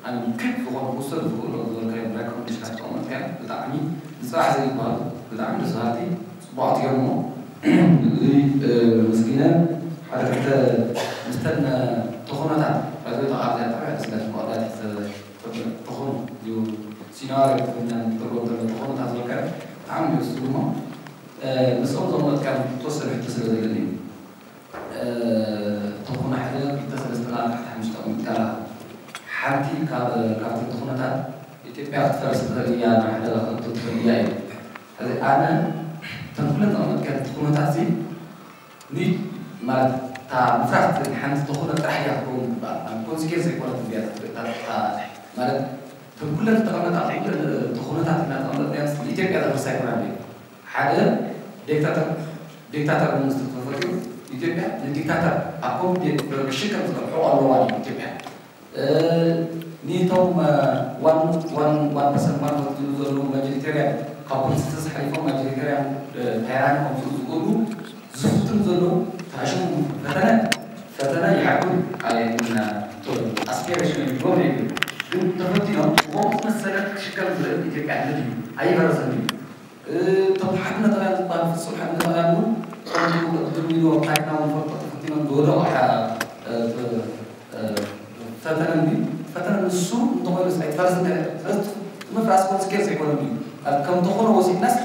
ኣነ ክክ ዝኾነ ክውሰድ ዝኽእሎ ዝበልካዮም ሬኮመንዴሽናት ተቐመጥካዮ ብጣዕሚ ንፅባሕ ዘይበሃሉ ብጣዕሚ ደስ በሃልቲ ፅቡቓት እዮም እሞ እዚ መስጊነ ሓደ ክልተ ምስተን ተኾኖታት ባይዘ ተቓርዚያ ብጣዕሚ ደስ ኢላ ተኾኖ እዩ ሲናሪ ትርጎም ዘሎ ተኾኖታት ዝበልካዮ ብጣዕሚ ይወስድ እሞ ምስኦም ዘቐመጥካዮም ተወሰነ ሕቶ ስለ ዘለኒ እዩ ተኾነ ሓደ ክልተ ሰለስተ ኣርባዕተ ሓሙሽተ ኣቐሚጥካ ኣለኻ። ሓንቲ ካብ ካብቲ ተኾነታት ኢትዮጵያ ክትፈርስ ትኽእል እያ፣ ናብ ሓደጋ ክትእቱ ትኽእል እያ እዩ። ሕዚ ኣነ እተን ኩለን ዘቐመጥካየን ተኾነታት እዚ ኒ ማለት እታ ምፍራስ ሓንቲ ተኾነ ጥራሕ እያ ክትከውን ትበሃል። ኣብ ኮንሲኬንስ ኣይኮነትን እያ ማለት እተን ኩለን ዝተቐመጣ ኩለን ተኾነታት ኢና ተቐመጥናዮ ኢትዮጵያ ዘፍርሳ ኣይኮናን እያ። ሓደ ዲክታተር ዲክታተር መንግስቲ ተፈጢሩ ኢትዮጵያ ንዲክታተር ኣኮሞዴት ክሽከም ዝኽእል ሕቖ ኣለዋ ኢትዮጵያ ኒቶም ዋን ዋን ዋን ፐርሰንት ዋን ፎርት ዝብሉ ዘለዉ ማጆሪቴርያን ካብ ኮንስንሰስ ሓሊፎም ማጆሪቴርያን ታይራን ከምፅኡ ዝኽእሉ ዝፍትኑ ዘለዉ ተኣሽሙ ፈተነ ፈተነ ይሓቁ ኣየና ኣስፒሬሽን ይግቦም ይብል ግን ተፈቲኖም ብኸምኡ መሰለ ክሽከም ዝኽእል ኢትዮጵያ ንድዩ ኣይፈረሰን እዩ እቶም ሓድነታውያን ዝበሃሉ ፍጹም ሓድነታውያን እውን ከምቲ ቅድም ኢሉ ኣብ ታሪኽና እውን ንፈልጦ ተፈቲኖም ዝወደቑ ፈተነ እንዲ ፈተነ ንሱ እንተኾይኑስ ኣይትፈረስ እንተ ስለዚ ምፍራስ ኮንስኬንስ ኣይኮነን እዩ ከም ተኾነ ወሲድናስ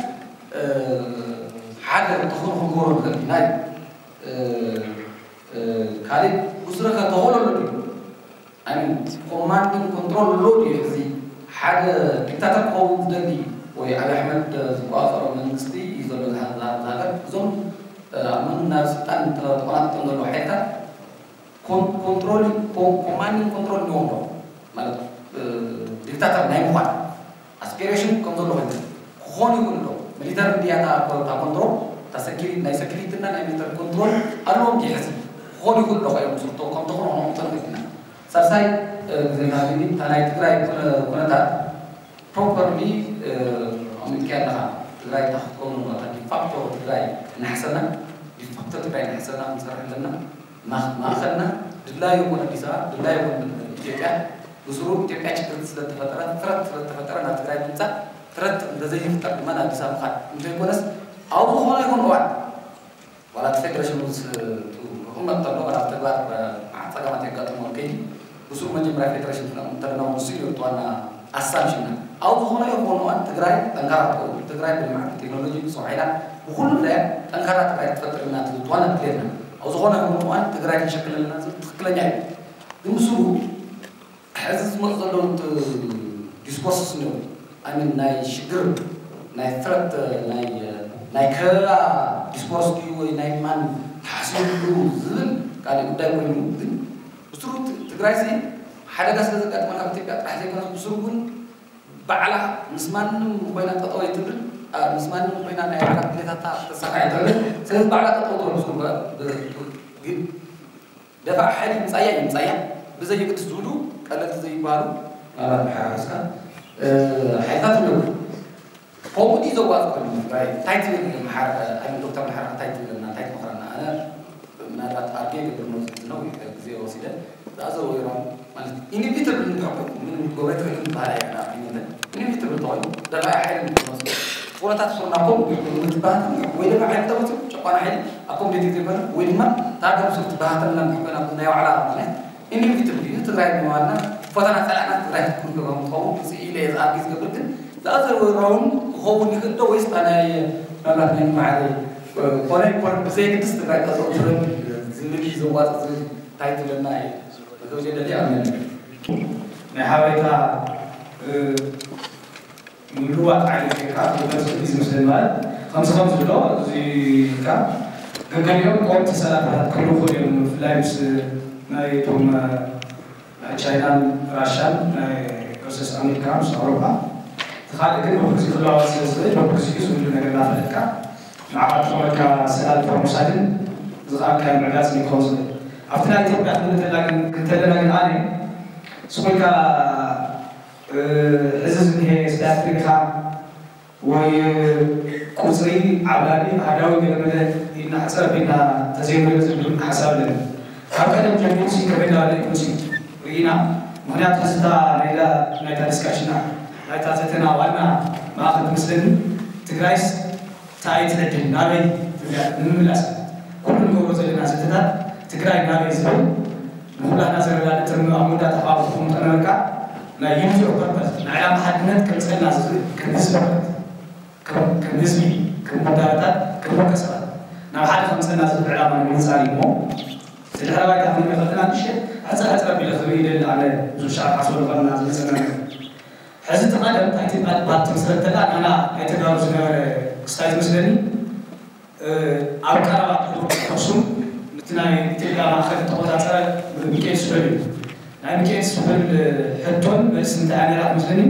ሓደ ተኾነ ክንገብሮ ንኽእል ኢና እዩ ካልእ ብስረከ ተኽእሎ ኣሎ ድዩ I mean command and control ኣሎ ድዩ ሕዚ ሓደ ዲክታተር ክኸውን ዝደሊ ወይ ዓብዪ ኣሕመድ ዝቆፃፀሮ መንግስቲ እዩ ዘሎ ዝሃገር እዞም ኣብ መን ናብ ስልጣን ተቆናጢጦም ዘለዉ ሓይልታት ኮንትሮል ኮማንድ ኮንትሮል እኒዎም ዶ ማለት ዲክታተር ናይ ምዃን ኣስፒሬሽን ከም ዘሎ ኮይኑ ክኾን ይኽእል ዶ ሚሊተር እንድያ እታ ኮንትሮል ናይ ሰኪሪቲ እና ናይ ሚሊተር ኮንትሮል ኣለዎም ድዩ ሕዚ ክኾን ይኽእል ዶ ከዮም ስርቶ ከም ተኾነ ክንቕጠር ኢና ሳልሳይ ግዜና ግን እታ ናይ ትግራይ ኩነታት ፕሮፐርሊ ኣሚጥካ ኣለኻ ትግራይ እታ ክትከውን እታ ዲፋክቶ ትግራይ እናሕሰና ዲፋክቶ ትግራይ እናሕሰና ክንሰርሕ ኣለና ማእኸልና ድላዩ ይኹን ኣዲስ ኣበባ ድላዩ ይኹን ኢትዮጵያ ብስሩ ኢትዮጵያ ችግር ስለተፈጠረ ትረት ስለተፈጠረ ናብ ትግራይ ምምፃእ ትረት እንተዘይፍጠር ድማ ናብ ኣዲስ ኣበባ ምኻድ እንተይኮነስ ኣብ ዝኾነ ይኹን እዋን ዋላ እቲ ፌደሬሽን ምስ ክቕመጥ ተሎ ዋላ ተግባር መዓት ፀገማት የጋጥሞ ከይዲ ብስሩ መጀመርያ ፌደሬሽን እንተለና ንሱ እዩ ዋና ኣሳምሽና ኣብ ዝኾነ ይኹን እዋን ትግራይ ጠንካራ ትኸውን ትግራይ ብልምዓት ብቴክኖሎጂ ብሰው ሓይላ ብኩሉ ምድያ ጠንካራ ትግራይ ክትፈጥር ኢና ትብል ዋና ድሌትና ኣብ ዝኾነ ይኹን እዋን ትግራይ ክንሸክል ኣለና ዝብል ትክክለኛ እዩ ግን ምስኡ ሕዚ ዝመፁ ዘለዉ ዲስኮርስ እኒኦ ኣሚን ናይ ሽግር ናይ ፍረት ናይ ከበባ ዲስኮርስ ድዩ ወይ ናይ ማን ተሓሲብሉ ዝብል ካልእ ጉዳይ ኮይኑ ግን ብስሩ ትግራይ ሲ ሓደጋ ስለ ዘጋጥመና ኣብ ኢትዮጵያ ጥራሕ ዘይኮነስ ብስሩ እውን ባዕላ ምስ ማንም ኮይና ጠጠው ኣይትብል ምስ ማንም ኮይና ናይ ባዕላ ድሌታታ ተሳካ ኣይትብል ስለዚ ባዕላ ጠጠው ትብል ግን ደፋዕ ሓይሊ ይምፃያ ይምፃያ ብዘየግድስ ዝብሉ ቀለልቲ ዘይበሃሉ ናላት መሓራረስካ ሓይልታት ኣለዉ ከምኡ ድዩ ዘዋፅ ኮይኑ ትግራይ እንታይ ትብል መሓረ ዶክተር መሓረ እንታይ ትብለና እንታይ ትመክረና ኣነ ምናልባት ኣርጌ ገብር መውፅእ ነው ግዜ ወሲደ ዝኣዘር ወይሮም ማለት ኢኒቪተብል እንተኾይኑ ምንም ክትገብሮ ትኽእል ዝበሃል ኣየና ኢኒቪተብል ተኾይኑ ደፋዕ ሓይሊ ኩነታት ስርና ኮም ክትባህት ወይ ድማ ሓይሊ ተመፅኡ ጨቋና ሓይሊ ኣኮምዴት ዘይኮነ ወይ ድማ ታርጋ ምስሉ ትባህተልና እንድሕር ኮይና ናይ ባዕላ ምክንያት ኢንቪትብል እዩ ትግራይ ብምባልና ፈተና ፀላእና ትግራይ ክትኩን ገባም ክኸውን ስኢለ እየ ዝኣርጊ ዝገብር ግን ዝኣዘር ወራውን ክኸውን ይኽእል ዶ ወይስ ናይ መብራት ናይ ማዕረ ኮነ ይኮነ ብዘየግድስ ትግራይ ጠጠው ትብል ዝብል እዩ ዘዋፅእ ዝብል እንታይ ትብለና እዩ መገውዜ ደሊ ኣመን ናይ ሓበሬታ ምልዋጥ ዓይነት ጌርካ ክትመፅእ እዩ ዝመስለኒ ማለት ከምዚ ከምዚ ብሎ እዚ ኢልካ ገገሊኦም ቆምቲ ሰላምታታት ክህሉ ይኽእሉ እዮም ብፍላይ ምስ ናይ እቶም ናይ ቻይናን ራሻን ናይ ቨርሰስ ኣሜሪካ ምስ ኣውሮፓ እቲ ካልእ ግን በብግዜ ክለዋወጥ ስለ ዝኽእል በብግዜኡ ዝህሉ ነገር እናፈለጥካ ንዓኻ ዝጠቕመካ ሰላምታ ምውሳድን ዝኸኣልካዮ ምዕጋጽን እዩ ክኸውን ዝኽእል ኣብቲ ናይ ኢትዮጵያ ክንብል እንተለና ግን ኣነ ስኹልካ ሕዚ ዝኒሀ ስታትሪካ ወይ ቁፅሪ ዓብላሊ ኣሃዳዊ ገለመለ ኢልና ሕፀር ኣቢልና ተዘይንሪኦ ዝብል ሓሳብ ኣለኒ ካብ ቀደም ጀሚሩ ሲ ከመይ እናበለ እዩ መፂኡ ርኢና ምኽንያቱ ሕዝታ ናይታ ናይታ ዲስካሽና ናይታ ዘተና ዋና ማእኸል ትመስለኒ። ትግራይስ እንታይ ትዕድል ናበይ ትብላ ንምምላስ ኩሉ ንገብሮ ዘለና ዘተታት ትግራይ ናበይ ዝብል ንኩላህና ዘረዳድእ ኣብ መወዳእታ ካብ ተቐምጦ ነበርካ ናይ ዩኒቲ ኦፍ ፐርፐስ ናይ ዕላማ ሓድነት ከምፀልና ዝኽእል ከም ህዝቢ ማለት ከም ከም ህዝቢ ከም ውዳበታት ከም ውልቀ ሰባት ናብ ሓደ ከምፀልና ዝኽእል ዕላማ ንምንፃር እዩ እሞ እቲ ድሕረ ባይታ ክንሪኦ ከለና ንእሽተይ ሕፅር ሕፅር ኣቢለ ክርኢ ይደሊ ኣነ ብዙ ሻዕ ሓስበሉ ከለና ዝመፀና ነገር ሕዚ እቲ ቀደም እታ ኢትዮጵያ ትበሃል ትምስረት ከላ ናና ናይ ተጋሩ ዝነበረ ክስታይ ዝመስለኒ ኣብ ቀረባ ኣክሱም እቲ ናይ ኢትዮጵያ ማእኸል ተቆፃፀረ ሚካኤል ስሑል እዩ ናይ ሚካኤል ስሑል ሕቶን መልሲ እንታይ ነራ ትመስለኒ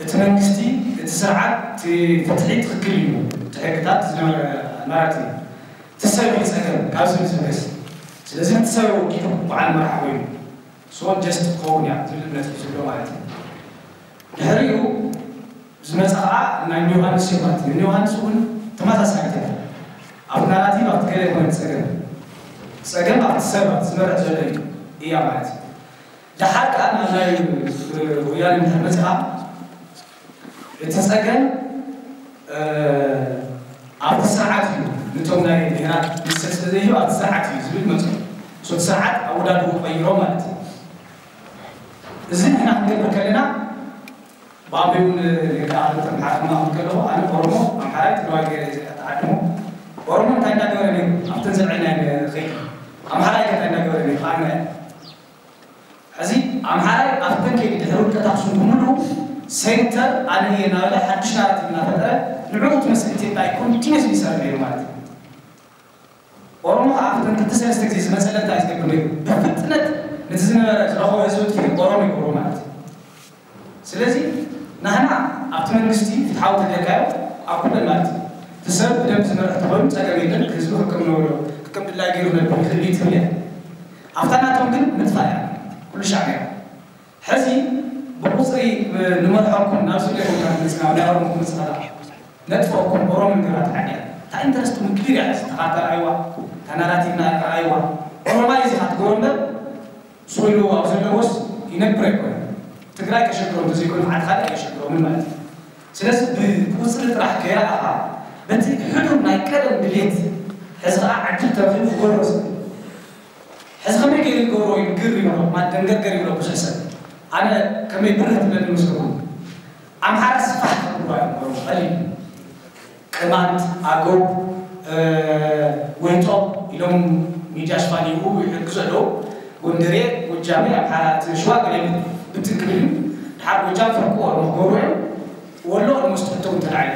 እቲ መንግስቲ እቲ ስርዓት እቲ ፍትሒ ትኽክል እዩ እቲ ሕግታት ዝነበረ መራቲ እቲ ሰብ እዩ ፀገም ካብ ዝብል ዝብገስ ስለዚ እቲ ሰብ ወኪሉ በዓል መራሕ ኮይኑ so just ክኸውን እያ ዝብል እምነት እዩ ዝብሎ ማለት እዩ ድሕሪኡ ዝመፀ ከዓ ናይ ዮሃንስ እዩ ማለት እዩ ዮሃንስ እውን ተመሳሳሊ ተ ኣብቲ ናራቲቭ ኣብቲ ገለ ይኮነ ፀገም ፀገም ኣብቲ ሰብ ኣብቲ ዝመርሕ ዘሎ እዩ እያ ማለት እዩ ደሓር ከዓ ናብ ናይ ወያነ እንድሕር መፅኣ እቲ ፀገም ኣብቲ ስርዓት እዩ ነቶም ናይ ብሄራት መሰል ስለዘይህብ ኣብቲ ስርዓት እዩ ዝብል መፅኡ እቲ ስርዓት ኣወዳድኡ ቀይሮ ማለት እዩ እዚ ንሕና ክንገብር ከለና ብኣበይ እውን ሌካ ኣምሓራ ከማኹም ከለኹ ኣነ ኦሮሞ ኣምሓራይ ትግራዋይ ገይረ እየ ተዓድሞ ኦሮሞ እንታይ እንዳገበረ ነይሩ ኣብተን ዘልዐልና ከይዱ ኣምሓራይ ከ እንታይ እንዳገበረ ነይሩ ኣነ ሕዚ ኣምሓራይ ኣብተን ከይዱ ድሕሪ ውድቀት ኣክሱም ብምሉ ሴንተር ኣነ እየ እናበለ ሓድሽ ናራቲቭ እናፈጠረ ንዕኡ ትመስል ኢትዮጵያ ኮንቲኒስ ይሰርሕ ነይሩ ማለት እዩ ኦሮሞ ከዓ ኣብተን ክልተ ሰለስተ ግዜ ዝመፀለታ እዩ ዝገብር ነይሩ ብፍጥነት ነቲ ዝነበረ ዝረኸቦ ህዝቢ ጥፊኡ ኦሮሞ ይገብሮ ማለት እዩ ስለዚ ናህና ኣብቲ መንግስቲ ፍትሓዊ ተገርካዮ ኣብ ኩለን ማለት እዩ እቲ ሰብ ብደንብ ዝመርሕ ተኾይኑ ፀገም የለን ህዝቢ ክቅም ነብሎ ክቅም ድላይ ገይሩ ነብር ይኽእል እዩ ትብል እያ ኣብታ ናቶም ግን ምጥፋእ እያ ኩሉ ሻዕ ነይራ ሕዚ ብቁፅሪ ንመርሖኩም ናብ ስለ ቦታ ክመፅና ናይ ኦሮሞ ክመፅና ነጥፈኩም ኦሮሞ ንገራት ሓዲያ እንታይ ኢንተረስትኩም ክሊር እያ ተኻታ ረኣይዋ ተናራቲቭና ረኣይዋ ኦሮማይ እዚ ካትጎሮ እምበር ስኢሉ ኣብ ዘለዎስ ይነብር ኣይኮነ ትግራይ ከሸግሮም ተዘይኮነ ዓዲ ካልእ ኣየሸግሮምን ማለት እዩ ስለዚ ብቁፅሪ ጥራሕ ከይረኣኻ በቲ ሕዱር ናይ ቀደም ድሌት ሕዚ ከዓ ዕድል ተረኺቡ ክገብሮ ዝኽእል ሕዚ ከመይ ገይሩ ይገብሮ ኢሉ ግር ይብሎ ማደንገርገር ይብሎ ብዙሕ ሰብ ኣነ ከመይ ብርህ ትብለኒ መስለኩም ኣምሓራ ስፋሕ ከብልዋ እዮም ኦሮሞ ቀሊል ቅማንት ኣገው ወይጦ ኢሎም ሚድያ ሽፋን ይህቡ ይሕግዙ ኣለዉ ጎንደሬ ጎጃሜ ኣምሓራ እቲ ሽዋ ገለ ብትን ክብል እዩ ድሓር ጎጃም ፍርቁ ኦሮሞ ክገብሩ እዮም ወሎ ኦልሞስት ሕቶ እውን ተላዒሉ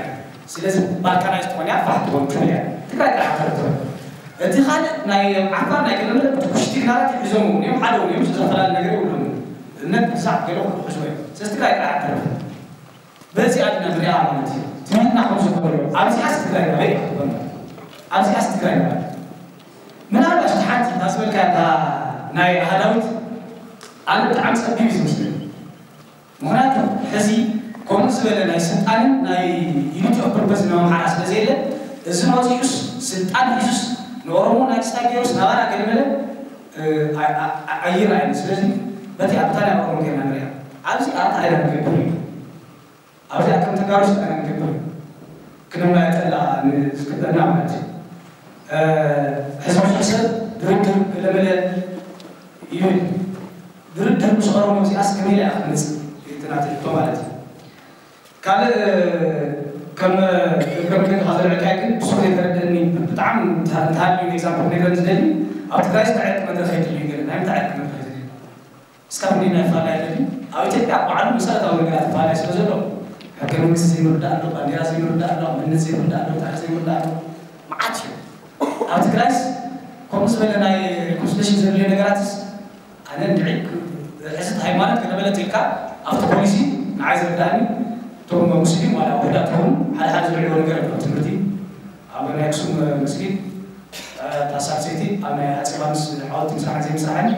ስለዚ ባልካናይዝ ትኾን እያ ፋሕ ትኾን ትብል እያ ትግራይ ጥራሕ ተረትበ እቲ ካልእ ናይ ዓፋር ናይ ገለመለ ብትኩሽቲ ግናራት ይሕዞም እውን እዮም ሓደ እውን እዮም ዝተፈላለዩ ነገር የብሎም እምነት ብዛዕ ገለ ክሕዝዎ እዮም ስለዚ ትግራይ ጥራሕ ተረፈ በዚ ኣድና ንሪኣ ማለት እዩ ትምህርትና ከም ዝኾነ ኣብዚኣስ ትግራይ ናበይ ክትኾን ኣብዚኣስ ትግራይ ናበይ ምናልባሽ ሓንቲ ታስበልካ ናይ ኣሃዳዊት ኣነ ብጣዕሚ ፀቢብ እዩ ዝመስለኒ ምኽንያቱ ሕዚ ከምኡ ዝበለ ናይ ስልጣንን ናይ ዩኒቲ ኦፍ ፐርፐስ ናይ ኣምሓራ ስለ ዘየለ እዚ መፂኡስ ስልጣን ሒዙስ ንኦሮሞ ናይ ስታይ ገይሩስ ናባና ገለመለ ኣይራኣየን ስለዚ በቲ ኣብታ ናይ ኦሮሞ ጌርና ንሪኣ ኣብዚ ኣብታ ኣይና ንገብር እዩ ኣብዚኣ ከም ተጋሩ ስልጣን ንገብር እዩ ክነማየጠላ ዝግበና ማለት እዩ ሕዝቢ ሰብ ድርድር ገለመለ ይብል ድርድር ምስ ኦሮሞ እዚኣስ ከመይ ኢላ ክትመፅእ ትናትልቶ ማለት እዩ ካልእ ከም እግረ መንገዲ ካዘልዕልካይ ግን ብዙሕ ዘይተረደኒ ብጣዕሚ እንተሃልዩ ኤግዛምፕል ነግረን ዝደሊ ኣብ ትግራይ ዝተዐርቂ መድረክ የድልዩ ገለ ናይ ምንታይ ዕርቂ መድረክ የድልዩ እስካብ እንዲ ናይ ፋላይ የድልዩ ኣብ ኢትዮጵያ ባዕሉ መሰረታዊ ነገራት ፋላይ ስለ ዘሎ ሕገ መንግስቲ ዘይምርዳእ ኣሎ ባንዴራ ዘይምርዳእ ኣሎ መንነት ዘይምርዳእ ኣሎ ታሪክ ዘይምርዳእ ኣሎ መዓት እዩ ኣብ ትግራይስ ከምኡ ዝበለ ናይ ኮንስቲቱሽን ዘድልዮ ነገራትስ ኣነ እንድዒ ሕዝት ሃይማኖት ከነበለት ኢልካ ኣብቲ ፖሊሲ ንዓይ ዝርዳእኒ እቶም ሙስሊም ዋላ ውሕዳት ይኹኑ ሓደ ሓደ ዝልዕልዎ ነገር ኣሎ ትምህርቲ ኣብ ናይ ኣክሱም መስጊድ ታሳብ ሰይቲ ኣብ ናይ ኣፀባምስ ሓወልቲ ምስራሕን ዘይምስራሕን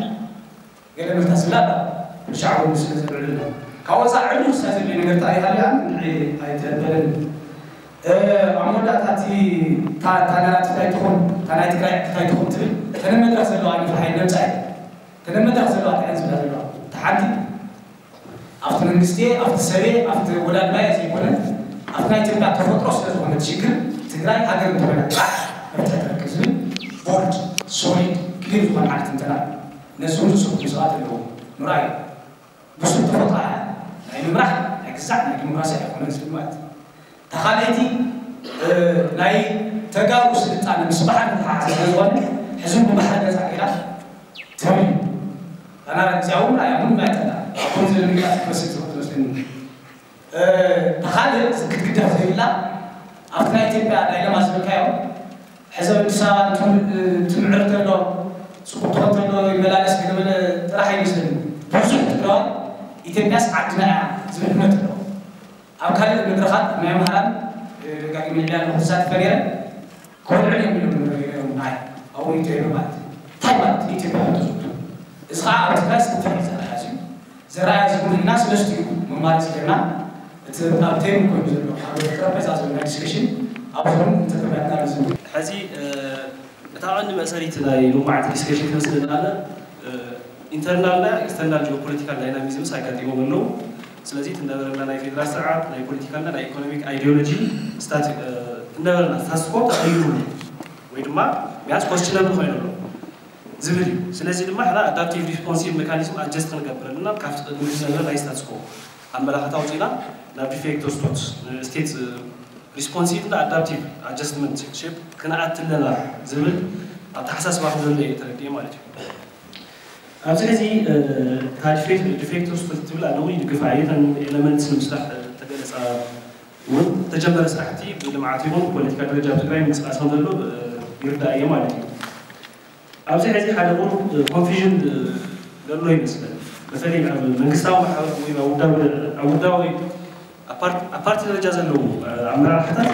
ገለ ምልታ ዝብላ ሻዕቡ ስለ ዘልዕልና ካብ ወፃ ዕሉ ክሳ ዘድልዮ ነገር ታ ይሃልያ ኣይተበለኒ ኣብ መወዳእታ እቲ ታናራት እንታይ ትኹን ታናይ ትግራይ እንታይ ትኹን ትብል ተነ መድረክ ዘለዋ ንፍሓይ ነብፃ ተነ መድረክ ዘለዋ እንታይ ዝብላ ዘለዋ ተሓንቲ መንግስቲ ኣብቲ ሰበ ኣብቲ ወላድባየ ዘይኮነ ኣብቲ ናይ ኢትዮጵያ ተፈጥሮ ስለ ዝኾነ ሽግር ትግራይ ሃገር እንተኾይና ጥራሕ መፍትሒ ትረክብ ዝብል ቦልድ ሶሊድ ክሊር ዝኾነ ዓይነት ትንተና እዩ። ነዚ እውን ዝስርሑ ሰባት ኣለዉ። ምርኣይ ብሱል ተፈጥሮ ናይ ምምራሕ ናይ ግዛዕ ናይ ዲሞክራሲ ኣይኮነን ዝብል ማለት እዩ። ተኻለይቲ ናይ ተጋሩ ስልጣነ ምስ ባሕሪ ተሓሓዘ ስለ ዝኾነ ሕዚ እውን ብባሕሪ ነፃ ጌራ ትብል እዩ። ኣና እግዚኣብ እውን ኣያ እውን ማይጠላ ኣኩም ዝብል ሚላት ክመስል ዝኽእል መስለኒ። ተኻልእ ክትግደፍ ዘይብላ ኣብቲ ናይ ኢትዮጵያ ዳይለማ ዝበልካዮ ሕዚ ኣዲስ ኣበባ ትምዕር ተሎ ፅቡቅ ትኾን ተሎ ይመላለስ ገለመለ ጥራሕ ኣይመስለኒ። ብዙሕ ትግራዋይ ኢትዮጵያስ ዓድና እያ ዝብል እምነት ኣለዎ። ኣብ ካልእ መድረኻት ናይ ኣምሃራን ደጋጊመ ዕልያ ኣለኹ ክሳተፈ ነይረ። ክወልዑ እዮም ኢሎም ነይሮም ናይ ኣብኡ ኢትዮጵያ ማለት እዩ። እንታይ ማለት እዩ ኢትዮጵያ ማለት እዩ? እዚ ከዓ ኣብ ትግራይ ዝተፈለጠ ዝረኣያ እዩ። ዝረኣያ ዝኩሉ ኢና ስለስቲኡ መማረፂ ጌርና እቲ ኣብ ቴብል ኮይኑ ዘሎ ኣብ ጠረጴዛ ዘሎ ናይ ዲስከሽን ኣብዞም እንተተመያና ዝብል ሕዚ እታ ቀንዲ መእሰሪት ናይ ሎማዓንቲ ዲስከሽን ክመስል ዝኣለ ኢንተርናልና ኤክስተርናል ጂኦፖለቲካል ዳይናሚዝምስ ኣጋጢሞም ኣለዉ። ስለዚ እቲ ነበረና ናይ ፌደራል ስርዓት ናይ ፖለቲካልና ናይ ኢኮኖሚክ ኣይዲዮሎጂ ስታት ነበረና ስታትስኮ ተቐይሩ ወይ ድማ ቢያንስ ኮስችነብል ኮይኑ ኣሎ ዝብል እዩ። ስለዚ ድማ ሕና ኣዳፕቲቭ ሪስፖንሲቭ ሜካኒዝም ኣጀስት ክንገብረልና ካብቲ ቅድሚ ዝነበረ ናይ ስታትስኮ ኣመላኽታ ኣውፂና ናብ ዲፌክቶ ስቶት ስቴት ሪስፖንሲቭ እና ኣዳፕቲቭ ኣጀስትመንት ሼፕ ክንኣቲ ኣለና ዝብል ኣተሓሳስባ ከም ዘሎ እየ ተረዲኤ ማለት እዩ። ኣብዚ ሕዚ ታሪክ ዲፌክተርስ ትብል ኣለዉ ይድግፋ እየ። እተን ኤለመንትስ ንምስራሕ ተገለፃ እውን ዝተጀመረ ስራሕቲ ብልምዓት ይኹን ብፖለቲካ ደረጃ ኣብ ትግራይ ምንቅስቃስ ከም ዘሎ ይርዳእ እየ ማለት እዩ። ኣብዚ ሕዚ ሓደ ቁሩብ ኮንፊዥን ዘሎ ይመስለኒ። በተለይ ኣብ መንግስታዊ ማሕበር ወይ ኣብ ውዳዊ ኣብ ውዳዊ ኣብ ፓርቲ ደረጃ ዘለዉ ኣመራርሓታት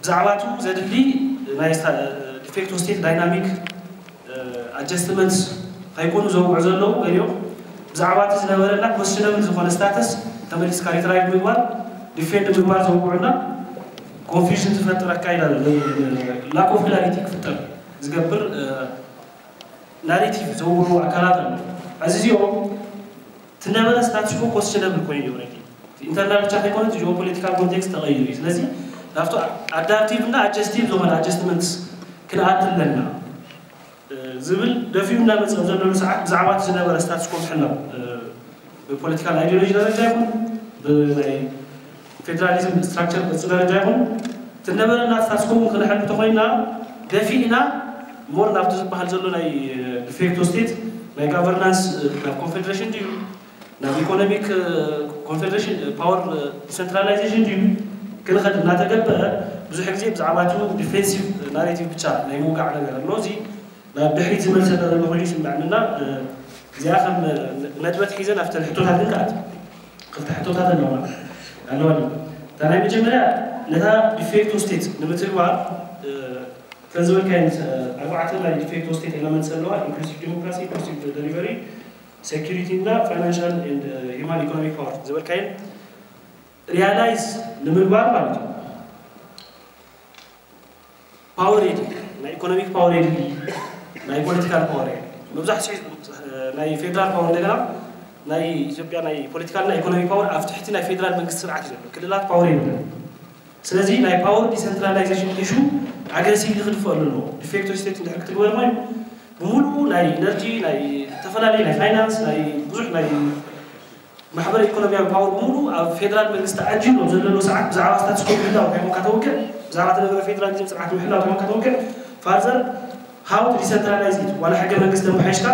ብዛዕባ እቲ ዘድሊ ናይ ዲፌክቶ ስቴት ዳይናሚክ ኣጀስትመንትስ ከይኮኑ ዘውግዑ ዘለዉ ገሊኦም ብዛዕባ እቲ ዝነበረና ኮስችነብል ዝኾነ ስታተስ ተመሊስካ ሪትራይቭ ምግባር ዲፌንድ ምግባር ዘውግዑና ኮንፊዥን ዝፈጥር ኣካይዳ ዘሎ ላክ ኦፍ ክላሪቲ ክፍጠር ዝገብር ናሬቲቭ ዘውግዑ ኣካላት ኣለዉ። ሕዚ እዚኦም እቲ ነበረ ስታትስ ኮ ኮስችነብል ኮይኑ እዩ ኦረዲ ኢንተርናል ብቻ ከይኮነ እቲ ጂኦፖለቲካል ኮንቴክስት ተቐይሩ እዩ። ስለዚ ናብቲ ኣዳፕቲቭ እና ኣጀስቲቭ ዝኾነ ኣጀስትመንትስ ክንኣቲ ኣለና ዝብል ደፊኡ እናመፀ ዘለሉ ሰዓት ብዛዕባ እቲ ዝነበረ ስታትስ ኮ ምሕላው ብፖለቲካል ኣይዲዮሎጂ ደረጃ ይኹን ብናይ ፌደራሊዝም ስትራክቸር ቅርፂ ደረጃ ይኹን እቲ ነበረና ስታትስ ኮ እውን ክነሕሉ እንተኮይንና ደፊእና ሞር ናብቲ ዝበሃል ዘሎ ናይ ዲፌክቶ ስቴት ናይ ጋቨርናንስ ናብ ኮንፌዴሬሽን ድዩ ናብ ኢኮኖሚክ ኮንፌዴሬሽን ፓወር ዲሰንትራላይዜሽን ድዩ ክንኸድ እናተገበረ ብዙሕ ግዜ ብዛዕባ እቲ ዲፌንሲቭ ናሬቲቭ ብቻ ናይ ምውጋዕ ነገር ኣሎ። እዚ ናብ ድሕሪት ዝመልሰና ዘሎ ኮይኑ ይስምዐኒ እና እዚኣ ከም ነጥበት ሒዘ ናብተን ሕቶታት ግን ክኣት ክልተ ሕቶታት ኣለዋ ኣለዋ። እታ ናይ መጀመርያ ነታ ዲፌክቶ ስቴት ንምትግባር ከም ዝበልካዮ ኣርባዕተ ናይ ዲፌክቶ ስቴት ኤለመንትስ ኣለዋ። ኢንክሉሲቭ ዲሞክራሲ፣ ኢንክሉሲቭ ደሊቨሪ፣ ሴኩሪቲ እና ፋይናንሻል ኤንድ ሂውማን ኢኮኖሚክ ፓወር ዝበልካየን ሪያላይዝ ንምግባር ማለት እዩ። ፓወር የድሊ፣ ናይ ኢኮኖሚክ ፓወር የድሊ፣ ናይ ፖለቲካል ፓወር የድሊ። መብዛሕትኡ ናይ ፌደራል ፓወር እንደገና ናይ ኢትዮጵያ ናይ ፖለቲካል እና ኢኮኖሚክ ፓወር ኣብ ትሕቲ ናይ ፌደራል መንግስቲ ስርዓት እዩ ዘሎ። ክልላት ፓወር የብለን። ስለዚ ናይ ፓወር ዲሰንትራላይዜሽን ኢሹ ኣግረሲቭሊ ክድፈኣሉ ኣለዎ። ዲፌክቶ ስቴት እንድሕር ክትግበር ኮይኑ ብምሉኡ ናይ ኢነርጂ ናይ ዝተፈላለዩ ናይ ፋይናንስ ናይ ብዙሕ ናይ ማሕበረ ኢኮኖሚያዊ ፓወር ብምሉኡ ኣብ ፌደራል መንግስቲ ተዓጂሉ ኣብ ዘለሉ ሰዓት ብዛዕባ ስታትስ ኮ ምህላው እንታይ ኮንካ ተውግዕ ብዛዕባ ተነበረ ፌደራሊዝም ስርዓት ምሕላው እንታይ ኮንካ ተውግዕ ፋርዘር ሃው ቱ ዲሰንትራላይዝ ኢት ዋላ ሕገ መንግስቲ ኣመሓይሽካ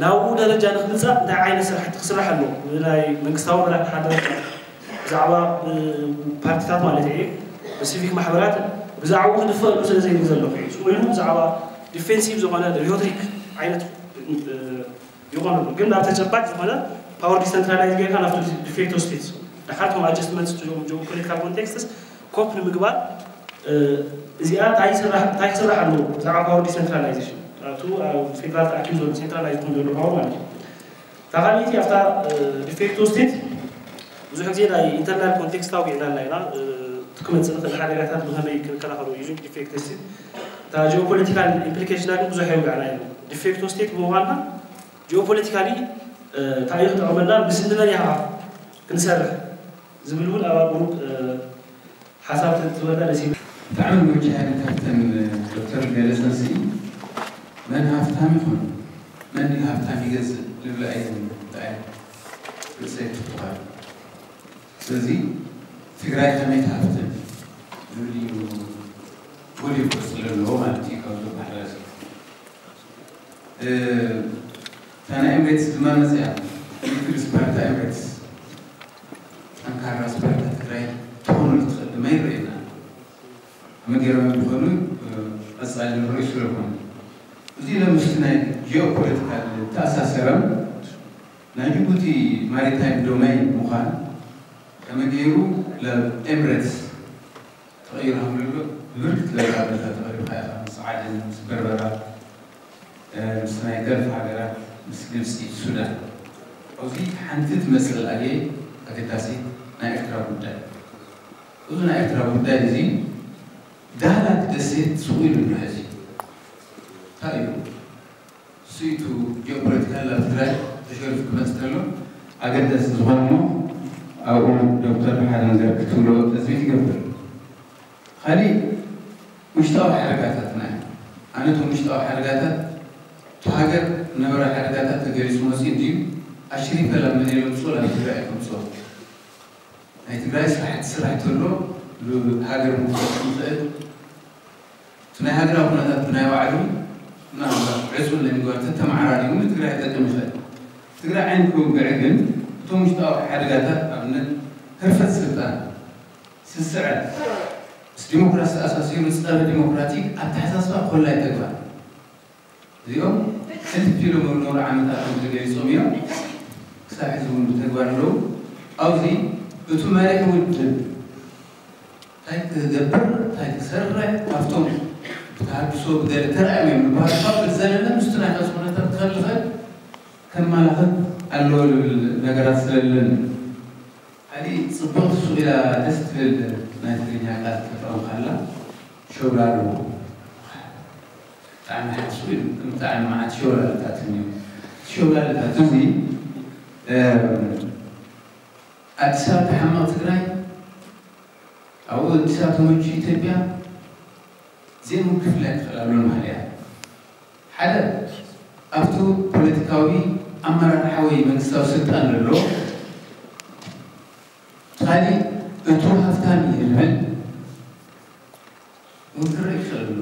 ናብኡ ደረጃ ንክምፃእ እንታይ ዓይነት ስራሕቲ ክስራሕ ኣለዎ ብናይ መንግስታዊ መራሕቲ ሓደ ብዛዕባ ፓርቲታት ማለት እየ ብሲቪክ ማሕበራት ብዛዕባኡ ክድፈሉ ስለ ዘይብል ዘለኹ እዩ ኮይኑ ብዛዕባ ዲፌንሲቭ ዝኾነ ሪቶሪክ ዓይነት ይኾነሉ ግን ናብ ተጨባጭ ዝኾነ ፓወር ዲሰንትራላይዝ ጌርካ ናብቲ ዲፌክቶ ስቴትስ ደሓር ቶም ኣጀስትመንትስ ጂኦ ፖለቲካል ኮንቴክስትስ ኮፕ ንምግባር እዚኣ እንታይ ክስራሕ ኣለዎ ብዛዕባ ፓወር ዲሰንትራላይዜሽን ኣብቱ ኣብ ፌደራል ተኣኪቡ ዘሎ ሴንትራላይዝ ክን ዘሎ ፓወር ማለት እዩ እታ ካልኣይቲ ኣብታ ዲፌክቶ ስቴት ብዙሕ ግዜ ናይ ኢንተርናል ኮንቴክስት ኣውጊዕና ኣለና ኢና እቲ ክመፅእ ንክእል ሓደጋታት ብከመይ ክንከላኸሎ እዩ ዲፌክቶ ስቴት እታ ጂኦፖለቲካል ኢምፕሊኬሽና ግን ብዙሕ የውግዕና ኢና ዲፌክቶ ስቴት ብምኳንና ጂኦፖለቲካሊ እንታይ እዩ ክጠቕመና ምስ እንመን ኢኻ ንሰርሕ ዝብል እውን ኣብ ኣቁሩብ ሓሳብ ተትበና ደስ ይብል። ብጣዕሚ መወጃህሪ ካብተን ዶክተር ገለፀንሲ መን ሃፍታም ይኹን መን ድዩ ሃፍታም ይገዝእ ልብላ እየን ብጣዕሚ ርእሰይ ትኩኻል። ስለዚ ትግራይ ከመይ ትሃፍትም ዝብል እዩ ጎሊሑ ክወፅእ ዘለዎ ማለት እዩ ካብዞም ማሕበረሰብ። እታ ናይ ኤምሬትስ ድማ መፅያ። ምክትል ስፓርታ ኤምሬትስ ጠንካራ ስፓርታ ትግራይ ትኾነሉ ትኽእል ድማ ይረአየና። መገረሚ ዝኾኑ ቀፃሊ ንሪኦ ስለኾነ እዚ ለምስቲ ናይ ጂኦፖለቲካል ተኣሳሰረም ናይ ጅቡቲ ማሪታይም ዶሜን ምዃን ከመይ ገይሩ ለኤምሬትስ ተቐይሩ ከም ዘሎ ብብርክት ዝበለ ሓበሬታ ተቐሪብካ ኢኻ። ምስ ዓደን፣ ምስ በርበራ፣ ምስ ናይ ገልፍ ሃገራት፣ ምስ ግብፂ፣ ሱዳን። ኣብዚ ሓንቲ ትመስል ኣየ ኣገዳሲት ናይ ኤርትራ ጉዳይ። እዚ ናይ ኤርትራ ጉዳይ እዚ ዳህላክ ደሴት ስቕ ኢሉ ኣሎ ሕዚ። እንታይ እዩ? ስኢቱ ጂኦፖለቲካል ኣብ ትግራይ ተሸሪፉ ክመፅእ ከሎ ኣገዳሲ ዝኾነ እሞ ኣብኡ ዶክተር ሓደ ነገር ክትብሎ ተፅቢት ይገብር። ካሊእ ውሽጣዊ ሓደጋታትና እዩ። ኣነ እቶም ውሽጣዊ ሓደጋታት እቲ ሃገር ነበረ ሓደጋታት ተገሊፁ መፅኡ እንድዩ ኣሽሪፈ ላብ መን የምፅኦ ላብ ትግራይ ከምፅኦ ናይ ትግራይ ስራሕቲ ስራሕ ተሎ ሃገር ምክፈት ንኽእል እቲ ናይ ሃገራዊ ኩነታት ብናይ ባዕሉ ምናልባት ዕፁ ለሚጓር ተተመዓራሪቡ ንትግራይ ይጠቅም ይኽእል። ትግራይ ዓይን ክውግዕ ግን እቶም ውሽጣዊ ሓደጋታት ኣብነት ህርፈት ስልጣን ስስዐ ምስ ዲሞክራሲ ተኣሳሲሩ ጸረ ዲሞክራቲክ ኣተሓሳስባ ኮላይ ተግባር እዚኦም ሕልፍ ኢሎም ኣብ ዝነበሩ ዓመታት ከም ተገሊጾም እዮም ክሳብ ሕዚ እውን ብተግባር ኣለዉ። ኣብዚ እቱ መሪሕ ውድብ እንታይ ክገብር እንታይ ክሰርሕ ካብቶም ብተሃድሶ ብገለ ተራእዮም እዮም ዝበሃሉ ካብ ብዝዘለለ ምስቲ ናይ ቃልሲ ኩነታት ክኸልኸል ከማላኽት ኣለዎ ዝብል ነገራት ስለለን ሓዲ ጽብቕቲ ሱቕ ኢላ ደስ ትብል ናይ ትግርኛ ቃል ተጠቐምካላ ሸውላሉ ብጣዕሚ ሓሱ ኢሉ ብጣዕሚ መዓት ሸውላልታት እኒኦ ሸውላልታት እዚ ኣዲስ ኣበባ ተሓመቕ ትግራይ ኣብኡ ኣዲስ ኣበባ ተመቹ ኢትዮጵያ ዘይምክፍላይ ክኽእል ኣሎ ማለት እያ ሓደ ኣብቱ ፖለቲካዊ ኣመራርሓ ወይ መንግስታዊ ስልጣን ዘሎ ካሊእ እቱ ሃፍታም እየ ዝብል እውን ክረአ ይኽእል ኣሎ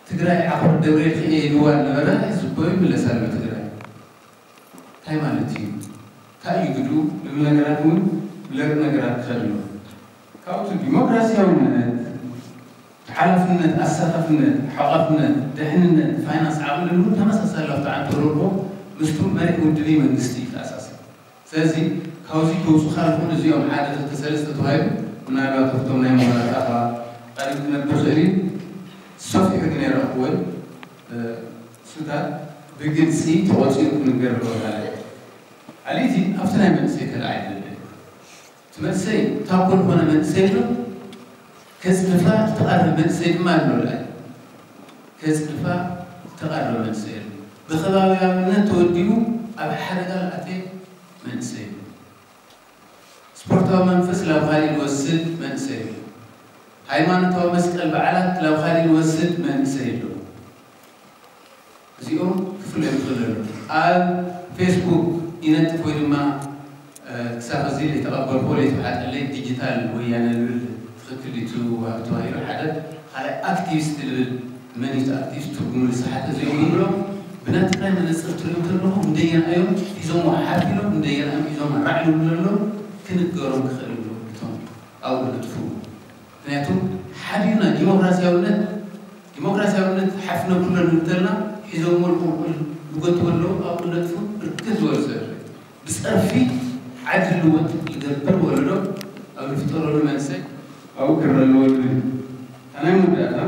ትግራይ ዓኾር ደብሬ ክእየ ኢልዋ ነበረ ዝቦ ይምለስ ኣሎ ትግራይ እንታይ ማለት እዩ እንታይ እዩ ግዱ ዝብል ነገራት እውን ብለር ነገራት ክኸድ ኣሎ ካብቱ ዲሞክራሲያውነት ሓላፍነት ኣሳታፍነት ሓቋፍነት ድሕንነት ፋይናንስ ዓቕሚ እውን ተመሳሳሊ ኣብቲ ዓንተረቦ ምስቱ መሪሕ ውድብ መንግስቲ ይተኣሳሰር ስለዚ ካብዚ ክውፁ ካልኹን እዚኦም ሓደ ክልተ ሰለስተ ተባሂሉ ምናልባት ኣብቶም ናይ ምሁራት ኣባ ቀሪብ ክነብር ክእል እዩ ሰፊሑ ግን የረኽብወን እሱታት ብግልፂ ተቆፂሩ ክንገር ኣለዎ ማለት እዩ። ኣሊቲ ኣብቲ ናይ መንእሰይ ተለዓይለ እቲ መንእሰይ ታኮ ዝኾነ መንእሰይ ኣሎ፣ ከፅድፋ ዝተቐረበ መንእሰይ ድማ ኣሎ። ከፅድፋ ዝተቐረበ መንእሰይ ኣሎ። ብኸባቢያውነት ተወዲቡ ኣብ ሓደጋ ዝኣተየ መንእሰይ ኣሎ። ስፖርታዊ መንፈስ ላብ ካሊእ ዝወስድ መንእሰይ ኣሎ። ሃይማኖታዊ መስቀል በዓላት ላብ ካሊእ ዝወስድ መንእሰይ ኣሎ። እዚኦም ክፍለዩ ይኽእሉ ኣለዉ። ኣብ ፌስቡክ ይነጥፍ ወይ ድማ ክሳብ ሕዚ ዘይተቐበልኩዎ ዘይተዋሓጠለይ ዲጂታል ወያነ ዝብል ትኽክል ድዩ እቲ ወሃቢ ተባሂሉ ሓደ ካልኣይ ኣክቲቪስት ዝብል መን እዩ እቲ ኣክቲቪስት ትርጉሙ ዝሰሓተ እዚኦም ንብሎም ብናይ ትግራይ መነፅር ትሪኦም ተለኹም እንደየናዮም ሒዞሞ ሓፍ ኢሎም እንደየናዮም ሒዞም ራዕ ይብሉ ዘለዉ ክንገሮም ክኽእል ኣለዉ እቶም ኣብኡ ዝነጥፍዎ ምክንያቱ ሓዲኡ ናይ ዲሞክራሲያውነት ዲሞክራሲያውነት ሓፍ ነብሎ ንብል ተለና ሒዞሞ ንቁልቁል ዝጎትዎ ኣለዉ ኣብኡ ነጥፉ ብርክት ዝበሉ ሰብ ብፀርፊ ዓዲ ልወጥ ዝገብር ወለዶ ኣብ ዝፍጠረሉ መንሰይ ኣብኡ ክረአ ኣለዎ ዝብል እዩ። እታ ናይ መወዳእታ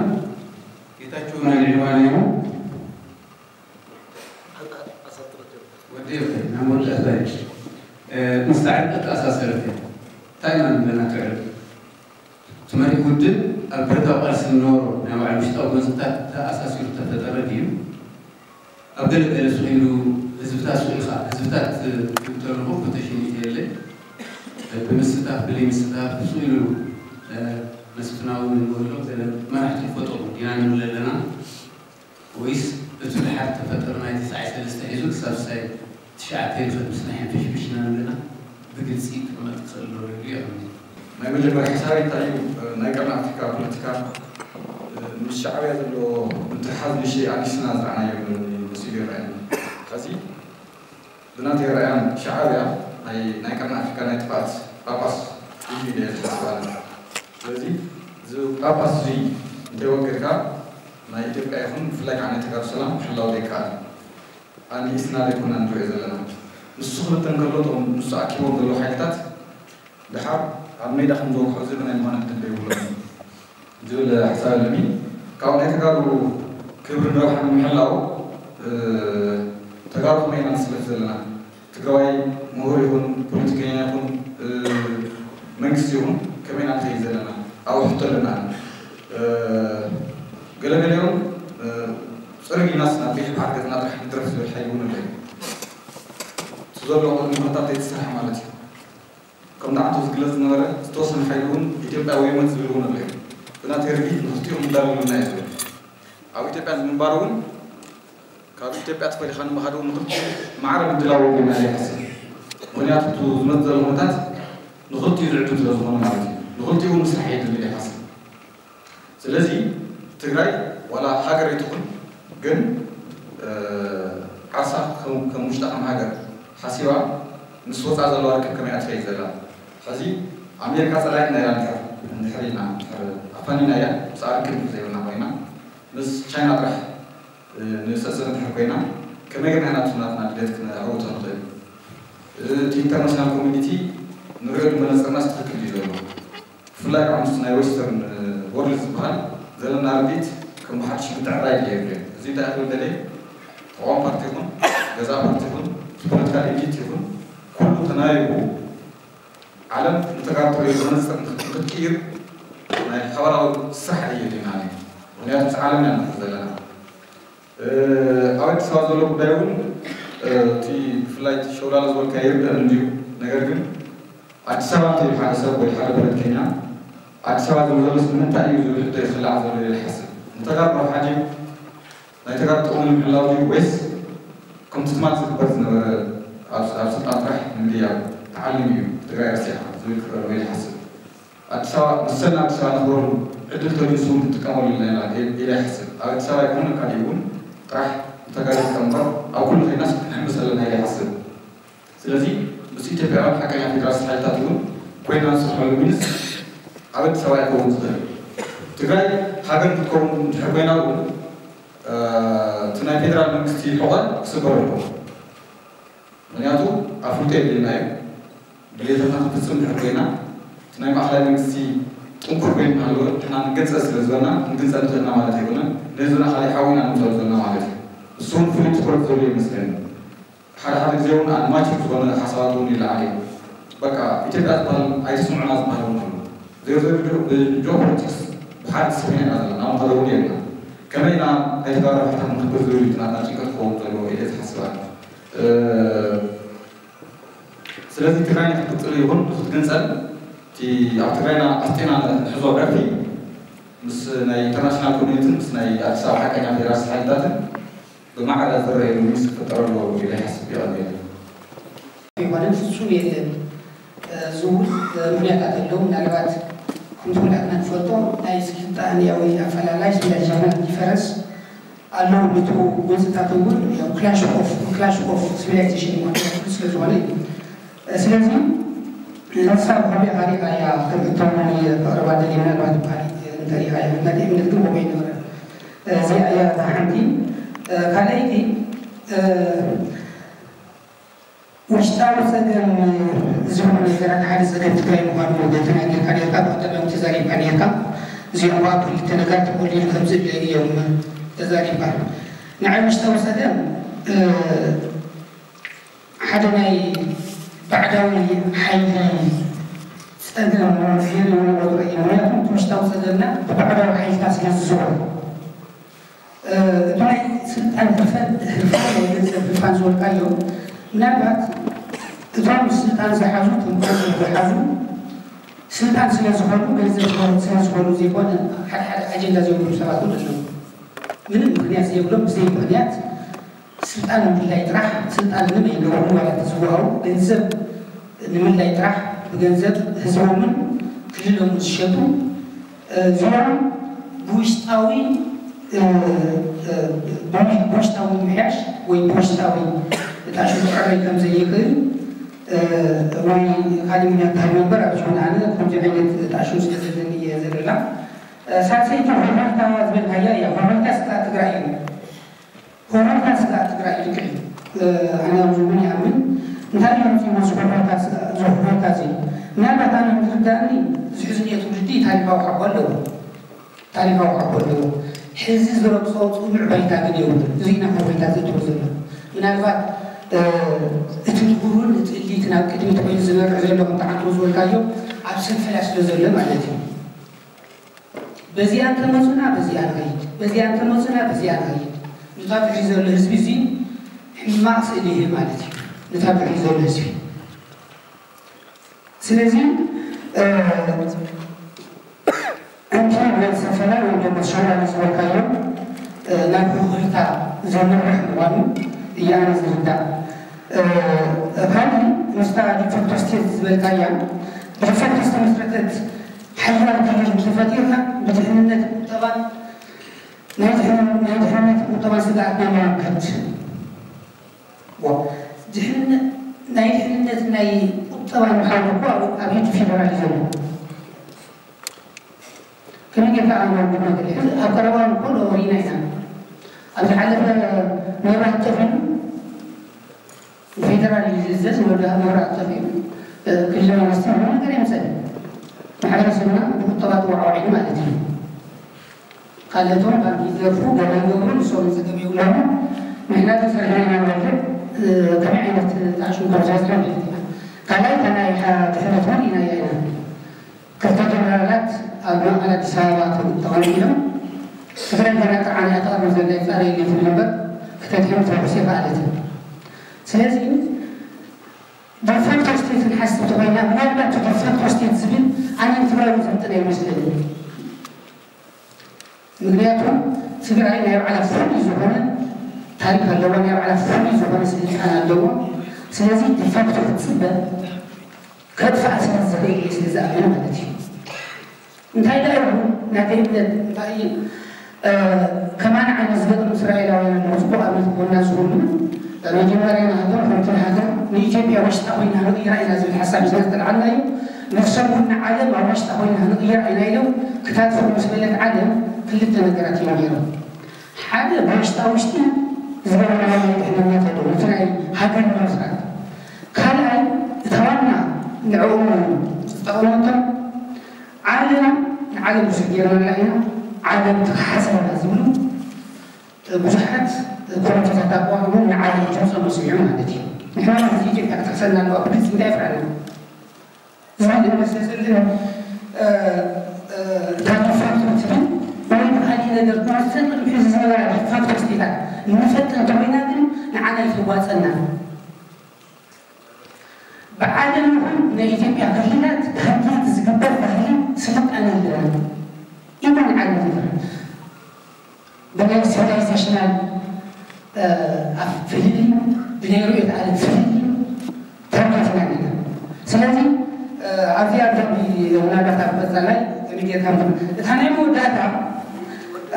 ጌታቸው ናይ ልዕባ ነይሩ ወዲ ናይ መወዳእታ እዩ። ምስ ፃዕሪ ተተኣሳሰረት እያ። እንታይ ኢና ንብለና ትዕርብ? እቲ መሪሕ ውድብ ኣብ ብረታዊ ቃልሲ ዝነበሮ ናይ ባዕሉ ውሽጣዊ ጎንፅታት ተኣሳሲሩ ዝተፈጠረ ድዩ? ኣብ ገለ ገለ ስቕ ኢሉ ህዝብታት ስቕ ኢኻ ህዝብታት ክብል ከለኹ ኮቴሽን የለይ ምስታፍ ስኢሉ መስፍናዊ ንብሎ ገለ መራሕቲ ፈጠሩ ዲና ንብል ኣለና ወይስ እቲ ድሓር ተፈጠረ ናይ ተስዓይ ሰለስተ ሒዙ ክሳብ ሳይ ትሽዓተ ይኸድ ምስ ናይ ሕንፍሽፍሽና ንብለና ብግልፂ ክቕመጥ ክኽእል ዶ ኢሉ ይቕኒ። ናይ መጀመርያ ሓሳብ እንታይ እዩ? ናይ ቀርኒ ኣፍሪካ ፖለቲካ ምስ ሻዕብያ ዘለዎ ምትሓዝ ንሽ ኣዲስና ዝረኣናዮ መሲሉ ይረኣየኒ። ከዚ ብናተይ ረኣያን ሻዕብያ ናይ ናይ ቀርኒ ኣፍሪካ ናይ ጥፍኣት ጳጳስ እዩ ኢለ ዝሓስብ ኣለ። ስለዚ እዚ ጳጳስ እዚ እንተይወገድካ ናይ ኢትዮጵያ ይኹን ብፍላይ ከዓ ናይ ተጋሩ ሰላም ክሕላው ዘይከኣል። ኣንዲስና ዘይኮና ንሪኦ ዘለና። ንሱ ክብተን ከሎ እቶም ንሱ ኣኪቦም ዘለዉ ሓይልታት ድሓር ኣብ ሜዳ ከም ዝወግሑ ዝብል ናይ ምዃን ዕድል ዘይብሎም ዝብል ሓሳብ ኣለኒ። ካብ ናይ ተጋሩ ክብሪ ንረብሓ ንምሕላው ተጋሩ ከመይ ኢና ንስለፍ ዘለና? ትግራዋይ ምሁር ይኹን ፖለቲከኛ ይኹን መንግስቲ ይኹን ከመይ ኢና ንኸይድ ዘለና ኣብኡ ሕቶ ኣለና። ገለገሊኦም ፅርግ ኢልናስ ናብ ቀይሕ ባሕሪ ገፅና ጥራሕ ንድረፍ ዝብል ሓይሊ እውን ኣሎ። እቲ ዘሎ ቅድሚ ኩነታት ዘይተሰርሐ ማለት እዩ። ከም ንዓቱ ዝግለፅ ዝነበረ ዝተወሰነ ሓይሊ እውን ኢትዮጵያ ወይመት ዝብል እውን ኣሎ። ብናተይ ርድኢት ንክልቲኦም እንዳለሉና እዩ ዝብል። ኣብ ኢትዮጵያ ንምንባር እውን ካብ ኢትዮጵያ ተፈሊኻ ንምኻድ እውን ንክልቲኡ ማዕረ ምድላው እውን ኢና ይሓስብ። ምክንያቱ እቲ ዝመፅእ ዘሎ ኩነታት ንክልቲኡ ዝዕድም ስለ ዝኾነ ማለት እዩ። ንክልቲኡ እውን ምስራሕ የድሊ ይሓስብ። ስለዚ ትግራይ ዋላ ሃገር ኣይትኹን ግን ዓርሳ ከም ውሽጣ ከም ሃገር ሓሲባ ምስ ወፃ ዘለዋ ርክብ ከመይ ኣትኸይ ዘላ ሕዚ ኣሜሪካ ፀላይትና እያ። እንድሕር እንድሕር ኢና እንድሕር ኣፋኒና እያ ምስ ኣርክብ ዘይብልና ኮይና ምስ ቻይና ጥራሕ ንሰስር እንድሕር ኮይና ከመይ ገርና ኢና ናትና ድሌት ክነዕውቶ ንኽእል? እቲ ኢንተርናሽናል ኮሚኒቲ ንሪኦ መነፅርናስ ትኽክል እዩ ዘሎ። ብፍላይ ከዓ ምስ ናይ ዌስተርን ወርልድ ዝበሃል ዘለና ርድኢት ከም ብሓድሽ ምትዕራይ ድልየት እዩ። እዚ እንታይ ክብል ደልየ ተቃዋሚ ፓርቲ ይኹን ገዛ ፓርቲ ይኹን ፖለቲካል ኤሊት ይኹን ኩሉ ተናይቡ ዓለም ንተጋሩ ትሪኦ መነፅር ንክትቅይር ናይ ሓባራዊ ስራሕ ድልየት እዩ። ምክንያቱ ምስ ዓለም ኢና ንኽእል ዘለና ኣብ ኣዲስ ኣበባ ዘሎ ጉዳይ እውን እቲ ብፍላይ እቲ ሸውላላ ዝበልካ ይርደእ እንድዩ። ነገር ግን ኣዲስ ኣበባ እንተይሉ ሓደ ሰብ ወይ ሓደ ፖለቲከኛ ኣዲስ ኣበባ ዝብል ዘሎስ ንምንታይ እዩ ዝብል ሕቶ ይኽላዕ ዘሎ ኢለ ይሓስብ። ንተጋሩ ረብሓ ድዩ ናይ ተጋሩ ጥቕሚ ንምሕላው ድዩ ወይስ ከምቲ ትማል ዝግበር ዝነበረ ኣብ ስልጣን ጥራሕ ንምድያብ ተዓሊሙ እዩ ትግራይ ረሲዕካ ዝብል ክረሎ ኢለ ይሓስብ። ኣዲስ ኣበባ መሰልና ኣዲስ ኣበባ ነኽብረሉ ዕድል ተገይሱ ክንጥቀመሉ ኣለና ኢለ ይሓስብ። ኣብ ኣዲስ ኣበባ ይኹን ኣብ ካሊእ እውን ጥራሕ ንተጋሩ ክጥቀም እምበር ኣብ ኩሉ ከይድናስ ክንሕምስ ኣለና ኢለ ይሓስብ። ስለዚ ምስ ኢትዮጵያውያን ሓቀኛ ፌደራሊስት ሓይልታት እውን ኮይና ንሰርሐሉ ሚንስ ኣብ ኣዲስ ኣበባ ኣይከውን ዝኽእል። ትግራይ ሃገር ክትከውን እንድሕር ኮይና እውን እቲ ናይ ፌደራል መንግስቲ ሕቖ ክስበር ኣለዎ። ምክንያቱ ኣፍልጦ የድልየና እዩ። ድሌታትና ክንፍፅም ድሕር ኮይና እቲ ናይ ማእኸላይ መንግስቲ ጥንኩር ኮይኑ እናሃለወ ንሕና ንገንፀል ስለ ዝበልና ክንግንፀል ንኽእልና ማለት ኣይኮነን። ንህዝብና ካሊእ ሓዊ ኢና ንምፅኦ ዘለና ማለት እዩ። እሱ እውን ፍሉይ ትኩረት ዘድልዮ ይመስለኒ። ሓደ ሓደ ግዜ እውን ኣድማጭ ዝኾነ ሓሳባት እውን ይለዓል እዩ። በቃ ኢትዮጵያ ዝበሃል ኣይተስምዑና ዝበሃል እውን ኣሎ። ዜሮ ዜሮ ብጂኦፖለቲክስ ብሓደ ተሰሚዕና ዘለና ምኸደ እውን የብልና። ከመይ ኢና ናይ ተጋሩ ረብሓታት ንክብር ዝብል እዩ ናትና ጭንቀት ክኸውን ዘለዎ ኢለ ዝሓስብ ኣነ። ስለዚ ትግራይ ንክትቅፅል ይኹን ንክትግንፀል እቲ ኣብ ትግራይና ኣስጢና ንሕዞ ዕርፊ ምስ ናይ ኢንተርናሽናል ኮሚኒቲን ምስ ናይ ኣዲስ ኣበባ ሓቀኛ ፌደራሊስት ሓይልታትን ብማዕረ ዝረኣየሉ ሚንስ ክፍጠር ኣለዎ ኢለ ይሓስብ። ይቐኒለይ። ኣይኮነን፣ ፍጹም የለን። እዚ እውን ምኽንያታት ኣለዉ። ምናልባት ከምቲ ኩላትና ንፈልጦ ናይ ስልጣኔያዊ ኣፈላላይ፣ ሲቪላይዜሽናል ዲፈረንስ፣ ኣለዉ። ነቲ ጎንፅታት እውን ያው ክላሽ ኦፍ ክላሽ ኦፍ ሲቪላይዜሽን ይኮን ስለ ዝኾነ እዩ። ስለዚ ንሳ ብኸመይ ሪኢኻያ ከም ሕቶ ናይ ፍቕሪ ባደሊ ምናልባት ባሪት እንተሪኢኻያ ምክንያቱ እምነት ግን ከምኡ ይነበረ። እዚኣ እያ እታ ሓንቲ። ካልኣይቲ ውሽጣዊ ፀገም ዝብሉ ነገራት ሓደ ፀገም ትግራይ ምኳኑ ተናጊርካ ነርካ፣ ብቀዳማዊ ተዛሪብካ ነርካ። እዚኦም ከዓ ክልተ ነገራት ተቆሊሉ ከምዝለ እዮም ተዛሪብካ። ንዓይ ውሽጣዊ ፀገም ሓደ ናይ ባዕዳዊ ሓይሊ ፀገም ገይሩ ይወጥሮ እዩ። ምክንያቱ እቲ ውሽጣዊ ፀገምና ብባዕዳዊ ሓይልታት ስለ ዝዝውር እቲ ናይ ስልጣን ህርፋን ህርፋን ናይ ገንዘብ ህርፋን ዝበልካዮ ምናልባት እቶም ስልጣን ዝሓዙ እቶም ገንዘብ ዝሓዙ ስልጣን ስለ ዝኾኑ፣ ገንዘብ ስለ ዝኾኑ ዘይኮነ፣ ሓደ ሓደ ኣጀንዳ ዘብሎም ሰባት እውን ኣለዉ። ምንም ምኽንያት ዘይብሎም፣ ብዘይ ምኽንያት ስልጣን ንምድላይ ጥራሕ፣ ስልጣን ምንም ኣይገብሩን፣ ዋላ እንተዝወሃቡ፣ ገንዘብ ንምድላይ ጥራሕ፣ ብገንዘብ ህዝቦምን ክልሎምን ዝሸጡ፣ እዚኦም ብውሽጣዊ፣ እ፣ እ፣ ብውሽጣዊ ምምሕያሽ ወይ ብውሽጣዊ ጣዕሹ ክዕረይ ከም ዘይኽእል፣ እ፣ ወይ ካልእ ምኽንያት ክህልዎ እምበር፣ ኣብ ዝኾነ ኣነ ከምዚ ዓይነት ጣዕሹ ስለ ዘለኒ እየ ዝርላ። እ፣ ሳልሰይቲ ሆሆይታ ዝበልካያ እያ። ሆሆይታ ስጋእ ትግራይ እዩ። ሆሆይታ ስጋእ ትግራይ እዩ ልክዕ እዩ። እ፣ ኣነ ኣብዚ እውን ይኣምን። እንታይ እዩ ኣምፂእዎ እዚ ሆሆይታ ስጋእ፣ እዚ ሆሆይታ እዚ? ምናልባት ኣነ ዝርዳእኒ፣ እዚ ሕዚ እኒኦ ትውልዲ ታሪኻዊ ሓቦ ኣለዎ። ታሪኻዊ ሓቦ ኣለዎ። ሕዚ ዝረግጾ ጽኑዕ ባይታ ግን የብሉን። እዚ ኢና ሆሆይታ ዘእትዎ ዘሎ። ምናልባት፣ እ፣ እቲ ንቡርን እቲ እሊትን ኣብ ቅድሚት ኮይኑ ዝመርሕ ዘሎ፣ ከምቲ ዓንቶ ዝበልካዮ፣ ኣብ ሰልፈላ ስለ ዘሎ ማለት እዩ። በዚኣ እንተመጹና በዚኣ ንኸይድ፣ በዚኣ እንተመጹና በዚኣ ንኸይድ። ነታ ብድሕሪ ዘሎ ህዝቢ እዚ ሕማቕ ስእሊ ይህብ ማለት እዩ። ነታ ብድሕሪ ዘሎ ህዝቢ። ስለዚ፣ እ፣ እቲ ናይ ሰፈላ ወይ ደሞ ሸውላ ዝበልካዮ፣ እ፣ ናብ ሆሆይታ ዘምርሕ ምዃኑ እየ ኣነ ዝርዳእ። እ፣ ካልእ ምስታ ዲፋክቶ ስቴት ዝበልካያ፣ ዲፋክቶ ዝተመስረተት ሓያል ክልል እንተፈጢርና፣ ብድሕንነት ቁጠባን ናይ ድሕን-፣ ናይ ድሕንነት ቁጠባን ስግኣትና ንምምካት። ዋ፣ ድሕንነት፣ ናይ ድሕንነት ናይ ቁጠባ ምዃኑ እኮ ኣብ፣ ኣብ ኢድ ፌደራል እዩ ዘሎ። ከመይ ጌርካ ኣመልክቶ ማለት እዩ? ኣብ ቀረባ እኮ ዶ ሪና ኢና። ኣብ ዝሓለፈ መብራት ጠፊኡ፣ ፌደራል እዩ ዝእዘዝ፣ ወደ መብራት ጠፊኡ፣ እ፣ ክልል መንግስቲ ምንም ነገር የምፀን። ማሕበረሰብና ብቁጠባ ተዋዕዋዒ ማለት እዩ። ካልኦቶም ባንክ ይዘርፉ፣ ገለ ይገብሩ፣ ንሶም ጸገም የብሎምን። ንሕና ግን ሰሪሕና ኢና ንበልዕ፣ እ፣ ከመይ ዓይነት ጣዕሹ ከም ዝበዝሐ ንፈልጥ ኢና። ካልኣይ፣ እታ ናይ ሓ-፣ ድሕነት እውን ርኢናያ ኢና። ክልተ ጀነራላት ኣብ ማእከል ኣዲስ ኣበባ ተ-፣ ተቐሚጦም፣ ትግራይ ገና ጥርዓን እያ ተቕርብ ዘላ፣ ይጻረየለይ ትብል እምበር፣ ክተድሕን ተኩስ ኣይከኣለትን። ስለዚ፣ ዲፋክቶ ስቴት ክንሓስብ ተኾይና፣ ምናልባት ዲፋክቶ ስቴት ዝብል ኣነ ንትግራይ እውን ዝምጥን ኣይመስለንን። ምክንያቱ ትግራይ ናይ ባዕላ ፍሉይ ዝኾነ ታሪክ ኣለዋ፣ ናይ ባዕላ ፍሉይ ዝኾነ ስልጣን ኣለዋ። ስለዚ ዲፋክቶ ክትፅበ ከጥፍኣ ስለ ዝኽእል እየ ስለ ዝኣምን ማለት እዩ። እንታይ ደኣ ይኹን ናተይ እምነት እንታይ እዩ፣ እ፣ ከማን ዓይነት ዝገጥሙ እስራኤላውያን ኣለዉ። ጽቡቕ ኣብነት ክኾንና ዝኽእሉ መጀመርያ ንሃገር ከምቲ ንሃገር ንኢትዮጵያ ውሽጣ ኮይና ንቕይራ ኢና ዝብል ሓሳብ እዩ ስለ ዝተልዓልና እዩ። ንሶም እውን ንዓለም ኣብ ውሽጣ ኮይና ንቕይራ ኢና ኢሎም ክታትፎም ምስ በለት ዓለም ክልተ ነገራት እዮም ገይሮም። ሓደ ብውሽጣ ውሽጢ ዝገበርናዮ ናይ ድሕንነት ኣለዉ፣ እቲ ናይ ሃገር ንምስራት። ካልኣይ እታ ዋና ንዕኡ ዝጠቐመቶም ዓለም ንዓለም ብዙሕ ገይርናላ ኢና፣ ዓለም ትከሓሰና ዝብሉ ብዙሓት ኮሚቴታት ኣቋቑሞም ንዓለም ድምፆም ኣስሚዖም ማለት እዩ። ንሕና እውን ህዝቢ ኢትዮጵያ ክትሕሰና ኣለዋ፣ ብግልፂ እንታይ ይፍራና ዝብል እምነት ስለ ዘለኒ፣ እ፣ እ፣ እታ ዲፋክቶ ትብል ወይ ብኻሊእ ነገር ንሰን ቅድሚ ሕዚ ዝነበራ ዲፋክቶ ስቴታት ንፈጥር እንተኾይና ግን ንዓና ኣይትዋፀና። ብዓለም ይኹን ናይ ኢትዮጵያ ክልላት ብህግደፍ ዝግበር ባህሊ ስልጣነ የለን። ኢቨን ዓለም ይኹን ብናይ ሲቪላይዜሽናል፣ እ፣ ኣፍ-፣ ፍልልይ፣ ብናይ ርእዮተ ዓለም ፍልልይ ተረጋጊና ኣለና። ስለዚ፣ እ፣ ኣብዚኣ ደንቢ ምናልባት ኣብ ቀፃላይ ከመይ ጌርካ ምትም-፣ እታ ናይ መወዳእታ፣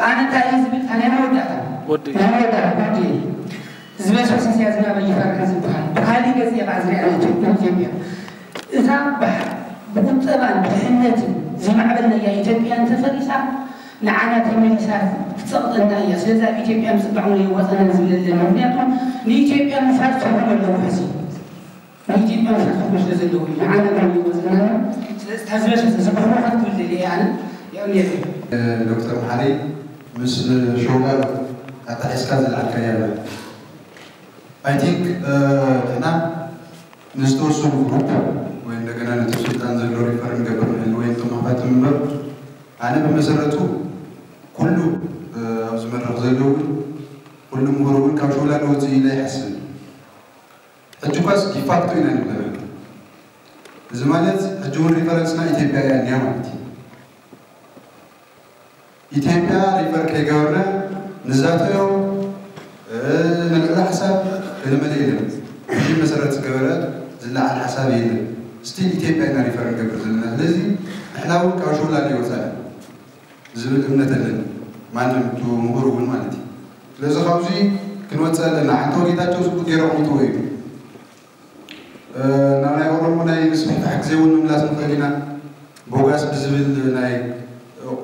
ኣነ እንታይ እየ ዝብል፣ እታ ናይ መወዳእታ፣ ወዲ። ናይ መወዳእታ፣ ወዲ። ዝበስበሰ ስያዝ ናበይ ይፈርሕን ዝበሃል ብኻሊእ ገፅ እየ ከዓ ዝሪኣ ኢትዮጵያ። እዛ ብሓ-፣ ብቁጠባን ድሕነትን ዝማዕበልናያ ኢትዮጵያ እንተፈሪሳ ንዓና ተመሊሳ ትፀቕጠና እያ። ስለዚ ኣብ ኢትዮጵያ ምፅባዕ እውን የዋፀናን ዝብል ኣለና። ምክንያቱ ንኢትዮጵያ ምፍራስ ትርጉም ኣለዎ ሕዚ። ንኢትዮጵያ ምፍራስ ትርጉም ስለ ዘለዎ እዩ። ንዓና ግን የዋፀናን። ስለዚ እታ ዝበሰበሰ ዝብህሮ ክትብል ደልየ እየ ኣነ። የቐንየለይ። ዶክተር መሓሪ ምስ ሸውላል ኣጣሒስካ ዝለዓልካያ ኣላ። I think፣ እ፣ ንሕና ንዝተወሰኑ ግሩፕ ወይ እንደገና ነቲ ስልጣን ዘሎ ሪፈር ንገብር ንህሉ ወይ ንተማኻትም እምበር፣ ኣነ ብመሰረቱ ኩሉ፣ እ፣ ኣብዚ መድረኽ ዘለዉ እውን ኩሉ ምሁር እውን ካብ ሸውላ ንወፅእ ኢለ ኣይሓስብን። ሕጂ እኳስ ዲፋክቶ ኢና ንብለና። እዚ ማለት ሕጂ እውን ሪፈረንስና ኢትዮጵያ እያ እኒኣ ማለት እዩ። ኢትዮጵያ ሪፈር ከይገበርና ንዛተዮ ንልዕሊ ሓሳብ ገለመለ የለን። ሕጂ መሰረት ዝገበረ ዝለዓል ሓሳብ የለን። ስቲል ኢትዮጵያ ኢና ሪፈር ንገብር ዘለና። ስለዚ ንሕና እውን ካብ ሸውላ ይወፃና ዝብል እምነት ኣለኒ። ማንም እቱ ምሁር እውን ማለት እዩ። ስለዚ ካብዚ ክንወፅእ ኣለና። ሓንተ ጌታቸው ዝቡት ገይረ ቁምትዎ እዩ። ናብ ናይ ኦሮሞ ናይ ምስፍሕፋሕ ግዜ እውን ምምላስ ንኽእል ኢና። ቦጋስ ብዝብል ናይ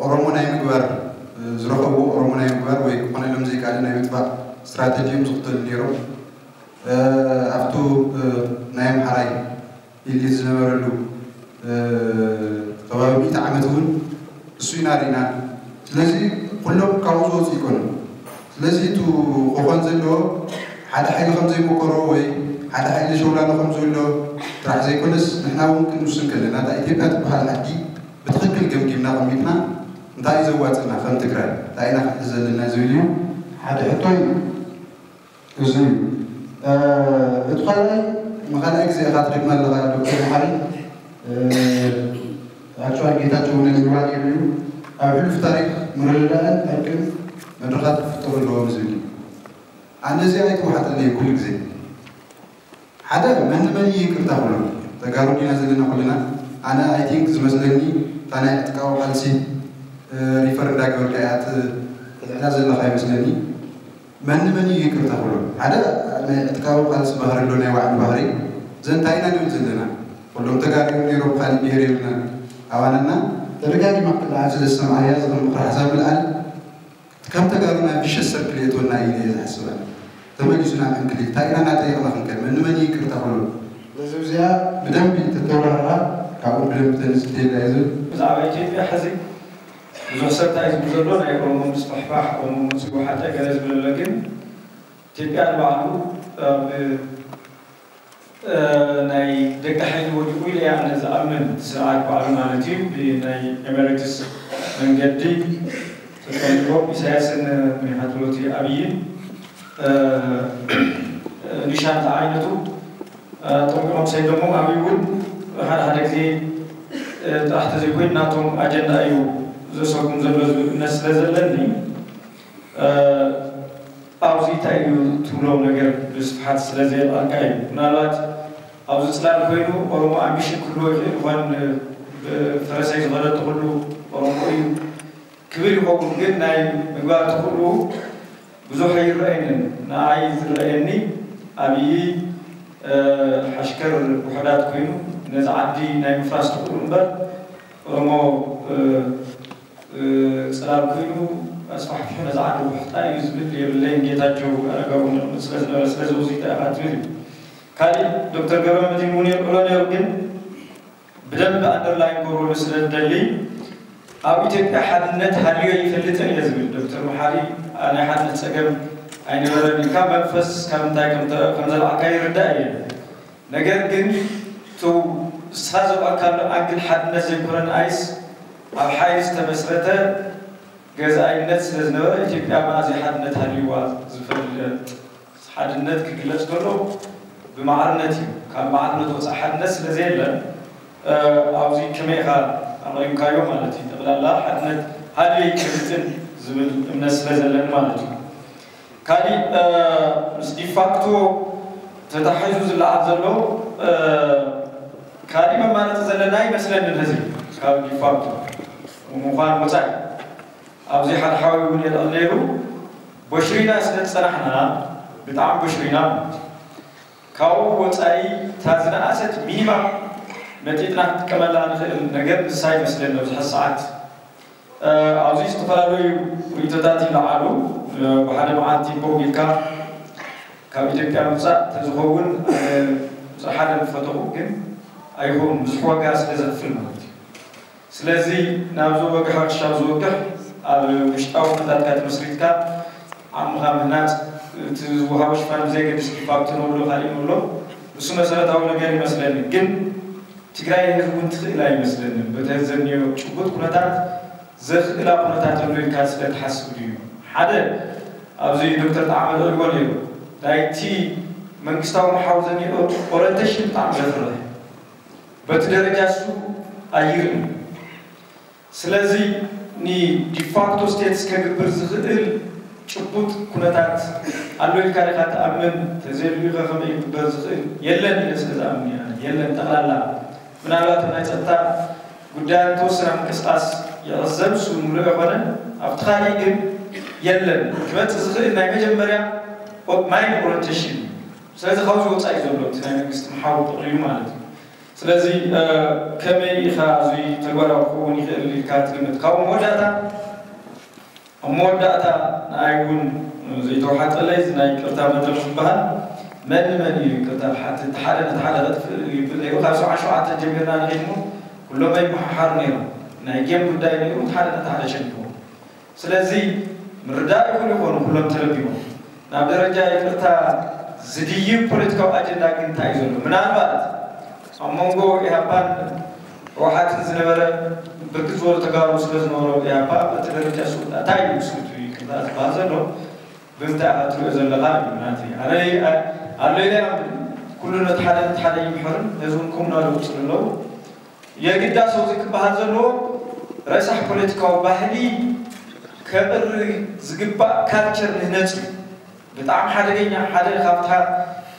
ኦሮሞ ናይ ምግባር ዝረኸብዎ ኦሮሞ ናይ ምግባር ወይ ክኾነሎም ዘይከኣለ ናይ ምጥፋእ ስትራተጂ እዮም ዝኽተሉ ነይሮም። ኣብቱ ናይ ኣምሓራይ ኢሊት ዝነበረሉ ከባቢ ሚእቲ ዓመት እውን እሱ ኢና ርኢና። ስለዚ ኩሎም ካብኡ ዝወፁ ይኮኑ። ስለዚ እቲ ክኾን ዘለዎ ሓደ ሓይሊ ከም ዘይመከሮ ወይ ሓደ ሓይሊ ሸውላሎ ከም ዝብሎ ጥራሕ ዘይኮነስ ንሕና እውን ክንውስን ከለና እታ ኢትዮጵያ ትበሃል ዓዲ ብትኽክል ገምጊምና ቀሚጥና እንታይ እዩ ዘዋፅና ከም ትግራይ እንታይ ኢና ክንሕዝ ዘለና ዝብል እዩ ሓደ ሕቶ እዩ። እዚ እዩ። እቲ ካልኣይ ንካልኣይ ግዜ ኢኻ ትደግማ ኣለኻ ዶክተር መሓሪ። ኣክቹዋሊ ጌታቸው እውን ንምባል የብሉ ኣብ ሕሉፍ ታሪክ ምርድዳእን ዕርቅን መድረኻት ክፍጠሩ ኣለዎም ዝብል እዩ። ኣነ እዚ ኣይተዋሓጠለይ ኩሉ ግዜ ሓደ መን መን ይቅርታ ክብሎ ተጋሩ ዲና ዘለና ኩልና ኣነ ኣይ ቲንክ ዝመስለኒ እታ ናይ ዕጥቃዊ ቃልሲ ሪፈር እንዳገበርካ እያ ትልዕላ ዘለካ ይመስለኒ። መን መን እዩ ይቅርታ ክብሎ ሓደ ናይ ዕጥቃዊ ቃልሲ ባህሪ ኣሎ ናይ ባዕሉ ባህሪ ዘንታይና ንብል ዘለና ኩሎም ተጋሩ ነይሮም ካልእ ብሄር የብልና ኣባናና ተደጋጊማ ክትለዓል ስለ ዝሰምዓያ ዝኽእል ምኽሪ ሓሳብ ምልዓል ከም ተጋሩ ናብ ቪሸስ ሰርክል የእትወና እዩ ኢለ እየ ዝሓስብ ኣነ። ተመሊሱ ናብ ዕንክሊል እንታይ ኢና እናጠየቕና ክንከድ መን ንመን እዩ ይቅርታ ክብሎ ስለዚ እዚኣ ብደንቢ ተተብራህራ ካብኡ ብደንቢ ተንስት የላ እዩ ዝብል ብዛዕባ ኢትዮጵያ ሕዚ ብዙሕ ሰብ እንታይ ዝብል ዘሎ ናይ ኦሮሞ ምስፋሕፋሕ ኦሮሞ መፅኡ ሓጠ ገለ ዝብል ኣሎ ግን ኢትዮጵያ ንባዕሉ ኣብ ናይ ደቂ ሓይሊ ወዲቑ ኢለ እየ ኣነ ዝኣምን እቲ ስርዓት ባዕሉ ማለት እዩ ብናይ ኤሜሬትስ መንገዲ ተጠሊቦም ኢሳያስን ምኒኻትሎቲ ኣብይን ኒሻን ዝዓይነቱ ጠንቂቖም ሰይዶሞም ኣብይ እውን ሓደ ሓደ ግዜ ጥራሕ ተዘይኮይኑ ናቶም ኣጀንዳ እዩ ዘሰጉም ዘሎ ዝብል እምነት ስለ ዘለኒ ኣብዚ እንታይ እዩ ትብሎ ነገር ብስፍሓት ስለ ዘየልዓልካ እዩ ምናልባት ኣብዚ ፅላል ኮይኑ ኦሮሞ ኣምቢሽን ክህልዎ ይኽእል ይኾን ፈረሰይ ዝኸደቱ ኩሉ ኦሮሞ እዩ ክብል ይኸውን ግን ናይ ምግባር ትኽእሉ ብዙሕ ኣይረኣየንን ንኣይ ዝረኣየኒ ኣብይ ሓሽከር ውሕዳት ኮይኑ ነዚ ዓዲ ናይ ምፍራስ ትኽእሉ እምበር ኦሮሞ ፅላል ኮይኑ ኣስፋሕፊሑ ነዚ ዓዲ ውሕጣ እዩ ዝብል የብለይን ጌታቸው ኣረጋዊ ንቕምጥ ስለ ዝነበረ ስለዚ ውፅኢት ኣኻ ትብል እዩ ካሊእ ዶክተር ገብረ መድህን እውን የልዕሎ ነይሩ ግን ብደንብ ኣንደርላይን ክገብረሉ ስለ ዝደሊ ኣብ ኢትዮጵያ ሓድነት ሃልዮ ይፈልጥን እየ ዝብል ዶክተር መሓሪ ናይ ሓድነት ፀገም ኣይነበረን ኢልካ መንፈስ ካብ እንታይ ከምዘልዓካ ይርዳእ እየ ነገር ግን ቱ ስኻ ዘውኣካሉ ኣንግል ሓድነት ዘይኮነ ንኣይስ ኣብ ሓይሊ ዝተመስረተ ገዛኣይነት ስለ ዝነበረ ኢትዮጵያ መኣዘይ ሓድነት ሃልይዋ ዝፈልጥ ሓድነት ክግለፅ ከሎ ብማዕርነት እዩ ካብ ማዕርነት ወፃእ ሓድነት ስለ ዘየለ ኣብዚ ከመይ ኢኻ ኣቕሪብካዮ ማለት እዩ ጠቕላላ ሓድነት ሃልዮ ይጭብጥን ዝብል እምነት ስለ ዘለኒ ማለት እዩ ካሊእ ምስ ዲፋክቶ ተታሒዙ ዝለዓል ዘሎ ካሊእ መማረፂ ዘለና ይመስለኒ ነዚ ካብ ዲፋክቶ ምዃን ወፃኢ ኣብዚ ሓደ ሓዊ እውን የልዕል ነይሩ ቦሽሪና ስለ ዝፀናሕና ብጣዕሚ ቦሽሪና ካብኡ ወፃኢ እታ ዝነኣሰት ሚኒማ መጢጥና ክንጥቀመላ ንኽእል ነገር ንሳ ይመስለኒ ኣብዚ ሕዚ ሰዓት ኣብዚ ዝተፈላለዩ ርእቶታት ይለዓሉ ብሓደ መዓልቲ ቦግ ኢልካ ካብ ኢትዮጵያ ምውፃእ ተዝኸውን ሓደ ዝፈተኹ ግን ኣይኸውን ብዙሕ ዋጋ ስለ ዘኽፍል ማለት እዩ ስለዚ ናብዚ ወግሒ ክሻብ ዝወግሕ ኣብ ውሽጣዊ ኩነታትካ ተመስሪትካ ዓቕምኻ ምህናፅ እቲ ዝወሃቦ ሽፋን ብዘየገድስ ዲፋክቶ ንብሎ ካሊእ ንብሎ እሱ መሰረታዊ ነገር ይመስለኒ ግን ትግራይ ህዝቢ እውን ትኽእል ኣይመስለንን በቲ ዘኒዮ ጭቡጥ ኩነታት ዘኽእላ ኩነታት ኣሎ ኢልካ ስለ ትሓስብ ድዩ ሓደ ኣብዚ ዶክተር ጣዕመ ልዕልዎ ነይሩ ናይቲ መንግስታዊ መሓውር ዘኒኦ ኦሪንቴሽን ብጣዕሚ ዘፍርሕ በቲ ደረጃ እሱ ኣይርእን። ስለዚ ንዲፋክቶ ስቴትስ ከግብር ዝኽእል ጭቡጥ ኩነታት ኣሎ ኢልካ ዲኻ ትኣምን? ተዘይልዩኸ ከመይ ክግበር ዝኽእል የለን ኢለ ስለ ዝኣምን እየ። የለን፣ ጠቕላላ ምናልባት ኣብ ናይ ጸጥታ ጉዳያት ተወሰነ ምንቅስቃስ ይዕዘብ፣ እሱ ንሪኦ ይኾነ። ኣብቲ ካሊእ ግን የለን። ክመጽእ ዝኽእል ናይ መጀመርያ ማይንድ ኦሪንቴሽን እዩ። ስለዚ ካብዚ ወጻኢ ዘሎ እቲ ናይ መንግስቲ መሓውር ጠቕሊሉ ማለት እዩ። ስለዚ ከመይ ኢኻ እዚ ተግባራዊ ክኸውን ይኽእል ኢልካ ትግምት? ካብ መወዳእታ ኣብ መወዳእታ ንኣይ እውን ዘይተዋሓጠለይ እዚ ናይ ይቅርታ መድረኽ ዝበሃል መን ንመን እዩ ይቅርታ ዝሓትት? ሓደ ነቲ ሓደ ከጥፍእ ይብል ነይሩ። ካብ ሰብዓ ሸውዓተ ጀሚርና ንኺድሞ ኩሎም ኣይመሓሓሩ ነይሮም። ናይ ጌም ጉዳይ ነይሩ፣ እቲ ሓደ ነቲ ሓደ ሸኒፎም። ስለዚ ምርዳእ ይኹን ይኾኑ ኩሎም ተረዲሞም። ናብ ደረጃ ይቅርታ ዝድይብ ፖለቲካዊ ኣጀንዳ ግን እንታይ እዩ ዘሎ? ምናልባት ኣብ መንጎ ኢህኣፓን ህወሓትን ዝነበረ ብርክት ዝበሉ ተጋሩ ስለ ዝነበሩ ኢህኣፓ በቲ ደረጃ ስውጣ እንታይ እዩ ስውቱ ይቅርታ ዝበሃል ዘሎ? ብምንታይ ኢኻ ትሪኦ ዘለኻ እዩ ናተይ። ኣነ ኣሎ ኢለ ኩሉ ነቲ ሓደ ነቲ ሓደ ይምሕርን ህዝቡን ከምኡ እናሉ ይቕፅሉ ኣለዉ። የግዳ ሰው እዚ ክበሃል ዘለዎ ረሳሕ ፖለቲካዊ ባህሊ ከቕሪ ዝግባእ ካልቸር ንህነፅ እዩ። ብጣዕሚ ሓደገኛ ሓደ ካብታ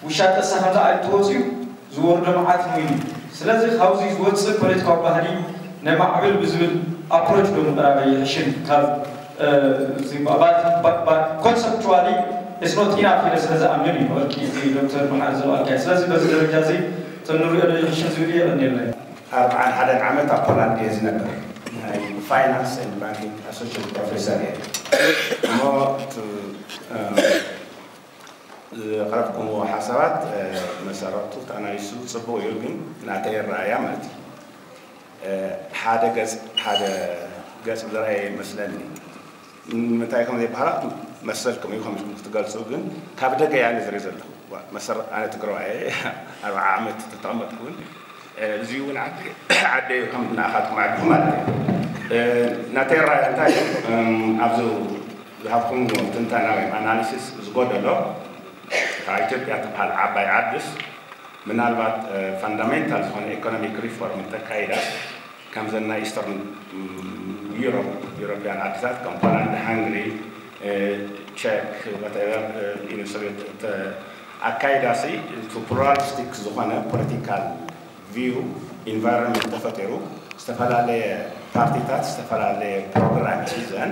ውሻ ጠሳ ከምዛ ኣይትወፅዩ ዝወርዶ መዓት ነው እዩ። ስለዚ ካብዚ ዝወፅእ ፖለቲካዊ ባህሊ ነማዕብል ብዝብል ኣፕሮች ዶ ምቕራበ ይሕሽን ካብ ኮንሰፕቹዋሊ ስኖት ኢናፍ ኢለ ስለ ዝኣምን እዩ። ወርቂ ዶክተር መሓር ዘባልካ። ስለዚ በዚ ደረጃ እዚ ተንሪኦ ዶ ይሕሽን ዝብል የቐንየለይ። ኣርብዓን ሓደን ዓመት ኣብ ፖላንድ እየ ዝነብር። ናይ ፋይናንስ ኤንድ ባንኪንግ ኣሶሽት ፕሮፌሰር እየ። እሞ እቲ፣ እ፣ ዘቕረብኩምዎ ሓሳባት፣ እ፣ መሰረቱ ተኣናይሱ ጽቡቕ እዩ፣ ግን ናተይ ኣረኣእያ ማለት እዩ። እ፣ ሓደ ገጽ፣ ሓደ ገጽ ዝረኣየ ይመስለኒ። ንምንታይ ከም ዘይበሃላ መሰልኩም እዩ ከም ክትገልጹ፣ ግን ካብ ደገ እያ ዝርኢ ዘለኹ። ዋ፣ መሰረት ኣነ ትግራዋይ እየ፣ ኣርብዓ ዓመት ተተቐመጥኩ እውን፣ እ፣ እዚ እውን ዓዲ፣ ዓደይ ከም ናኻትኩም ዓድኹም ማለት እዩ። እ፣ ናተይ ራእይ እንታይ እዩ? እም፣ ኣብዚ ዝሃብኩም ትንተና ወይ ኣናሊሲስ ዝጎደሎ፣ እታ ኢትዮጵያ ትበሃል ዓባይ ዓድስ ምናልባት፣ እ፣ ፋንዳሜንታል ዝኾነ ኢኮኖሚክ ሪፎርም እንተካይዳ፣ ከምዘን ናይ ኢስተርን፣ ም፣ ዩሮፕ፣ ዩሮፕያን ዓድታት ከም ፖላንድ፣ ሃንግሪ፣ እ፣ ቸክ፣ ዋተቨር፣ እ፣ ኢሉ ሶቪየት እተ-፣ ኣካይዳሲ፣ እቲ ፕሉራሊስቲክ ዝኾነ ፖለቲካል ቪው ኢንቫይሮንመንት ተፈጢሩ፣ ዝተፈላለየ ፓርቲታት ዝተፈላለየ ፕሮግራም ሒዘን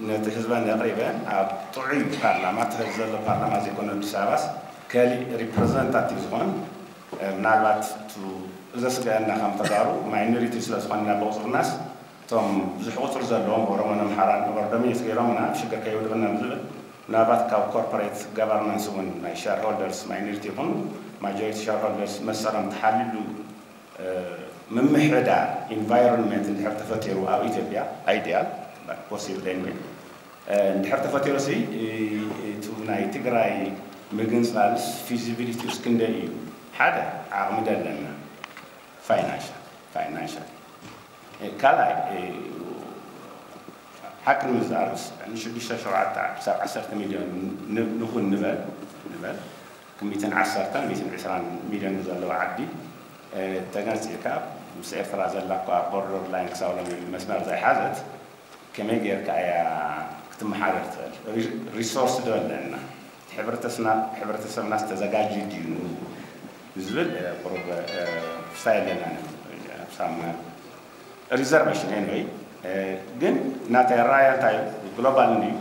ነቲ ህዝበን ኣቕሪበን ኣብ ጥዑይ ፓርላማ፣ እቲ ህዝቢ ዘሎ ፓርላማ ዘይኮነ ኣዲስ ኣበባስ፣ ከሊእ ሪፕረዘንታቲቭ ዝኾን፣ እ፣ ምናልባት እቱ ዘስግአና ከም ተጋሩ ማይኖሪቲ ስለ ዝኾንና ብቑፅርናስ፣ እቶም ብዙሕ ቁፅሪ ዘለዎም ኦሮሞን ኣምሓራን ኦቨርዶሚኔት ገይሮምና ኣብ ሽግር ከይውድቕና ዝብል፣ ምናልባት ካብ ኮርፖሬት ጋቨርናንስ እውን ናይ ሻርሆልደርስ ማይኖሪቲ ይኹኑ ማጆሪቲ ሻርሆልደርስ መሰሎም ተሓልዩሉ፣ እ፣ ምምሕዳር ኢንቫይሮንመንት እንድሕር ተፈጢሩ ኣብ ኢትዮጵያ፣ ኣይዲያል ፖሲብል ኤንወይ፣ እ፣ እንድሕር ተፈጢሩ ሲ፣ እ፣ እቱ ናይ ትግራይ ምግንፃል ፊዚቢሊቲ ውስ ክንደይ እዩ? ሓደ ዓቕሚ ደለና፣ ፋይናንሻል፣ ፋይናንሻል። እ፣ ካልኣይ፣ እ፣ ሓቂ ንምዝራብ ንሽዱሽተ ሸውዓተ ክሳብ ዓሰርተ ሚልዮን ን-፣ ንኹን ንበል፣ ንበል፣ ሚእትን ዓሰርተን ሚእትን ዕስራን ሚልዮን ዘለዋ ዓዲ፣ እ፣ ተገንፂልካ ምስ ኤርትራ ዘላ እኳ ቦርደር ላይን ክሳብ ሎሚ መስመር ዘይሓዘት፣ ከመይ ጌርካ እያ ክትመሓደር ትኽእል? ሪ-፣ ሪሶርስ ዶ ኣለና? ሕብረተስና-፣ ሕብረተሰብናስ ተዘጋጅዩ ድዩ ንዝብል፣ እ፣ ቁሩብ፣ እ፣ ፍስታ የለናን። ኣብ ሳማ ሪዘርቬሽን ኤንወይ፣ እ፣ ግን ናተይ ኣረኣእያ እንታይ እዩ? ግሎባል እንድዩ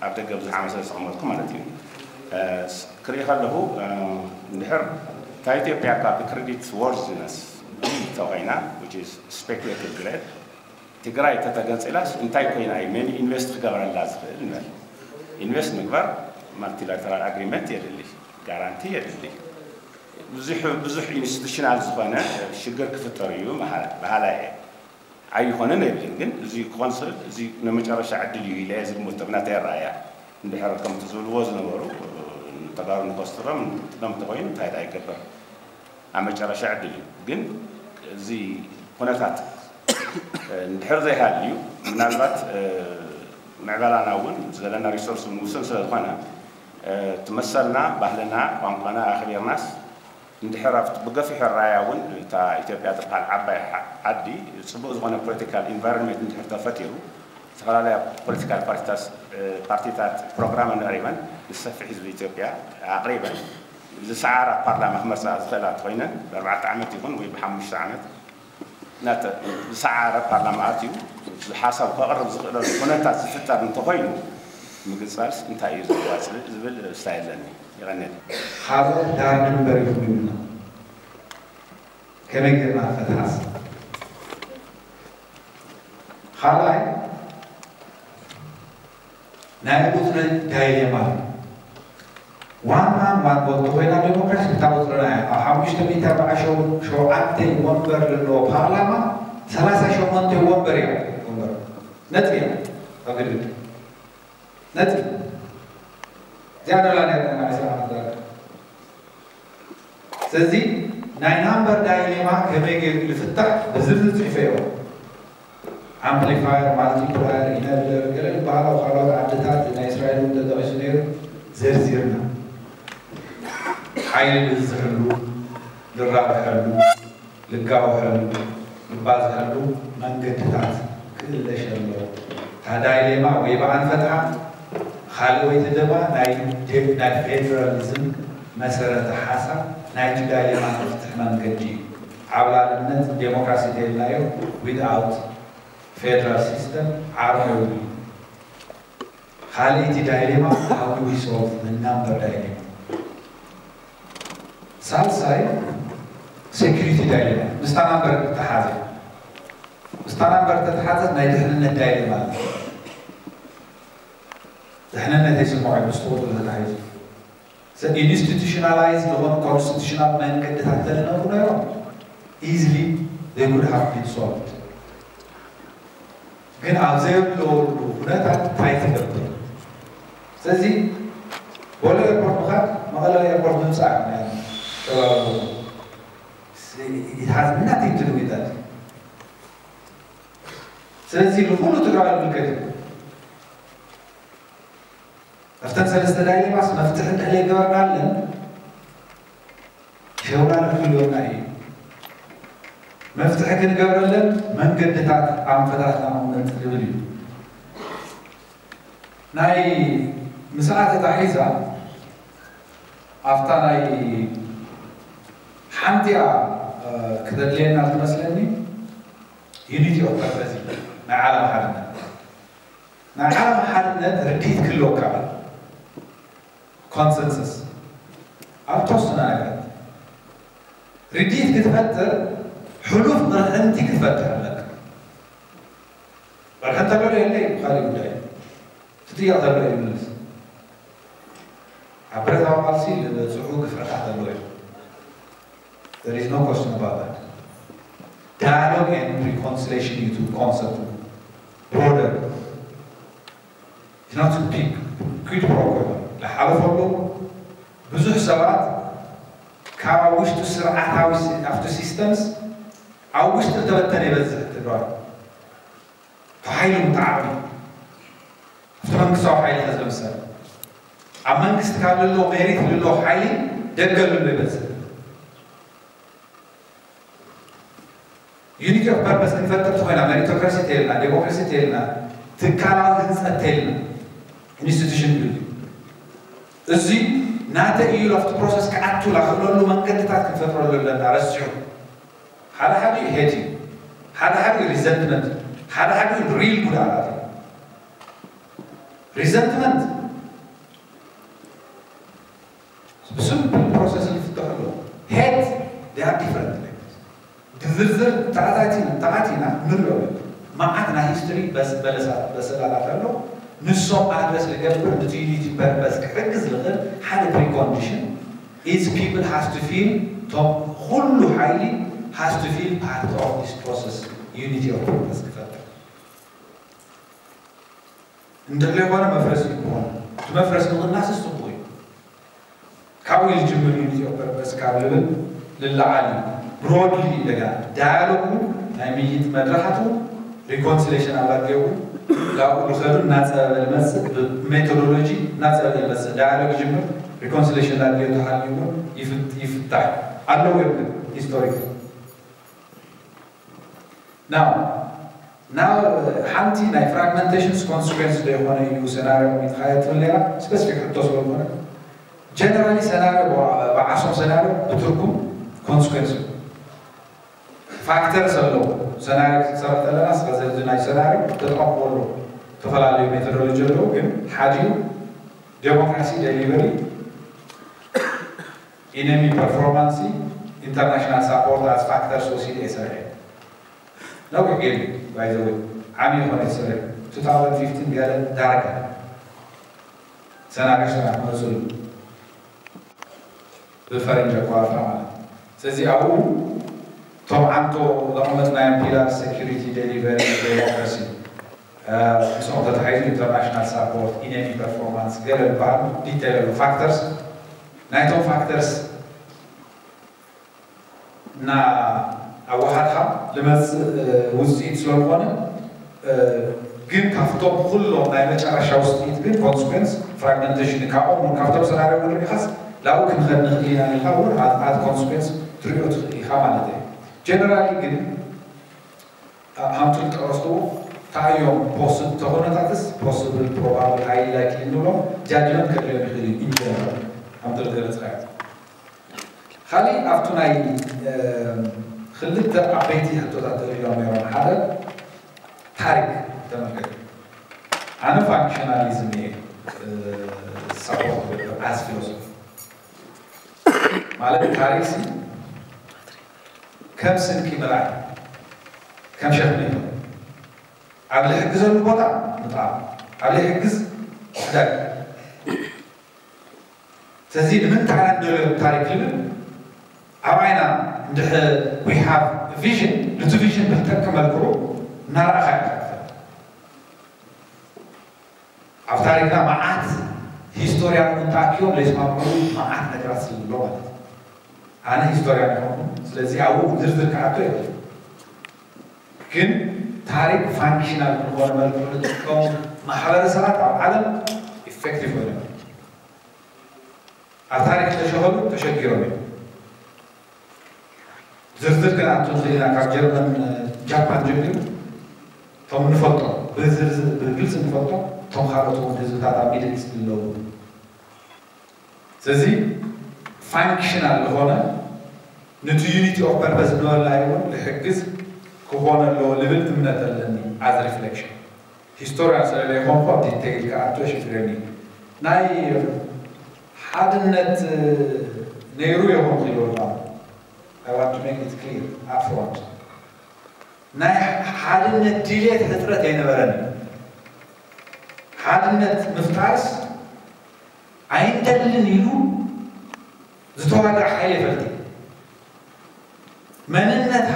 ኣብ ደገ ብዙሕ ዓመት ስለ ዝተቐመጥኩ ማለት እዩ። እ፣ ስ-፣ ክርኢ ከለኹ፣ እ፣ እንድሕር እታ ኢትዮጵያ ካብ ክሬዲት ዎርዚነስ ቢ ተኾይና፣ which is speculative grade፣ ትግራይ ተተገንፂላስ እንታይ ኮይና እዩ መን ኢንቨስት ክገብረላ ዝኽእል ንበል። ኢንቨስት ምግባር ማልቲላተራል ኣግሪመንት የድሊ፣ ጋራንቲ የድሊ። ብዙሕ፣ ብዙሕ ኢንስቲቱሽናል ዝኾነ ሽግር ክፍጠር እዩ መሃ-፣ በሃላይ እየ። ኣይኾነን ኣይብልን፣ ግን እዚ ክኾን ዝኽእል እዚ ናይ መጨረሻ ዕድል እዩ ኢለ እየ ዝግምቶ፣ ብናተይ ኣረኣእያ። እንድሕር ከምቲ ዝብልዎ ዝነበሩ፣ ተጋሩ ንኸስትሮም ጥቅምቲ ኮይኑ እንታይ ደኣ ይገብር? ኣብ መጨረሻ ዕድል እዩ። ግን እዚ ኩነታት፣ እ፣ እንድሕር ዘይሃልዩ፣ ምናልባት፣ እ፣ ምዕባላና እውን ዘለና ሪሶርስ እውን ውሱን ስለ ዝኾነ፣ እ፣ እቲ መሰልና፣ ባህልና፣ ቋንቋና ኣኽቢርናስ እንድሕር ኣብቲ ብገፊሑ ኣረኣእያ እውን እታ ኢትዮጵያ ትበሃል ዓባይ ዓዲ ፅቡቕ ዝኾነ ፖለቲካል ኢንቫይሮንመንት እንድሕር ተፈጢሩ፣ ዝተፈላለያ ፖለቲካል ፓርቲታት ፕሮግራመን ኣቕሪበን ንሰፊሕ ህዝቢ ኢትዮጵያ ኣቕሪበን ዝሰዓራ ፓርላማ ክመርፃ ዝኽእላ እንተኾይነን ብኣርባዕተ ዓመት ይኹን ወይ ብሓሙሽተ ዓመት ናተ ዝሰዓረ ፓርላማ ኣትዩ ሓሳብ ከቕርብ ዝኽእለሉ ኩነታት ዝፍጠር እንተኾይኑ ምግንፃልስ እንታይ እዩ ዘዋፅእ ዝብል ስታይ ኣለኒ። ይቐንየል። ካልኦት ዳር ድንበር ይኹን ይብልና ከመይ ጌርና ፈትሓስ ካልኣይ ናይ ቁፅሪ ዳይሌማ ዋን ማን ዋን ቮት ኮይና ዴሞክራሲ እታ ቁፅርና እያ። ኣብ ሓሙሽተ ሚእቲ ኣርባዓ ሸውዓተ ወንበር ዘለዎ ፓርላማ ሰላሳ ሸሞንተ ወንበር እያ ወንበር ነጥቢ እያ ኣብ ግድግድ ነጥቢ እዚኣ ደላ ናይ ናይ ሰላም ስለዚ ናይ ናምበር ዳይሌማ ከመይ ገይሩ ዝፍታሕ ብዝርዝር ፅሒፈዮ ኣምፕሊፋየር ማልቲፕላየር ኢነብለር ገለ ዝበሃሉ ኣብ ካልኦት ዓድታት ናይ እስራኤል እውን ተጠቒሱ ነይሩ ዘርዚርና ሓይሊ ንብዝሕሉ ንራብሐሉ ልጋውሐሉ ንባዝሐሉ መንገድታት ክእለሽ ኣለዎ። እታ ዳይሌማ ወይ ብኣ ንፈትሓ ካልእ ወይ ተደማ ናይ ናይ ፌደራሊዝም መሰረተ ሓሳብ ናይቲ ዳይሌማ ክፍትሕ መንገዲ እዩ። ዓብላልነት ዴሞክራሲ ተይልናዮ without federal system ዓርሞ ይብሉ። ካልኣይቲ ዳይሌማ how do we solve the number dilemma ሳልሳይ security dilemma ምስታ ናምበር ተሓዘ ምስታ ናምበር ተተሓዘት ናይ ድሕንነት ዳይሌማ ኣሎ ድሕንነት የስምዖ እዩ ምስ ተወጥሎ ተታሒዙ ኢንስቲቱሽናላይዝ ዝኾኑ ኮንስቲቱሽናል መንገድታት ተዝነብሩ ነይሮም easily they could have been solved ግን ኣብ ዘየለወሉ ኩነታት እንታይ ትገብር ስለዚ ቦሌ ኤርፖርት ምኻድ መቐለ ኤርፖርት ምምፃእ ተባባሉ it has nothing to do with that ስለዚ ንኩሉ ትግራይ ዝምልከት እዩ ኣብተን ሰለስተ ዳይሌማስ መፍትሒ እንድሕር ዘይገበርናለን ሸውና ንክህልወና እዩ መፍትሒ ክንገብረለን መንገድታት ኣንፈታትና ምመርፅ ዝብል እዩ ናይ ምስኣ ተታሒዛ ኣብታ ናይ ሓንቲኣ ክተድልየና ትመስለኒ unity of purpose ናይ ዓለም ሓድነት ናይ ዓለም ሓድነት ርድኢት ክህልወካ consensus ኣብ ተወሰነ ነገራት ርድኢት ክትፈጥር ሕሉፍ ቅርሕንቲ ክትፈጥር ኣለካ ቅርሕንቲ ኣሎ የለ ካልእ ጉዳይ ትጥየቕ ዘሎ ይምልስ ኣብ ብረታዊ ቃልሲ ዝበፅሑ ግፍዕታት ኣለዉ እዮም There is no question about that. Dialogue and reconciliation እዩ concept broader. It's not big quid pro quo. ዝሓለፈሉ ብዙሕ ሰባት ካብ ኣብ ውሽጡ ስርዓታዊ ኣብቲ ሲስተምስ ኣብ ውሽጢ ዝተበተነ ይበዝሕ ትግራዋይ ተሓይሉ ምተዓቕሚ ኣብቲ መንግስታዊ ሓይሊ ከዝምሰል ኣብ መንግስቲ ካብ ልሎ ሜሪት ልሎ ሓይሊ ደገ ልሎ ይበዝሕ unity of purpose ክንፈጥር ተኾይና meritocracy ተይልና democracy ተይልና ትካላዊ ህንፀት ተይልና institution building እዚ ናተ እዩ ኣብቲ process ክኣቱ ላኽእለሉ መንገድታት ክንፈጥረሉ ኣለና ረሲዑ ሓደ ሓደ hate እዩ ሓደ ሓደ resentment ሓደ ሓደ real ጉድኣት እዩ resentment ብስምፕል process ይፍተሑ ኣለዉ hate they are different ብዝርዝር ተኣታቲና ተኣቲና ንሪኦ መዓት ናይ history በሰላላት ኣሎ ንሶም ኣድረስ ዝገብር ንቲ unity purpose ክሕግዝ ዝኽእል ሓደ precondition is people has to feel ቶም ኩሉ ሓይሊ has to feel part of this process unity of purpose ክፈጥር እንድሕር ዘይኮነ መፍረሲ ይኮን እቲ መፍረሲ ምቕናስስ ፅቡቕ እዩ ካብኡ ዝጅምር unity of purpose ካብ ልብል ልለዓል እዩ broadly እንደገና dialogue ናይ ምይይጥ መድረኻቱ reconciliation ኣብ ኣድልየው ላብኡ ዝኸዱ እናፀበበ ዝመፅእ ብ methodology እናፀበበ ዝመፅእ dialogue ይጅምር reconciliation ላድልዮ ተሃልዩ እውን ይፍታሕ ኣለዉ እዮም ግን ሂስቶሪክ ናው ናብ ሓንቲ ናይ ፍራግመንቴሽንስ ኮንስኩዌንስ ዶ ይኾነ እዩ ሰናርዮ ሚትኻየ ትብል ነራ ስፔሲፊክ ሕቶ ስለዝኾነ ጀነራሊ ሰናርዮ ብዓሶም ሰናርዮ ብትርጉም ኮንስኩዌንስ ፋክተርስ ኣለዎ ሰናርዮ ክትሰርሕ ከለና ስለዚ ናይ ሰናርዮ ተጠቐምዎ ኣለዎ ዝተፈላለዩ ሜቶዶሎጂ ኣለዉ ግን ሓዲኡ ዴሞክራሲ ደሊቨሪ ኢነሚ ፐርፎርማንሲ ኢንተርናሽናል ሳፖርት ኣስ ፋክተርስ ወሲደ እየ ሰሪሐ ነዊሕ ጌም ባይዘወይ ዓሚ ይኾነ ይሰርሕ 2015 ገለ ዳርጋ ሰናሪዮ ስራሕ መፅሉ ብፈረንጅ ኣቋርፋ ማለት ስለዚ ኣብኡ እቶም ዓንቶ ዘቐመጥናዮም ፒላር ሴኪሪቲ ደሊቨሪ ዴሞክራሲ ምስኦም ተታሒዙ ኢንተርናሽናል ሳፖርት ኢነሚ ፐርፎርማንስ ገለ ዝበሃሉ ዲቴል ፋክተርስ ናይቶም ፋክተርስ እና ኣወሃድካ ልመፅእ ውፅኢት ስለዝኾነ ግን ካብቶም ኩሎም ናይ መጨረሻ ውፅኢት ግን ኮንስኩንስ ፍራግመንቴሽን ካብኦም ካብቶም ሰናሪዮ ንሪኢኻስ ላብኡ ክንኸድ ንኽእል ኢና ኢልካ እውን ኣት ኮንስኩንስ ትሪኦ ትኽእል ኢኻ ማለት እዩ ጀነራሊ ግን ሃምቱ ዝጠቀስዎ እንታይ እዮም ፖስብል ተኾነታትስ ፖስብል ፕሮባብል ሃይሊ ላይክሊ ንብሎም ጃጅመንት ከድልዮም ይኽእል እዩ ኢንጀነራል ሃምቱ ዝገለፅካዮ ካሊእ ኣብቱ ናይ ክልተ ዓበይቲ ሕቶታት ተሪኦም ነይሮም ሓደ ታሪክ ተመልከት ኣነ ፋንክሽናሊዝም እየ ሳፖርት ኣዝ ፊሎሶፊ ማለት ታሪክ ከም ስንቂ ምርኣይ ከም ሸክሚ እዩ ኣብ ዝሕግዘሉ ቦታ ምጥቃም ኣብ ዘይሕግዝ ሕዳግ ስለዚ ንምንታይ ኢና ንደልዮ ታሪክ ይብል ኣብ ዓይና እንድሕር we have vision ነቲ ቪዥን ብዝጠቅም መልክዑ እናረኣኻ ኢኻ ኣብ ታሪክና መዓት ሂስቶርያን እውን ተኣኪቦም ዘይስማምዑ መዓት ነገራት ስለ ዘሎ ማለት እዩ ኣነ ሂስቶርያን ይኾንኩ ስለዚ ኣብኡ ዝርዝር ክኣቶ የብሉ ግን ታሪክ ፋንክሽናል ብዝኾነ መልክዑ ዝጥቀሙ ማሕበረሰባት ኣብ ዓለም ኢፌክቲቭ ኮይኖም ኣብ ታሪክ ተሸኸሉ ተሸጊሮም እዮም ዝርዝር ክንኣቱ ንኽእል ኢና ካብ ጀርመን ጃፓን ጀሚሩ እቶም ንፈልጦ ብግልፂ ንፈልጦ እቶም ካልኦት እውን ህዝብታት ኣብ ሚድል ኢስት ዝለዉ ስለዚ ፋንክሽናል ዝኾነ ነቲ ዩኒቲ ኦፍ ፐርፐስ ዝበልናዮ እውን ዝሕግዝ ክኾነ ኣለዎ ዝብል እምነት ኣለኒ ኣዝ ሪፍሌክሽን ሂስቶርያን ስለዘይኮንኩ ኣብ ዲቴይል ክኣቱ የሽግረኒ ናይ ሓድነት ነይሩ ይኹን ክይበልካ I want to make it clear upfront ናይ ሓድነት ድልየት ሕፅረት ኣይነበረን ሓድነት ምፍጣርስ ኣይንደልን ኢሉ ዝተዋግዕ ሓይሊ ይፈልጥ መንነት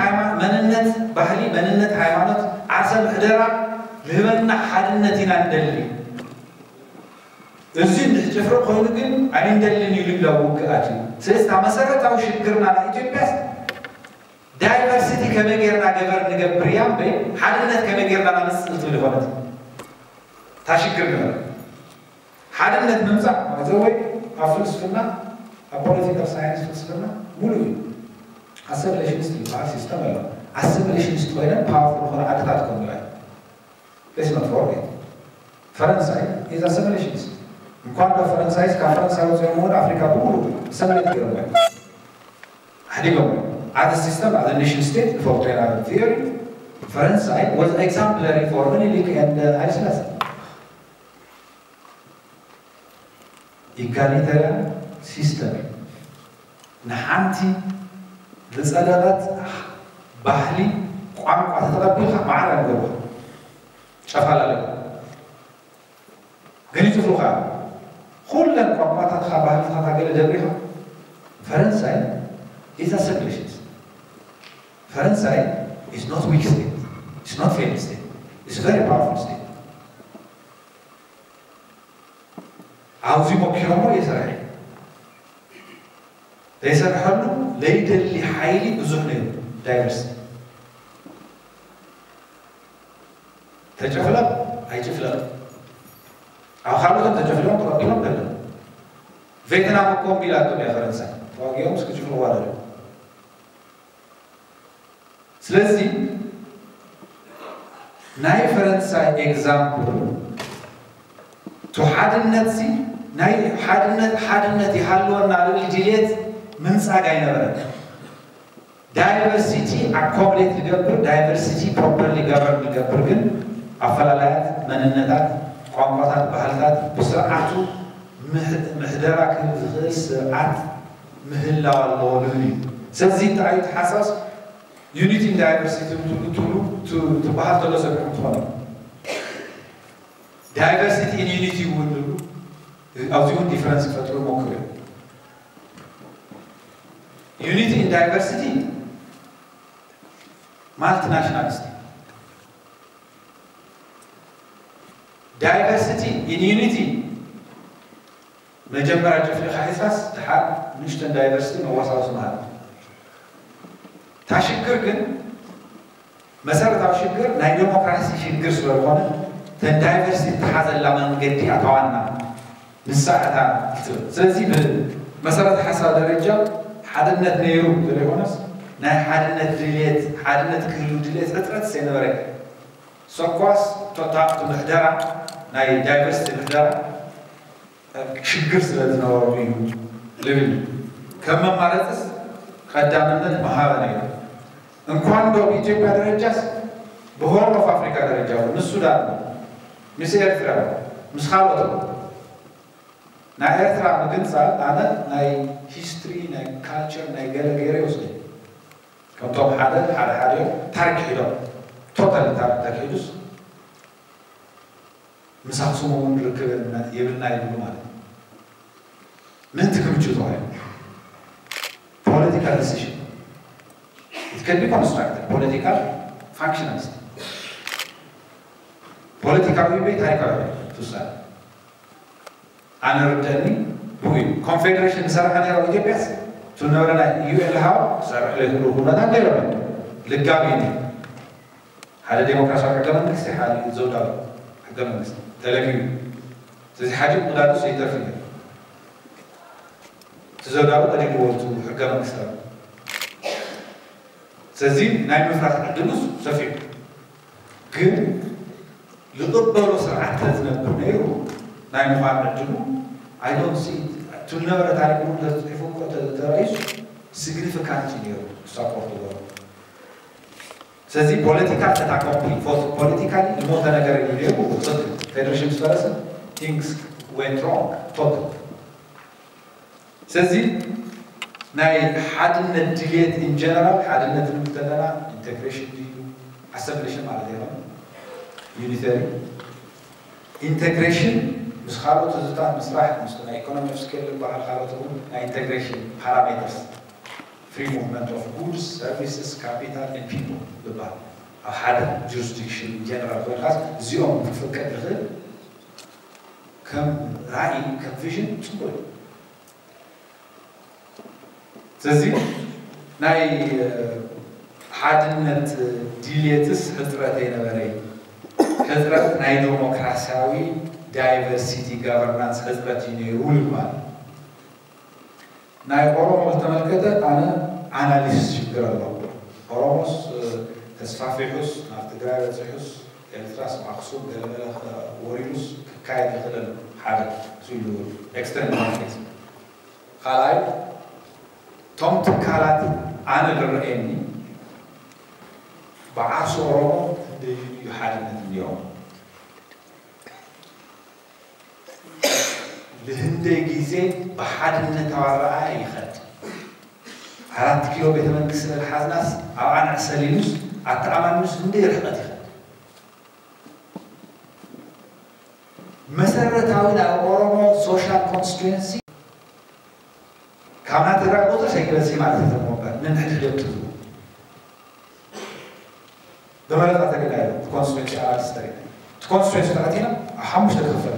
መንነት ባህሊ መንነት ሃይማኖት ዓርሰ ምሕደራ ዝህበና ሓድነት ኢና ንደሊ እዚ እንድሕር ጭፍሪ ኮይኑ ግን ኣይንደልን ኢሉ ኢላ ውግኣት እዩ ስለዚ እታ መሰረታዊ ሽግርና ናይ ኢትዮጵያስ ዳይቨርሲቲ ከመይ ጌርና ገበር ንገብር እያ እምበይ ሓድነት ከመይ ጌርና ናምፅእ ትብል ይኮነት እታ ሽግር ንበል ሓድነት ምምፃእ ማለት ወይ ኣብ ፍልስፍና ኣብ ፖለቲካል ሳይንስ ፍልስፍና ሙሉ እዩ ኣሰሚሌሽንስት ዝበሃል ሲስተም ኣሎ ኣሰሚሌሽንስት ኮይነን ፓወርፉል ዝኾነ ዓድታት ኮንላ Let's not forget ፈረንሳይ is assimilationist እንኳን ካብ ፈረንሳይ ካብ ፈረንሳይ ወፂኦም እውን ኣፍሪካ ብሙሉ ኣሰሚሌት ገይሮም ኣሕዲጎም as system as nation state ንፈልጦ ኢና ቲዮሪ ፈረንሳይ was exemplary for ምኒልክ and ሃይለስላሴ egalitarian system ንሓንቲ ዝፀደቐት ባህሊ ቋንቋ ተተቐቢልካ ማዕረ ንገብሮ ጨፋላለ ግን ይፅፍሩኻ ኩለን ቋንቋታትካ ባህልታትካ ገለ ደብሪኻ ፈረንሳይ is a civilization ፈረንሳይ is not weak state is not failed state is very powerful state ኣብዚ ሞኪሮሞ የሰርሐ ዘይሰርሐሉ ለይደሊ ሓይሊ ብዙሕ ነይሩ ዳይቨርሲቲ ተጨፍለቕ ኣይጭፍለቕ ኣብ ካልኦቶም ተጨፍሊቖም ተቐቢሎም ከለዉ ቬትናም እኮ እምቢ ኢላቶም እያ ፈረንሳይ ተዋጊኦም እስኪ ጭፍልዋ ደለ ስለዚ ናይ ፈረንሳይ example ቱ ሓድነት ሲ ናይ ሓድነት ሓድነት ይሃልወና ልብል ድሌት ምንጻግ ኣይነበረን። Diversity accommodate ዝገብር diversity properly govern ዝገብር ግን ኣፈላላያት መንነታት፣ ቋንቋታት፣ ባህልታት ብስርዓቱ ምሕደራ ክህብ ዝኽእል ስርዓት ምህላው ኣለዎ ልብል እዩ። ስለዚ እንታይ እዩ ተሓሳስ unity in diversity ትብሉ ትብሉ ትበሃል ተሎ ሰሚዕኩም ትኾኑ። Diversity in unity እውን ንብሉ ኣብዚ እውን difference ክፈጥሩ ሞክሩ እዮም። Unity in diversity multinationalist፣ diversity in unity መጀመርያ ጨፍሊኻ ሒዝካስ ድሓር ንእሽተን diversity መዋሳወሲ ማለት እዩ። እታ ሽግር ግን መሰረታዊ ሽግር ናይ ዴሞክራሲ ሽግር ስለዝኾነ ተን diversity ትሓዘላ መንገዲ ኣታዋና ንሳ እታ ትብል። ስለዚ ብመሰረተ ሓሳብ ደረጃ ሓድነት ነይሩ ዘይኮነስ ናይ ሓድነት ድልየት ሓድነት ክህሉ ድልየት ሕፅረት ዘይነበረ ሰኳስ ቶታ ምሕደራ ናይ diversity ምሕደራ ሽግር ስለ ዝነበሩ እዩ ልብል። ከም መማረፅስ ቀዳምነት መሃበ ነይሩ። እንኳን ዶ ብኢትዮጵያ ደረጃስ ብሆርን ኦፍ ኣፍሪካ ደረጃ እውን ምስ ሱዳን ምስ ኤርትራ ምስ ካልኦት ናይ ኤርትራ ምግንፃል ኣነ ናይ history ናይ culture ናይ ገለ ገይረ ይወስደ ከምቶም ሓደ ሓደ ሓደ እዮም ታሪክ ሒዶም ቶታሊ ታሪክ ተኪሒዱስ ምስ ኣክሱም እውን ርክብ የብልና ይብሉ ማለት እዩ። ምእንቲ ክምችው ተባሂሉ political decision it can be constructed political functionalist ፖለቲካዊ ወይ ታሪካዊ ትውሳነ ኣነ ርደኒ ብኡ እዩ ኮንፌዴሬሽን ዝሰርሐ ነይሩ ኢትዮጵያስ ቱ ነበረ ናይ UN ሃው ዝሰርሕ ዘይብሉ ኩነታት ነይሩ ልጋብ እዩ ሓደ ዴሞክራሲያዊ ሕገ መንግስቲ ሓደ ዘውዳዊ ሕገ መንግስቲ ተለጊቡ ስለዚ ሓዲኡ ቅዳዱ ዘይተርፍ እዩ እቲ ዘውዳዊ ቀዲምዎ ሕገ መንግስታዊ ስለዚ ናይ ምፍራስ ዕድሉ ሰፊሑ ግን ዝቕበሎ ስርዓት ተዝነብር ነይሩ ናይ ምዃን ዕድሉ ኣይዶን ሲ እቱ ዝነበረ ታሪክ እውን ተፅሒፉ እኮ ተረኢሱ ሲግኒፊካንት እዩ ነይሩ ክሳፖርት ገሩ ስለዚ ፖለቲካ ተታኮምፒ ፖለቲካ ዝሞተ ነገር እዩ ነይሩ ፌደሬሽን ዝፈረሰ things went wrong ቶት ስለዚ ናይ ሓድነት ድልየት in general ሓድነት ንብል ተለና integration ድዩ assimilation ማለት ኣይኮነን unitary integration ምስ ካልኦት ህዝብታት ምስራሕ ምስ ናይ economy of scale ዝበሃል ካልኦት እውን ናይ integration parameters free movement of goods services capital and people ዝበሃል ኣብ ሓደ jurisdiction in general ኮይንካስ እዚኦም ክፍቀድ ዝኽእል ከም ራእይ ከም vision ፅቡቅ እዩ ስለዚ ናይ ሓድነት ድልየትስ ሕፅረት ኣይነበረ ሕፅረት ናይ ዴሞክራሲያዊ diversity governance ሕፅረት እዩ ነይሩ ይባል ናይ ኦሮሞ ዝተመልከተ ኣነ ኣናሊሲስ ሽግር ኣሎ ኦሮሞስ ተስፋፊሑስ ናብ ትግራይ በፂሑስ ኤርትራስ ኣክሱም ገለመለ ወሪዱስ ክካየድ ይኽእል ሓደ ኢሉ extend ካልኣይ እቶም ትካላት ኣነ ዝረኣየኒ ብዓርሲ ኦሮሞ ክንደይ እዩ ሓድነት እኒኦም ንህንደይ ግዜ ብሓድነታዊ ኣረኣእያ ይኸድ ኣራት ኪሎ ቤተ መንግስቲ ስለዝሓዝናስ ኣብኣ ንዕሰል ኢሉስ ኣተኣማምኑስ ህንደይ ርሕቀት ይኸድ መሰረታዊ ናይ ኦሮሞ social constituency ካብ ናይ ትግራይ ቁፅሪ ሰይበዝሒ ማለት እዩ እምበር ነንሕድሕዶም ትዝቡ ብመረፃ ተሪእናዮ እቲ constituency ኣናሊሲስ ተሪእና እቲ constituency ተኣቲና ኣብ ሓሙሽተ ክኽፈል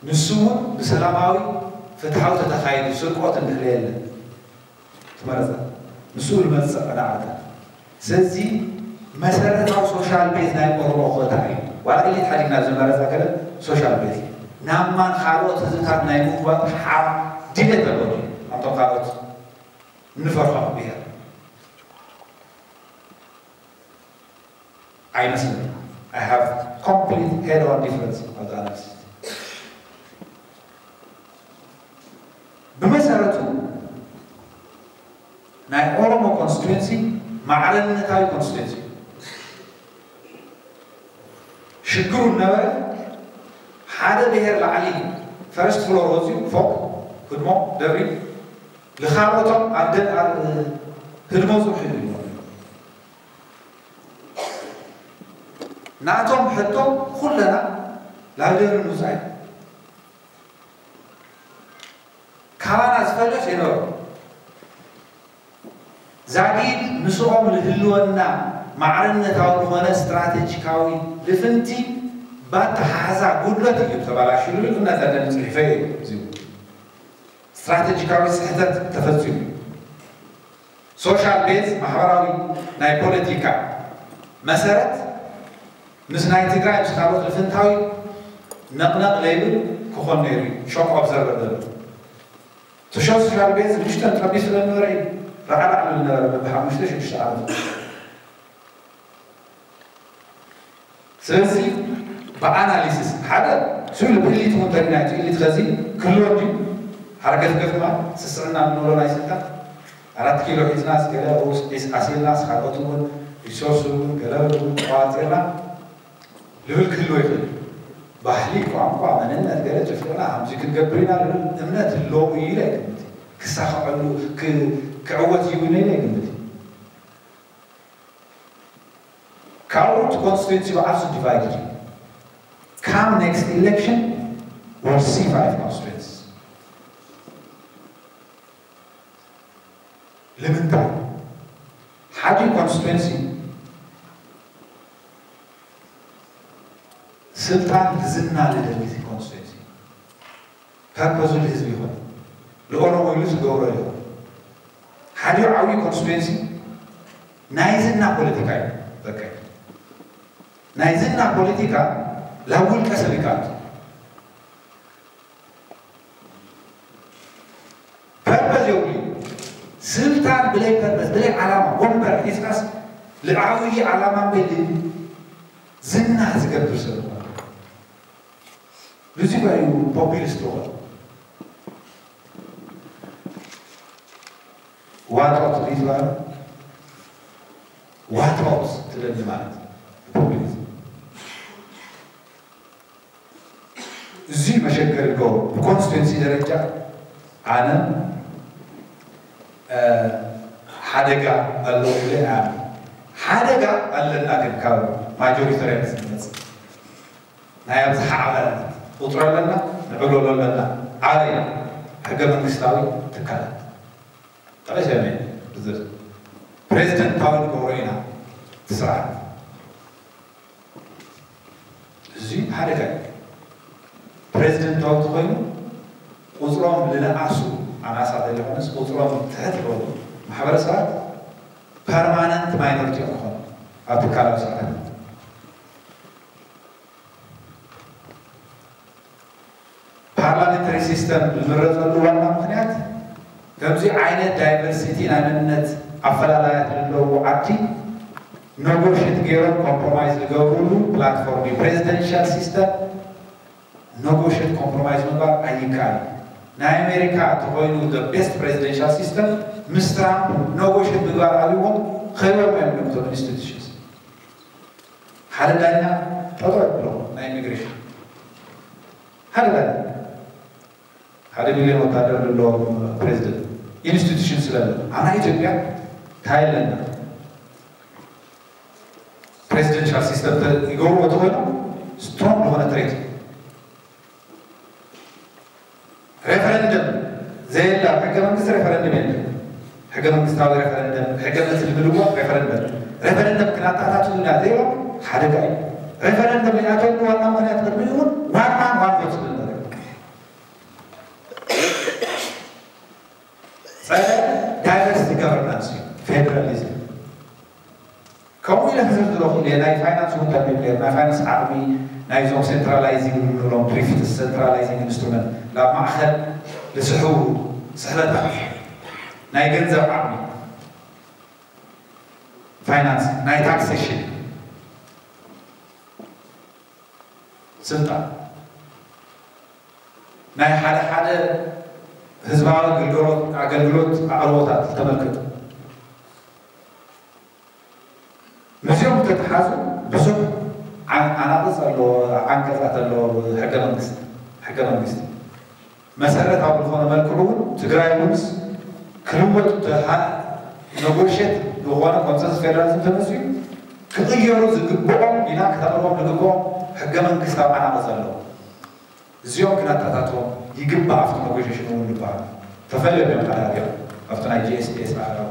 ንሱ እውን ብሰላማዊ ፍትሓዊ ተተኻይዱ ስርቆት እንድሕር የለን ትመረፀ ንሱ ዝመፅእ ዕዳዕዳ ስለዚ መሰረታዊ social base ናይ ኦሮሞ ኮታ እዩ ዋላ ኢሊት ሓዲግና ዝመረፃ ገለ social base ናብ ማን ካልኦት ህዝብታት ናይ ምጉባጥ ሓ ድሌት ኣለዎ ኣብቶም ካልኦት ንፈርሖ ብሔር ኣይመስልን። I have complete head on difference of the analysis። ብመሰረቱ ናይ ኦሮሞ ኮንስቲትዌንሲ ማዕረነታዊ ኮንስቲትዌንሲ እዩ። ሽግሩ ነበረ ሓደ ብሔር ላዕሊ ፈርስት ፍሎር ወፂኡ ፎቅ ህድሞ ደብሪ ልኻልኦቶም ኣብ ደ- ኣብ ህድሞ ፅንሑ እዩ። ናቶም ሕቶ ኩለና ናብ ደብሪ ምውፃእ እዩ። ካባና ዝፈልስ የነበሩ ዛጊድ ምስኦም ዝህልወና ማዕርነታዊ ዝኾነ ስትራቴጂካዊ ልፍንቲ ባተሓሓዛ ጉድለት እዩ ተባላሽሉ እናተደም ፅሒፈ እዩ። ስትራቴጂካዊ ስሕተት ተፈፂሙ። ሶሻል ቤዝ ማሕበራዊ ናይ ፖለቲካ መሰረት ምስ ናይ ትግራይ ምስ ካልኦት ልፍንታዊ ነቕነቕ ለይብል ክኾን ነይሩ እዩ። ሾክ ኦብዘርቨር ዘሎ ትሾ ሶሻል ቤዝ ምሽተን ጠቢሱ ለነበረ እዩ። ራዕራዕ ዝብል ነበረ ብሓሙሽተ ሽዱሽተ ዓመት። ስለዚ ብኣናሊሲስ ሓደ ስሉ ብእሊት እውን ተሪና እቲ እሊት ከዚ ክህልዎ ድዩ? ሓርገፍገፍ ማለት ስስዕና እንብሎ ናይ ስልጣን ኣራት ኪሎ ሒዝናስ ገለ ሩስ ዒስ ኣሲልናስ ካልኦት እውን ሪሶርስ እውን ገለ እውን ተዋፂርና ልብል ክህልዎ ይኽእል። ባህሊ፣ ቋንቋ፣ መንነት ገለ ጭፍልቕና ከምዚ ክንገብር ኢና ልብል እምነት ኣለዎ እዩ ኢለ ኣይግምት። ክሳኸዐሉ ክዕወት እዩ ኢለ ኣይግምት። ካልኦት ኮንስቲትዌንሲ ብዓርሱ ዲቫይድድ እዩ። Come next election we'll see five constituencies። ንምንታይ ሓደ ኮንስቲትዌንሲ ስልጣን ዝና ዝደሊ ኮንስቲትዌንሲ ፐርፖዙ ንህዝቢ ይኹን ንኦሮሞ ኢሉ ዝገብሮ ይኹን ሓደ ዓብዪ ኮንስቲትዌንሲ ናይ ዝና ፖለቲካ እዩ። በቃ ናይ ዝና ፖለቲካ ላብ ውልቀ ሰብ ይካት ፐርፐዝ የብሉ። ስልጣን ብለይ ፐርፐዝ ብለይ ዓላማ ወንበር ሒዝካስ ልዓብዪ ዓላማ በል ዝና ዝገብር ሰብ ዝኾነ ብዙ እዩ ፖፒሊስት ዝኾነ ዋጦት ሪዝባር ዋጦት ትደሊ ማለት ፖፒሊዝም እዚ መሸገሪ ዶ ብኮንስቲትዌንሲ ደረጃ ኣነ ሓደጋ ኣሎ ኢለ ኣነ ሓደጋ ኣለና ግን ካብ ማጆሪተሪያን ዝመፅ ናይ ኣብዝሓ ኣባላት ቁፅሪ ኣለና ንዕብለሎ ኣለና ኣበይ ሕገ መንግስታዊ ትካላት ጠቀሰ ፕሬዚደንታዊ ንገብሮ ኢና እቲ ስርዓት እዚ ሓደጋ እዩ። ፕሬዚደንታዊ ተኮይኑ ቁፅሮም ዝነኣሱ ኣናሳ ዘይኮነስ ቁፅሮም ትሕት ዝበሉ ማሕበረሰባት ፐርማነንት ማይኖሪቲ እዮም ክኾኑ ኣብ ትካላዊ ስርዓት ፓርላሜንታሪ ሲስተም ዝምረፀሉ ዋና ምክንያት ከምዚ ዓይነት ዳይቨርሲቲ ናይ መንነት ኣፈላላያት ዘለዉ ዓዲ ነጎሽት ገይሮም ኮምፕሮማይዝ ዝገብሩሉ ፕላትፎርም እዩ። ፕሬዚደንሻል ሲስተም ነጎሽት ኮምፕሮማይዝ ምግባር ኣይከኣል። ናይ ኣሜሪካ እንተኮይኑ ቤስት ፕሬዚደንሻል ሲስተም ምስ ትራምፕ ነጎሽት ምግባር ኣብዎም ከይቦም እዮም ነቶም ኢንስቲቱሽንስ ሓደ ዳኛ ጠጠው ብሎ ናይ ኢሚግሬሽን ሓደ ዳኛ ሓደ ሚሊዮን ወታደር ዘለዎ ፕሬዚደንት ኢንስቲቱሽን ስለለ ኣና ኢትዮጵያ እንታይ ኣለና ፕሬዚደንሻል ሲስተም ይገብርዎ ተኮይኖም ስትሮንግ ዝኾነ ትሬት ሬፈረንደም ዘየላ ሕገ መንግስቲ ሬፈረንደም የለን። ሕገ መንግስታዊ ሬፈረንደም ሕገ መንግስቲ ዝብልዎ ሬፈረንደም ሬፈረንደም ክናታታትሉና ዘይብሎም ሓደጋ እዩ። ሬፈረንደም ይኣተሉ ዋና ምክንያት ቅድሚ እውን ዋን ማን ዋን ቮት ዝብል ነገር ጸረ ዳይቨርሲቲ ጋቨርናንስ እዩ ፌደራሊዝም። ከምኡ ኢለ ክዝርዝሮ ክእል እየ ናይ ፋይናንስ እውን ተንቢብ ነይሩ ናይ ፋይናንስ ዓቕሚ ናይዞም ሴንትራላይዚንግ ንብሎም ትሪፍትስ ሴንትራላይዚንግ ኢንስትሩመንት ናብ ማእኸል ዝስሕቡ ስሕበታት ናይ ገንዘብ ዓቕሚ፣ ፋይናንስ፣ ናይ ታክሴሽን ስልጣን፣ ናይ ሓደ ሓደ ህዝባዊ ኣገልግሎት ኣገልግሎት ኣቕርቦታት ተመልከቱ። ምስዚኦም ተተሓዙ ብዙሕ ዓን- ዓናቕጽ ኣለዎ፣ ዓንቀጻት ኣለዎ። ሕገ መንግስቲ ሕገ መንግስቲ መሰረታዊ ዝኾነ መልክዑ እውን ትግራይ እውንስ ክልወጡ ተሃ- ነጎሽት ዝኾነ ኮንሰንስ ፌደራሊዝም ተመፅዩ ክቕየሩ ዝግብኦም ኢና ክተቕርቦም ዝግብኦም ሕገ መንግስታዊ ዓናቕጽ ኣለዎ። እዚኦም ክነተኣታትዎም ይግባእ። ኣብቲ ነጎሽሽን እውን ዝበሃል ተፈልዮም እዮም ሓደ ኣብቲ ናይ ጂ ኤስ ቲ ኤስ ኣኸራዊ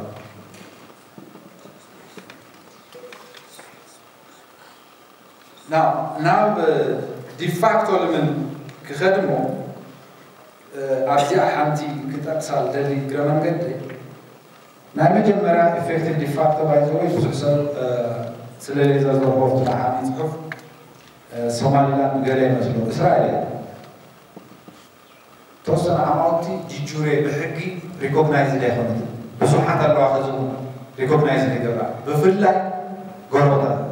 ናብ ዲፋክቶ ልምን ክኸድሞ ኣብዚኣ ሓንቲ ክጠቅሳ ልደሊ እግረ መንገዲ ናይ መጀመርያ ኢፌክቲቭ ዲፋክቶ ባይዘወይ ብዙሕ ሰብ ስለሌዘር ዘርቦፍትና ዓብዪ ፅሑፍ ሶማሊላንድ ገለ ይመስሎ እስራኤል እያ። ተወሰነ ዓማውቲ ጅጁሬ ብሕጊ ሪኮግናይዝ ኣይኮነት ብዙሓት ኣለዋ ከዚ ሪኮግናይዝ ይገብራ ብፍላይ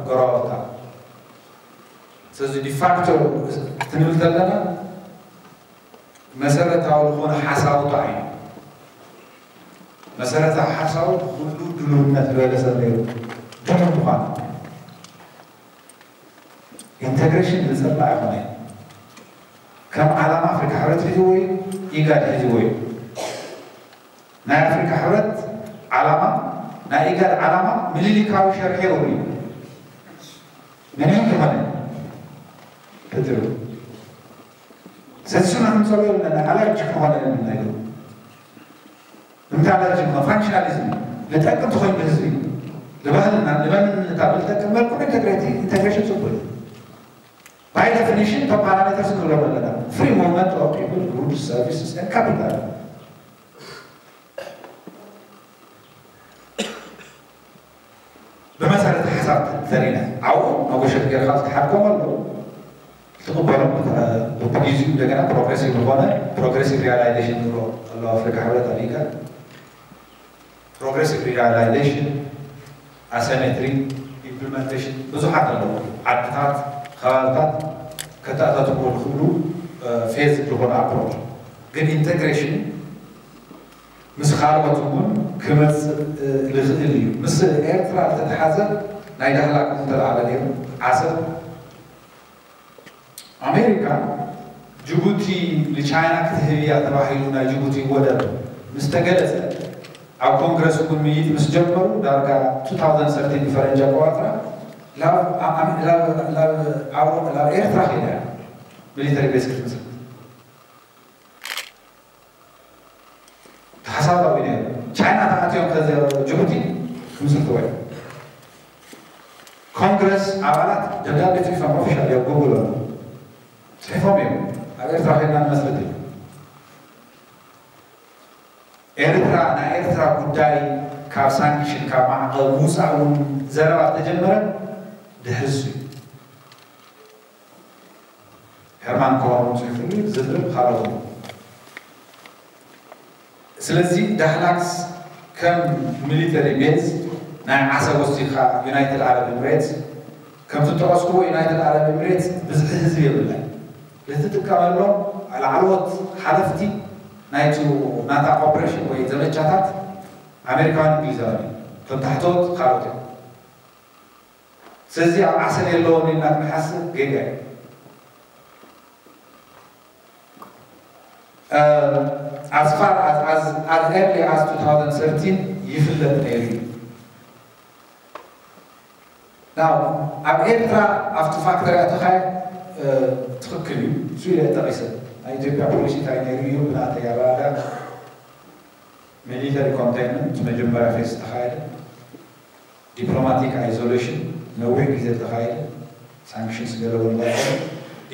ጎረባታ ስለዚ ዲፋክቶ ክትንብል ተለና መሰረታዊ ዝኾነ ሓሳውታ እዩ። መሰረታዊ ሓሳቡ ኩሉ ድልውነት ዝበለ ሰብ ነይሩ ድሉው ምዃኑ ኢንተግሬሽን ዝፀላእ ኣይኮነ። ከም ዓላማ ኣፍሪካ ሕብረት ሒዝዎ እዩ፣ ኢጋድ ሒዝዎ እዩ። ናይ ኣፍሪካ ሕብረት ዓላማ ናይ ኢጋድ ዓላማ ምልልካዊ ሸርሒ የብሉ እዩ። ምንም ዝኾነ ክትብል ስለዚ ሽና ክንፀሎ ኣለና። ኣላርጂ ክኾነ የብልና እዩ። እንታይ ኣላርጂ ክኾነ ፋንክሽናሊዝም ንጠቅም ትኾይኑ ህዝቢ ንባህልና ንመንነታ ብልጠቅም መልኩ ኢንተግሬቲ ኢንተግሬሽን ፅቡቅ እዩ። ባይ ዴፊኒሽን እቶም ፓራሜተርስ ንብሎም ኣለና free movement of people, goods, services and capital ብመሰረት ሓሳብ ተሪና ኣብኡ መጎሸት ጌርካ ዝተሓድጎም ኣለዉ ትቕበሎም ብግዜኡ እንደገና ፕሮግሬሲቭ ዝኾነ ፕሮግሬሲቭ ሪያላይዜሽን ንብሎ ኣለዉ ኣፍሪካ ሕብረት ኣሜሪካ ፕሮግሬሲቭ ሪያላይዜሽን ኣሰሜትሪ ኢምፕሊመንቴሽን ብዙሓት ኣለዉ ዓድታት ከባብታት ከተኣታትዎ ዝኽእሉ ፌዝ ዝኾነ ኣፕሮች ግን ኢንቴግሬሽን ምስ ካልኦት እውን ክመፅእ ዝኽእል እዩ። ምስ ኤርትራ ዝተተሓዘ ናይ ዳህላክ እውን ተላዕለ ነይሩ። ዓሰብ ኣሜሪካ ጅቡቲ ንቻይና ክትህብ እያ ተባሂሉ ናይ ጅቡቲ ወደብ ምስ ተገለፀ ኣብ ኮንግረስ እውን ምይይጥ ምስ ጀመሩ ዳርጋ two thousand thirteen ብፈረንጂ ኣቆፃፅራ ላብ ኤርትራ ከይዳ እያ ሚሊተሪ ቤዝ ክትምስርት። ተሓሳባዊ ነይሩ። ቻይና ተኣትዮም ከዚ ጅቡቲ ክምስርትዎ እዮም። ኮንግረስ ኣባላት ደብዳቤ ፅሒፎም ኦፊሻል እዮም ጉግል ኣሎ ፅሒፎም እዮም ኣብ ኤርትራ ኮይና ንመስርት እዩ። ኤርትራ ናይ ኤርትራ ጉዳይ ካብ ሳንክሽን ካብ ማዕቐብ ምውፃእ እውን ዘረባ ተጀመረ ድሕርሱ እዩ። ሄርማን ኮሆን እውን ፅሒፉሉ ዝርርብ ካልኦት እውን ስለዚ ዳህላክስ ከም ሚሊተሪ ቤዝ ናይ ዓሰብ ወሲድካ ዩናይትድ ዓረብ ኤምሬትስ ከም ዝጠቐስኩዎ ዩናይትድ ዓረብ ኤምሬትስ ብዝሒ ህዝቢ የብላን ልትጥቀመሎም ላዕለዎት ሓለፍቲ ናይቲ ናታ ኦፕሬሽን ወይ ዘመቻታት ኣሜሪካውያን እንግሊዛውያን እዮም ከም ታሕተዎት ካልኦት እዮም ስለዚ ኣብ ዓሰብ የለዎን ኢልና ክንሓስብ ጌጋ እዩ as far as, as, as early as two thousand thirteen ይፍለጥ ነይሩ እዩ ናብ ኣብ ኤርትራ ኣብቲ ፋክተሪ ኣተኻየ ትኽክል እዩ እሱ ኢለ ጠቒሰ ናይ ኢትዮጵያ ፖሊሲ እንታይ ነይሩ እዩ ብናተይ ኣረዳዳ ሚሊተሪ ኮንቴይንመንት መጀመርያ ፌስ ዝተኻየደ ዲፕሎማቲክ ኣይዞሌሽን ነዊሕ ግዜ ዝተኻየደ ሳንክሽንስ ገለ ወላ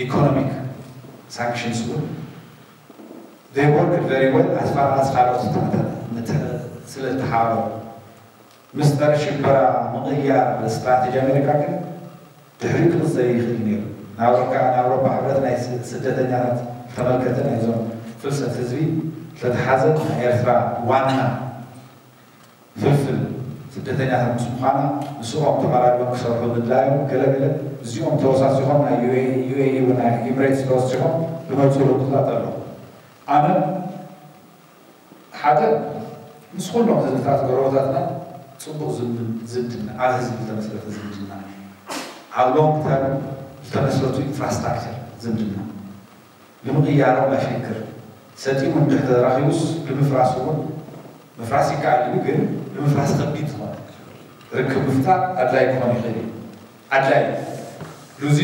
ኢኮኖሚክ ሳንክሽንስ እውን they worked very well as far as ካልኦት ስለ ዝተሓባበሩ ምስ ጸረ ሽበራ ምቕያር ስትራቴጂ ኣሜሪካ ግን ድሕሪኡ ክቕጸል ይኽእል ነይሩ። ንኣውሮፓ ንኣውሮፓ ሕብረት ናይ ስደተኛታት ተመልከተ ናይዞም ፍልሰት ህዝቢ ዝተተሓዘ ናይ ኤርትራ ዋና ፍልፍል ስደተኛታት ምስ ምዃና፣ ምስኦም ተቐራሪቦም ክሰርሑ ምድላዮም፣ ገለ ገለ እዚኦም ተወሳሲኾም ናይ ዩ ኤ ኢ፣ ዩ ኤ ኢ እውን ናይ ኤምሬትስ ተወሲኾም ዝመፅኡ ለውጥታት ኣለዉ። ኣነ ሓደ ምስ ኩሎም ህዝብታት ጎረቤታትና ፅቡቕ ዝምድ-፣ ዝምድና፣ ኣብ ህዝቢ ዝተመስረተ ዝምድና፣ ኣብ ሎንግ ተርም ዝተመስረቱ ኢንፍራስትራክቸር ዝምድና፣ ንምቕያሮም ኣሽግር፣ ሰጢሙ እንድሕር ተራኺቡስ ንምፍራስ እውን ምፍራስ ይከኣል እዩ፣ ግን ንምፍራስ ከቢድ ዝኾነ ርክብ ምፍጣር ኣድላይ ክኾን ይኽእል እዩ። ኣድላይ እዩ። ሉዚ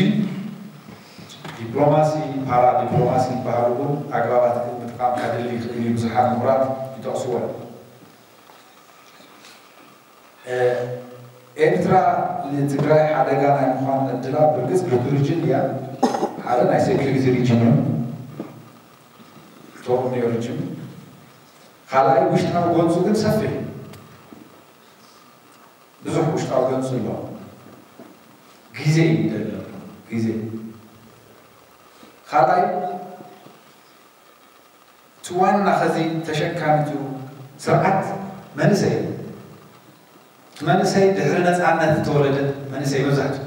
ዲፕሎማሲ፣ ፓራ ዲፕሎማሲ ዝበሃሉ እውን ኣግራባት ምጥቃም ከድሊ ይኽእል እዩ። ብዙሓት ምሁራት ይጠቕስዎ እዮም። እ፣ ኤርትራ ንትግራይ ሓደጋ ናይ ምዃን ዕድላ ብርግጽ ሪጅን እያ። ሓደ ናይ ሴኩሪቲ ሪጅን እዩ። ቶርኒዮ ሪጅን። ካልኣይ ውሽጣዊ ጎንጹ ግን ሰፊሕ እዩ። ብዙሕ ውሽጣዊ ጎንጹ ኣሎ። ግዜ እዩ ደሎ። ግዜ። ካልኣይ እቲ ዋና ኸዚ ተሸካሚቱ ስርዓት መንእሰይ እዩ። እቲ መንእሰይ ድሕሪ ነፃነት ዝተወለደ መንእሰይ መብዛሕትኡ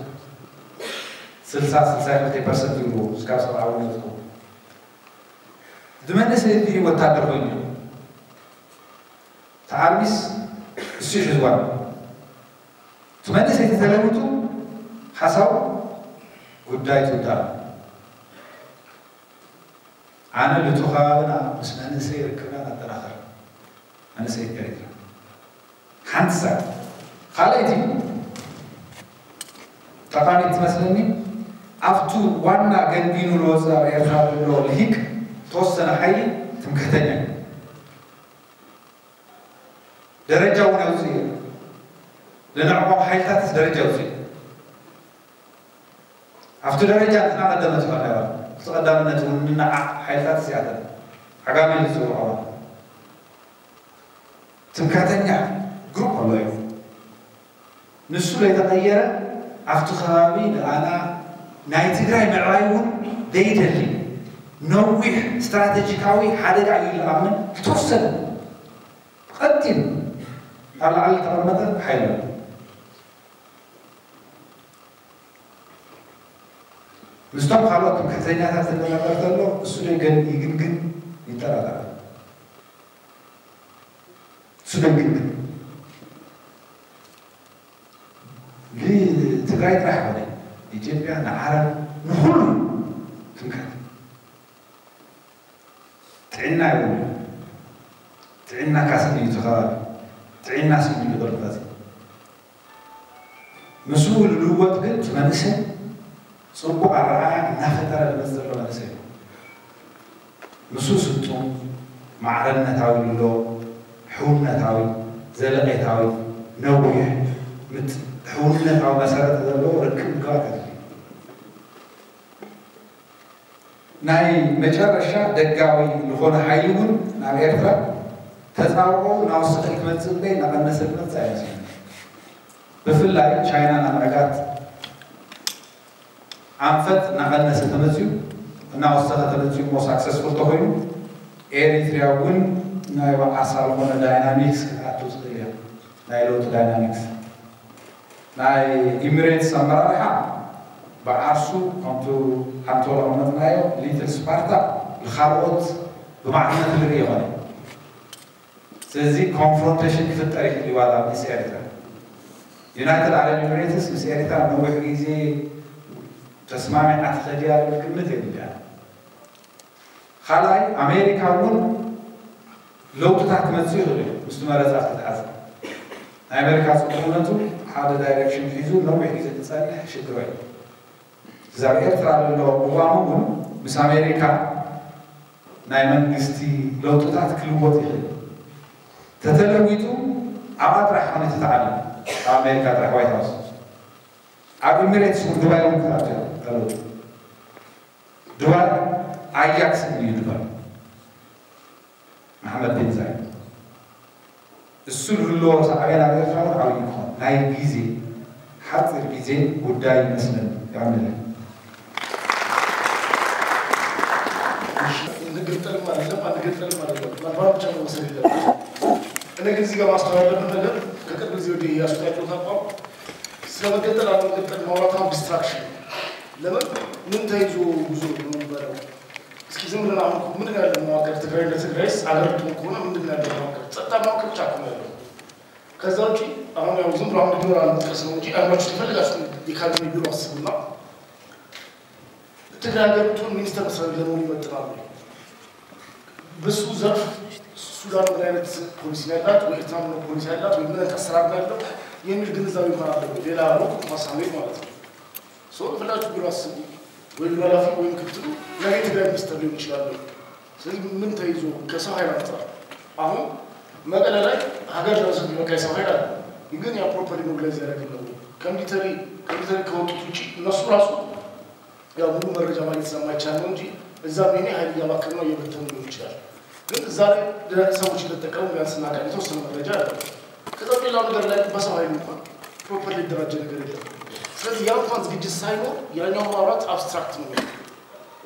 ስልሳ፣ ስልሳ ክልተ ፐርሰንት ይብልዎ፣ እስካብ ሰብኣዊ ዝኸውን። እቲ መንእሰይ እቲ ወታደር ኮይኑ እዩ። እቲ ኣርሚስ እሱ እዩ ሒዝዋ። እቲ መንእሰይ ተተለዊጡ ሓሳቡ ጉዳይ ትውዳእ። ኣነ ልቱ ከባብና ምስ መንእሰይ ርክብና ነጠናኽር። መንእሰይ ኤሪትራ። ሓንቲ ሳብ። ካልኣይቲ ጠቓሚት ትመስለኒ፣ ኣብቱ ዋና ገንቢኑ ዝወፅእ ኣብ ኤርትራ ዘሎ ልሂቅ ተወሰነ ሓይሊ ትምክሕተኛ እዩ። ደረጃ እውን ኣውፅኡ እዩ። ንንዕቆም ሓይልታትስ ደረጃ ኣውፅኡ። ኣብቲ ደረጃ እንትና ቀደመት ይኾን ነይራ። እቲ ቀዳምነት እውን ንንዓቕ ሓይልታት እዚኣተን ዓጋመ ኢሉ ዝፅውዖ ትምክሕተኛ ግሩፕ ኣሎ እዩ። ንሱ ዘይተቐየረ ኣብቲ ከባቢ ንኣና ናይ ትግራይ ምዕባይ እውን ዘይደሊ ነዊሕ ስትራቴጂካዊ ሓደጋ እዩ ዝኣምን ዝተወሰነ ቀጢን ኣብ ላዕሊ ዝተቐመጠ ሓይሊ ኣሎ። ምስቶም ካልኦት ትምክሕተኛታት ዝነጋገር ዘሎ እሱ ደይ ገን ይግንግን ይጠራጠር። እሱ ደይ ግንግን ንትግራይ ጥራሕ ኾነ ኢትዮጵያ ንዓረብ ንኹሉ ትምክሕት። ጥዕና ይብሉ። ጥዕና ካስኒ እዩ እቲ ከባቢ። ጥዕና ስኒ እዩ ደርፋዚ። ምስኡ ልልወጥ ግን እቲ መንእሰይ ጽቡቕ ኣረኣእያ እናፈጠረ ዝመጽእ ዘሎ መንእሰይ እዩ። ምስኡ ስልጡን፣ ማዕረነታዊ ልሎ፣ ሕውነታዊ፣ ዘለቄታዊ፣ ነዊሕ፣ ምት-፣ ሕውነታዊ መሰረት ዘለዎ ርክብ ምግባር ከድሊ። ናይ መጨረሻ ደጋዊ ዝኾነ ሓይሊ እውን ናብ ኤርትራ ተጻብኦ እናወሰኸ ክመጽእ እምበይ እናቐነሰ ክመጽእ ኣይመስለኒ። ብፍላይ ቻይና ናብ ዕጋት ኣንፈት እናቐነሰ ተመጽዩ፣ እናወሰኸ ተመጽዩ እሞ ሳክሰስፉል ተኾይኑ፣ ኤሪትሪያ እውን ናይ ባዕሳ ዝኾነ ዳይናሚክስ ክትኣቱ ትኽእል እያ። ናይ ለውጢ ዳይናሚክስ ናይ ኢሚሬትስ ኣመራርሓ ብዓርሱ ከምቱ ሓንቲ ወላ ዝቐመጥናዮ ሊትል ስፓርታ ንኻልኦት ብማዕርነት ዝርኢ ይኾነ። ስለዚ ኮንፍሮንቴሽን ክፍጠር ይኽእል እዩ ዋላ ምስ ኤርትራ። ዩናይትድ ዓረብ ኢሚሬትስ ምስ ኤርትራ ነዊሕ ግዜ ተስማሚዓ ትኸድ እያ ዝብል ግምት የብልያን። ካልኣይ ኣሜሪካ እውን ለውጥታት ክመፅእ ይኽእል እዩ ምስቲ መረፃ ዝተተሓዘ። ናይ ኣሜሪካ ፅቡቕነቱ ሓደ ዳይሬክሽን ሒዙ ነዊሕ ግዜ ክፀንሕ ሽግሮ እዩ። እዚ ኣብ ኤርትራ ዘሎ ቅዋም እውን ምስ ኣሜሪካ ናይ መንግስቲ ለውጥታት ክልወጥ ይኽእል። ተተለዊጡ ኣብኣ ጥራሕ ኾነ ተተዓለም ኣብ ኣሜሪካ ጥራሕ ዋይት ሃውስ ኣብ ኢሚሬትስ እውን ዱባይ እውን ክኣቱ ተለውጡ። ዱባይ ኣያክስ እዩ ዱባይ መሓመድ ቢን ዛይድ እሱ ዝህልዎ ሳዕቤን ኣብ ኤርትራ እውን ዓብዪ ክኾን ናይ ግዜ ሓፂር ግዜ ጉዳይ ይመስለኒ። ያምለ ንግጠልም አይደለም አንገጠልም አይደለም መግባባት ብቻ መወሰድ የለበትም። እኔ ግን እዚህ ጋር ማስተዋል ያለብን ነገር ከቅርብ ጊዜ ወዲህ እያስወጣ ያለሁት አቋም ስለ መገንጠል አለመገንጠል ማውራት አሁን ዲስትራክሽን። ለምን ምን ተይዞ ጉዞ ነው የሚባለው? እስኪ ዝም ብለን አሁን እኮ ምንድን ነው ያለው መዋቅር? ትግራይ እንደ ትግራይስ አገር ልትሆን ከሆነ ምንድን ነው ያለው መዋቅር? ጸጥታ መዋቅር ብቻ እኮ ነው ያለው። ከዛ ውጪ አሁን ያው ዝም ብሎ አንድ ቢሮ አለመጥቀስ ነው እንጂ አእምሯችሁ የፈለጋችሁትን የካቢኔ ቢሮ አስቡና ትግራይ ሀገር ብትሆን ሚኒስተር መስሪያ ቤት ለመሆን ይመጥናሉ። በሱ ዘርፍ ሱዳን ምን አይነት ፖሊሲ ነው ያላት ወይ ኤርትራ ምን ፖሊሲ ያላት ወይ ምን አይነት አሰራር ነው ያለው የሚል ግንዛቤ እንኳን አለ ወይ? ሌላ ሩቅ እንኳን ሳንሄድ ማለት ነው። ሰው ፈላችሁ ቢሮ አስቡ ወይ ቢሮ ኃላፊ ወይ ምክትሉ ነገ የትግራይ ሚኒስተር ሊሆን ይችላሉ። ስለዚህ ምን ተይዞ ከሰው ኃይል አንጻር አሁን መቀለ ላይ ሀገር ለመስራት የሚበቃ የሰው ኃይል አለ። ግን ያ ፕሮፐርሊ ሞቢላይዝ ያደረግን ነው። ኮምፒውተሪ ኮምፒውተሪ ከወጡት ውጭ እነሱ ራሱ ያው ሙሉ መረጃ ማግኘት ስለማይቻል ነው እንጂ እዛ ምን ኃይል እያባከኑ ነው እየበተኑ ሊሆን ይችላል። ግን እዛ ላይ ሰዎች እንደተጠቀሙ ቢያንስ እናውቃለን፣ የተወሰነ መረጃ አለ። ከዛ ሌላው ነገር ላይ በሰው ኃይል እንኳን ፕሮፐርሊ የተደራጀ ነገር የለም። ስለዚህ ያ እንኳን ዝግጅት ሳይኖር ያኛው ማውራት አብስትራክት ነው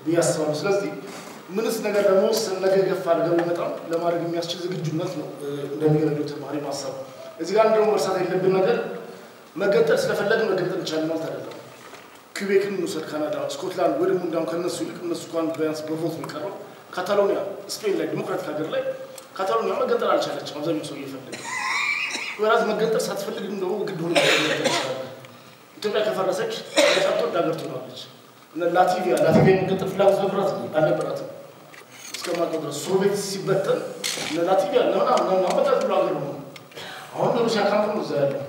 ብዬ አስባለሁ። ስለዚህ ምንስ ነገር ለመወሰን ነገ ገፋ አድርገን በጣም ለማድረግ የሚያስችል ዝግጁነት ነው እንደሚገለገሉ ተማሪ ማሰብ። እዚህ ጋር እንደውም መርሳት የለብን ነገር መገንጠል ስለፈለግን መገንጠል እንችላለን ማለት አይደለም። ኪቤክን እንውሰድ፣ ካናዳ፣ ስኮትላንድ ወይ ደግሞ እንዲያውም ከነሱ ይልቅ እነሱ እንኳን ቢያንስ በቮት ነው የቀረው። ካታሎኒያ ስፔን ላይ ዲሞክራቲክ ሀገር ላይ ካታሎኒያ መገንጠል አልቻለችም። አብዛኛው ሰው እየፈለገ ወራዝ መገንጠል ሳትፈልግም ደግሞ ግድ ሆኖ መገንጠል ትችላለህ። ኢትዮጵያ ከፈረሰች ሳትወድ ሀገር ትሆናለች። እነ ላቲቪያ ላቲቪያ የመገንጠል ፍላጎት ነበራት አልነበራትም? እስከማውቀው ድረስ ሶቪየት ሲበተን እነ ላቲቪያ እነ ምናምን ምናምን አመጣት ብሎ ሀገር ነው። አሁን ሩሲያ ካምፕ ነው እዛ ያለው።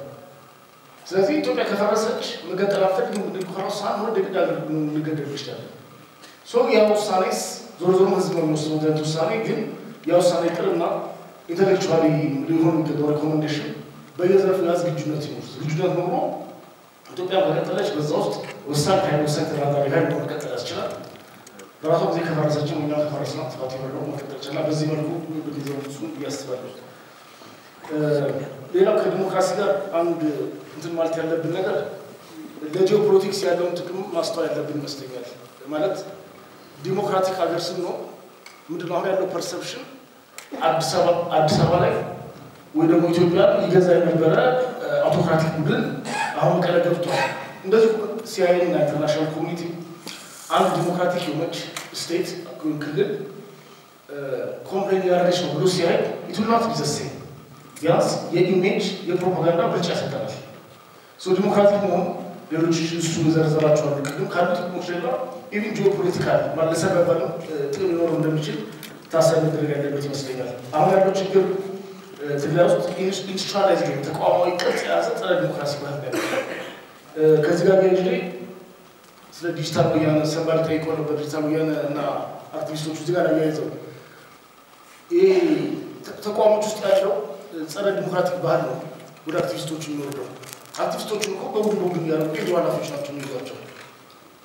ስለዚህ ኢትዮጵያ ከፈረሰች መገንጠል አትፈልግም እንድንኮራው ሳንወድ የግድ ሀገር ልንገደል እንችላለን። ሶ ያ ውሳኔስ ዞሮ ዞሮ ህዝብ ነው የሚወስነው። ውሳኔ ግን ያ ውሳኔ ቅርና ኢንተሌክቹዋሊ ሊሆን የሚገባው ሪኮመንዴሽን በየዘርፉ ያ ዝግጁነት ይኖር። ዝግጁነት ኖሮ ኢትዮጵያ ከቀጠለች በዛ ውስጥ ወሳኝ ኃይል ወሳኝ ተደራዳሪ ኃይል ሆኖ መቀጠል ያስችላል። በራሷ ጊዜ ከፈረሰችም እኛ ከፈረስና ጥፋት የሌለው መቀጠል ይችላል። በዚህ መልኩ ብንይዘው እሱ ብዬ አስባለሁ። ሌላው ከዲሞክራሲ ጋር አንድ እንትን ማለት ያለብን ነገር ለጂኦፖለቲክስ ያለውን ጥቅም ማስተዋል ያለብን ይመስለኛል። ማለት ዲሞክራቲክ ሀገር ስንሆን ምንድነው አሁን ያለው ፐርሰፕሽን አዲስ አበባ አዲስ አበባ ላይ ወይ ደግሞ ኢትዮጵያ ይገዛ የነበረ አውቶክራቲክ ቡድን አሁን መቀለ ገብቷል። እንደዚህ ሲአይኤ እና ኢንተርናሽናል ኮሚኒቲ አንድ ዲሞክራቲክ የሆነች ስቴት ወይም ክልል ኮምፕሌን እያደረገች ነው ብሎ ሲያይ ኢትናት ቢዘሴ ቢያንስ የኢሜጅ የፕሮፓጋንዳ ምርጫ ይሰጠናል። ሶ ዲሞክራቲክ መሆን ሌሎች እሱ የዘረዘራቸው አሉ። ቅድም ካሉ ጥቅሞች ሌላ ኢቭን ጂኦፖለቲካል ማለት ለሰርቫይቫል ጥቅም ሊኖረው እንደሚችል ታሳቢ መደረግ ያለበት ይመስለኛል። አሁን ያለው ችግር ትግራይ ውስጥ ኢንስቲቱሽናላይዝ ተቋማዊ ቅርጽ የያዘ ጸረ ዲሞክራሲ ባህል ነው። ከዚህ ጋር ያይዤ ስለ ዲጂታል ወያነ ሰንባል ጠይቆ ነበር። ዲጂታል ወያነ እና አክቲቪስቶቹ እዚህ ጋር አያይዘው ይሄ ተቋሞች ውስጥ ያለው ጸረ ዲሞክራቲክ ባህል ነው ወደ አክቲቪስቶቹ የሚወርደው። አክቲቪስቶቹ እኮ በቡድን በቡድን እያደረጉ የቢሮ ኃላፊዎች ናቸው የሚይዟቸው።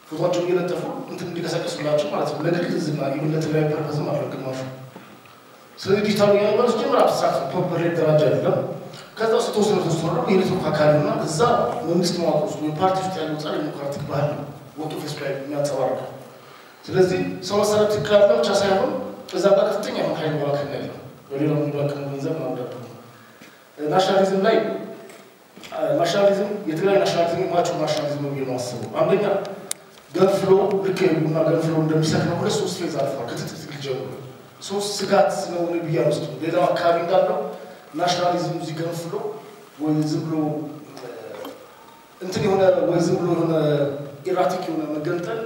ፎቶቸውን እየለጠፉ እንትን እንዲቀሰቀሱላቸው ማለት ነው። ለግል ዝና ይሁን ለተለያዩ ፐርፐዝም አለው ግማሹ። ስለዚህ ዲጂታል ወያነ ማለት ጀምር አብስትራክት ፕሮፐር ደረጃ አይደለም። ከዛ ውስጥ የተወሰነ ተወሰነ ደግሞ የኔትወርክ አካል እና እዛ መንግስት መዋቅር ውስጥ ወይ ፓርቲ ውስጥ ያለው ጸረ ዲሞክራቲክ ባህል ነው ወጥቶ ፌስቡክ ላይ የሚያንጸባርቀው። ስለዚህ ሰው መሰረት ትክክል አለ ብቻ ሳይሆን እዛ ጋር ከፍተኛ የሆነ ኃይል መዋክል ያለው በሌላው የሚባክነው ገንዘብ ማምዳቱ ናሽናሊዝም ላይ ናሽናሊዝም የትግራይ ናሽናሊዝም ማቹ ናሽናሊዝም ነው ብዬ ነው አስበው። አንደኛ ገንፍሎ ልክ ቡና ገንፍሎ እንደሚሰክነው ሁለት ሶስት ፌዝ አልፏል። ክትትል ጀምሮ ሶስት ስጋት ስለሆነ ብዬ አልወስድም። ሌላው አካባቢ እንዳለው ናሽናሊዝም እዚህ ገንፍሎ ወይ ዝም ብሎ እንትን የሆነ ወይ ዝም ብሎ የሆነ ኢራቲክ የሆነ መገንጠል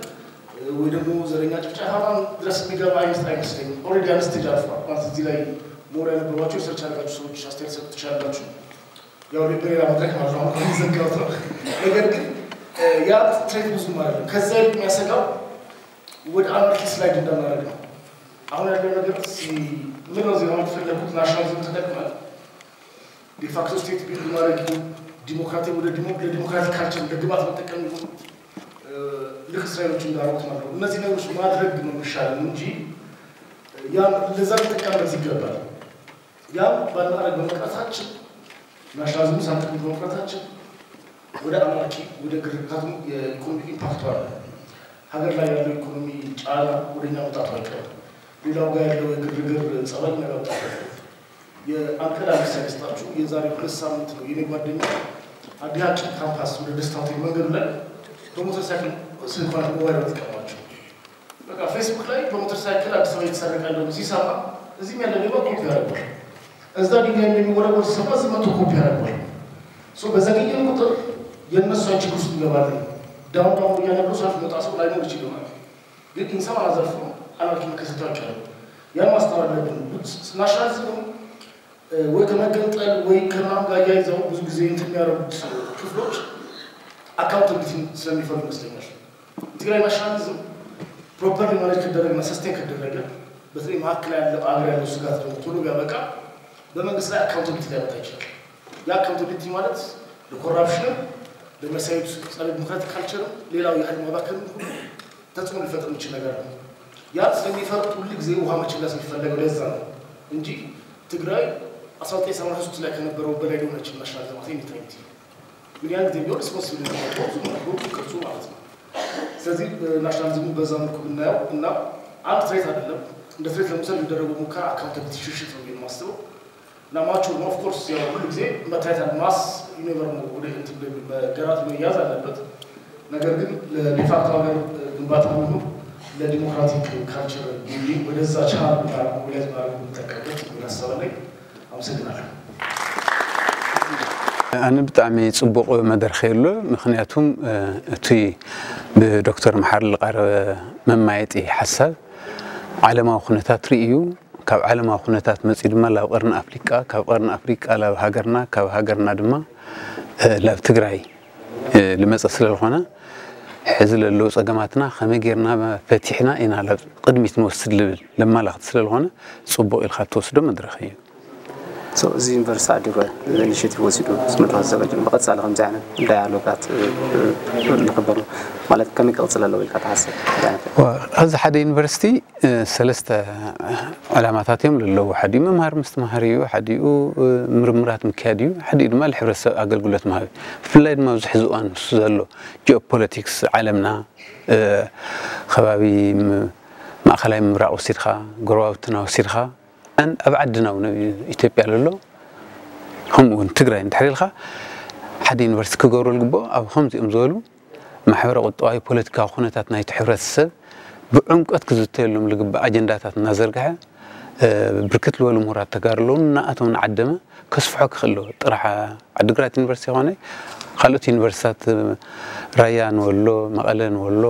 ወይ ደግሞ ዘረኛ ጭፍጨፋ ድረስ የሚገባ አይነት አይመስለኝም። ኦልሬዲ አንድ ስቴጅ አልፏል ማለት እዚህ ላይ ሞር ያነበባቸው ሪሰርች ያደረጋችሁ ሰዎች አስተያየት ሰጡ ትችላላችሁ። ያው በሌላ መድረክ ማለት ነው አሁን ዘጋሁት ነው። ነገር ግን ያ ትሬት ብዙም አይደለም። ከዛ ይልቅ የሚያሰጋው ወደ አናርኪ ስላይድ እንዳናደርግ ነው። አሁን ያለው ነገር ምን ነው ዜና የፈለጉት ናሽናሊዝም ተጠቅመን ዲፋክቶ ስቴት ቢልድ ማድረግ ይሁን ዲሞክራቲክ ወደ ለዲሞክራቲክ ካልቸር እንደ ግብዓት መጠቀም ይሁን ልክ እስራኤሎች እንዳደረጉት ማለት ነው። እነዚህ ነገሮች ማድረግ ነው የሚሻለን እንጂ ያ ለዛ ልንጠቀምበት ይገባል። ያ ባናደርግ በመቅረታችን ናሽናሊዝም ሳንጠቅም በመቅረታችን ወደ አናርኪ ወደ ግርግር የኢኮኖሚ ኢምፓክቱ አለ። ሀገር ላይ ያለው ኢኮኖሚ ጫና ወደኛ መምጣቱ አይቀርም። ሌላው ጋር ያለው የግርግር ጸባይ መምጣቱ አይቀርም። የአንቀዳ ሰገስታችሁ የዛሬ ሁለት ሳምንት ነው የኔ ጓደኛ አዲሃቂ ካምፓስ ወደ ደስታ ሆቴል መንገዱ ላይ በሞተር ሳይክል ስልኳን ሞባይል ተቀማቸው። በቃ ፌስቡክ ላይ በሞተር ሳይክል አዲስ አበባ የተሰረቀ እንደሆነ ሲሰማ እዚህም ያለ ሌባ ኮፒ ያደርጋል። እዛ ድንጋይ እንደሚወረወር ሲሰማ እዚህ መቶ ኮፒ ያደርጋል። ሶ በዘገየን ቁጥር የእነሱ ችግር ውስጥ እንገባለን። ዳውን ዳውን እያለ ብሎ ሰልፍ መጣ ሰው ላይኖር ይችል ይሆናል። ግን ኢንሳን አዘርፎ አናርኪ መከሰታቸው አለ። ያን ማስተዋል አለብን። ናሽናሊዝም ወይ ከመገንጠል ወይ ከማን ጋር እያይዘው ብዙ ጊዜ እንትን የሚያደርጉት ክፍሎች አካውንታብሊቲ ስለሚፈልጉ ይመስለኛል። ትግራይ ናሽናሊዝም ፕሮፐርሊ ማኔጅ ከደረግና ሰስቴን ከደረገ በተለይ መካከል ያለው አገር ያለው ስጋት ደግሞ ቶሎ ቢያበቃ በመንግስት ላይ አካውንታብሊቲ ሊያመጣ ይችላል። ያ አካውንታብሊቲ ማለት ለኮራፕሽንም ለመሳይቱ ጸረ ዲሞክራቲክ ካልቸርም ሌላው የኃይል ማባከንም ሁሉ ተጽዕኖ ሊፈጥር የሚችል ነገር ነው። ያ ስለሚፈርድ ሁሉ ጊዜ ውሃ መቸለስ የሚፈለገው ለዛ ነው እንጂ ትግራይ አስራ ዘጠኝ ሰማንያ ሶስት ላይ ከነበረው በላይ ሊሆን አይችልም። ናሽናል ዘማት የሚታዩት ምን ያን ጊዜ ቢሆን ሪስፖንሲብል ነው ብዙ ማለት ነው ቅርጹ ማለት ነው። ስለዚህ ናሽናሊዝሙ በዛ መልኩ ብናየው እና አንድ ትሬት አይደለም እንደ ትሬት ለመውሰድ የሚደረገው ሙከራ አካውንታብሊቲ ሽሽት ነው ብዬ የማስበው። እና ማቹር ነው ኦፍኮርስ ያው ሁሉ ጊዜ መታየት አለ ማስ ዩኒቨር ነው ወደ እንትን መገራት መያዝ አለበት። ነገር ግን ለዲፋክቶ ሀገር ግንባታ ሆኑ ለዲሞክራቲክ ካልቸር ቢልዲንግ ወደዛ ቻናል ማድረግ ሞቢላይዝ ማድረግ የምንጠቀምበት የሚል ሀሳብ አለኝ። ኣመሰግናለሁ። ኣነ ብጣዕሚ ፅቡቕ መድረኽ የሎ። ምክንያቱም እቲ ብዶክተር መሓሪ ዝቐረበ መማየጢ ሓሳብ ዓለማዊ ኩነታት ርእዩ፣ ካብ ዓለማዊ ኩነታት መፂኡ ድማ ላብ ቀርኒ ኣፍሪቃ፣ ካብ ቀርኒ ኣፍሪቃ ላብ ሃገርና፣ ካብ ሃገርና ድማ ላብ ትግራይ ልመፀ ስለዝኾነ፣ ሕዚ ለለዉ ፀገማትና ከመይ ጌርና ፈቲሕና ኢና ላብ ቅድሚት ንወስድ ልብል ለማላኽቲ ስለዝኾነ፣ ፅቡቕ ኢልካ እትወስዶ መድረኽ እዩ። እዚ ዩኒቨርሲቲ ዓዲግራት ኢኒሽቲቭ ወሲዱ መድረኽ ዘዘጋጀ ብቐፃሊ ከምዚ ዓይነት ዳያሎጋት ንኽበር ማለት ከመይ ክቕፅል ኣለዎ ኢልካ ትሓስብ? ኣብዚ ሓደ ዩኒቨርሲቲ ሰለስተ ዕላማታት እዮም ለለዎ። ሓዲኡ መምሃር ምስትምሃር እዩ፣ ሓዲኡ ምርምራት ምክያድ እዩ፣ ሓዲኡ ድማ ንሕብረተሰብ ኣገልግሎት ምሃብ እዩ። ብፍላይ ድማ ኣብዚ ሕዚ እዋን ንሱ ዘሎ ጂኦፖለቲክስ ዓለምና ከባቢ ማእኸላይ ምብራቕ ወሲድካ ጎረባብትና ወሲድካ ኣብ ዓድና እውን ኢትዮጵያ ለሎ ከምኡ እውን ትግራይ እንድሕር ኢልካ ሓደ ዩኒቨርሲቲ ክገብሩ ዝግብኦ ኣብ ከምዚኦም ዝበሉ ማሕበረ ቁጠባዊ ፖለቲካዊ ኩነታት ናይቲ ሕብረተሰብ ብዕምቀት ክዝተየሎም ዝግባእ ኣጀንዳታት እናዘርግሐ ብርክት ዝበሉ ምሁራት ተጋሩ ኣለዉ። ንኣቶም ንዓደመ ከስፍሖ ክኽእል ኣለዎ። ጥራሕ ዓዲግራት ዩኒቨርሲቲ ይኾነ ካልኦት ዩኒቨርሲታት ራያ ንወሎ፣ መቐለ ንወሎ፣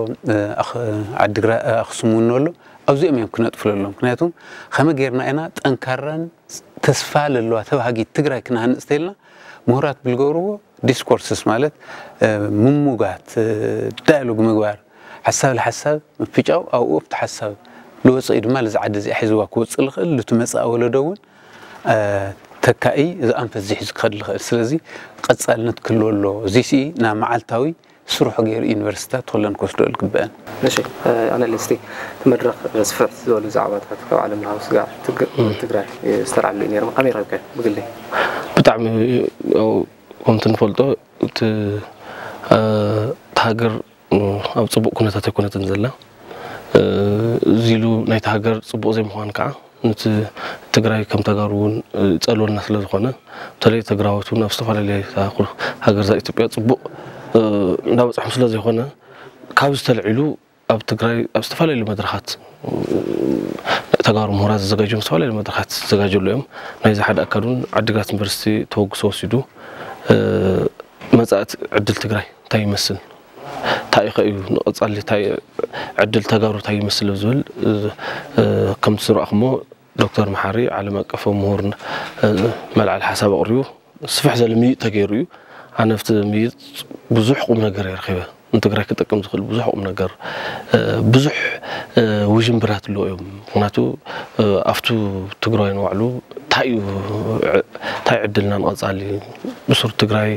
ኣኽሱም እውን ንወሎ ኣብዚኦም እዮም ክነጥፉ ለሎም። ምክንያቱም ከመይ ጌርና ኢና ጠንካራን ተስፋ ለለዋ ተባሃጊት ትግራይ ክነሃንፅ ተይልና ምሁራት ብልገብርዎ ዲስኮርስስ ማለት ምሙጋት ዳያሎግ ምግባር ሓሳብ ለሓሳብ ምፍጫው ኣብኡ ኣብቲ ሓሳብ ልወፀ እዩ ድማ ልዚ ዓዲ እዚኣ ሒዝዋ ክወፅእ ልኽእል ልቲ መፃእ ወለዶ እውን ተካኢ እዚ ኣንፈት እዚ ሒዙ ክኸድ ልኽእል ስለዚ ቀፃልነት ክህልዎ ኣለዎ። እዚ ሲ ናብ መዓልታዊ ስርሑ ገይሩ ዩኒቨርሲታት ኩለን ክወስዶ ልግበአን። እሺ ኣነሊስቲ እቲ መድረኽ ስፍሕ ዝበሉ ዛዕባታት ካብ ዓለም ለኻዊ ስጋዕ ትግራይ ዝተልዓሉ እዩ ነይሮም። ከመይ ረብከ ብግለይ? ብጣዕሚ ከምቲ ንፈልጦ እቲ ሃገር ኣብ ፅቡቅ ኩነታት ኣይኮነትን ዘላ እዚ ኢሉ ናይቲ ሃገር ፅቡቅ ዘይምኳን ከዓ ነቲ ትግራይ ከም ተጋሩ እውን ይፀልወልና ስለ ዝኾነ በተለይ ትግራዎት እውን ኣብ ዝተፈላለየ ሃገር እዛ ኢትዮጵያ ፅቡቅ እንዳበፅሖም ስለ ዘይኮነ ካብዚ ተልዒሉ ኣብ ትግራይ ኣብ ዝተፈላለዩ መድረኻት ተጋሩ ምሁራት ዝዘጋጀዮም ዝተፈላለዩ መድረኻት ዝዘጋጀሉ እዮም። ናይዚ ሓደ ኣካል እውን ዓዲግራት ዩኒቨርሲቲ ተወግሶ ወሲዱ መፃእቲ ዕድል ትግራይ እንታይ ይመስል እንታይ ከ እዩ ንቐፃሊ እንታይ ዕድል ተጋሩ እንታይ ይመስል ዝብል ከምቲ ዝረእኹሞ ዶክተር መሓሪ ዓለም ኣቀፋዊ ምሁር መልዓል ሓሳብ ኣቕሪቡ ስፍሕ ዘለ ምይጥ ተገይሩ እዩ። ኣነ ኣብቲ ምይጥ ብዙሕ ቁም ነገር እየ ረኺበ። ንትግራይ ክጠቅም ዝኽእል ብዙሕ ቁም ነገር ብዙሕ ውዥንብራት ኣለዎ እዮም። ምክንያቱ ኣብቱ ትግራይ ንባዕሉ እንታይ እዩ እንታይ ዕድልና ንቐፃሊ ብሱር ትግራይ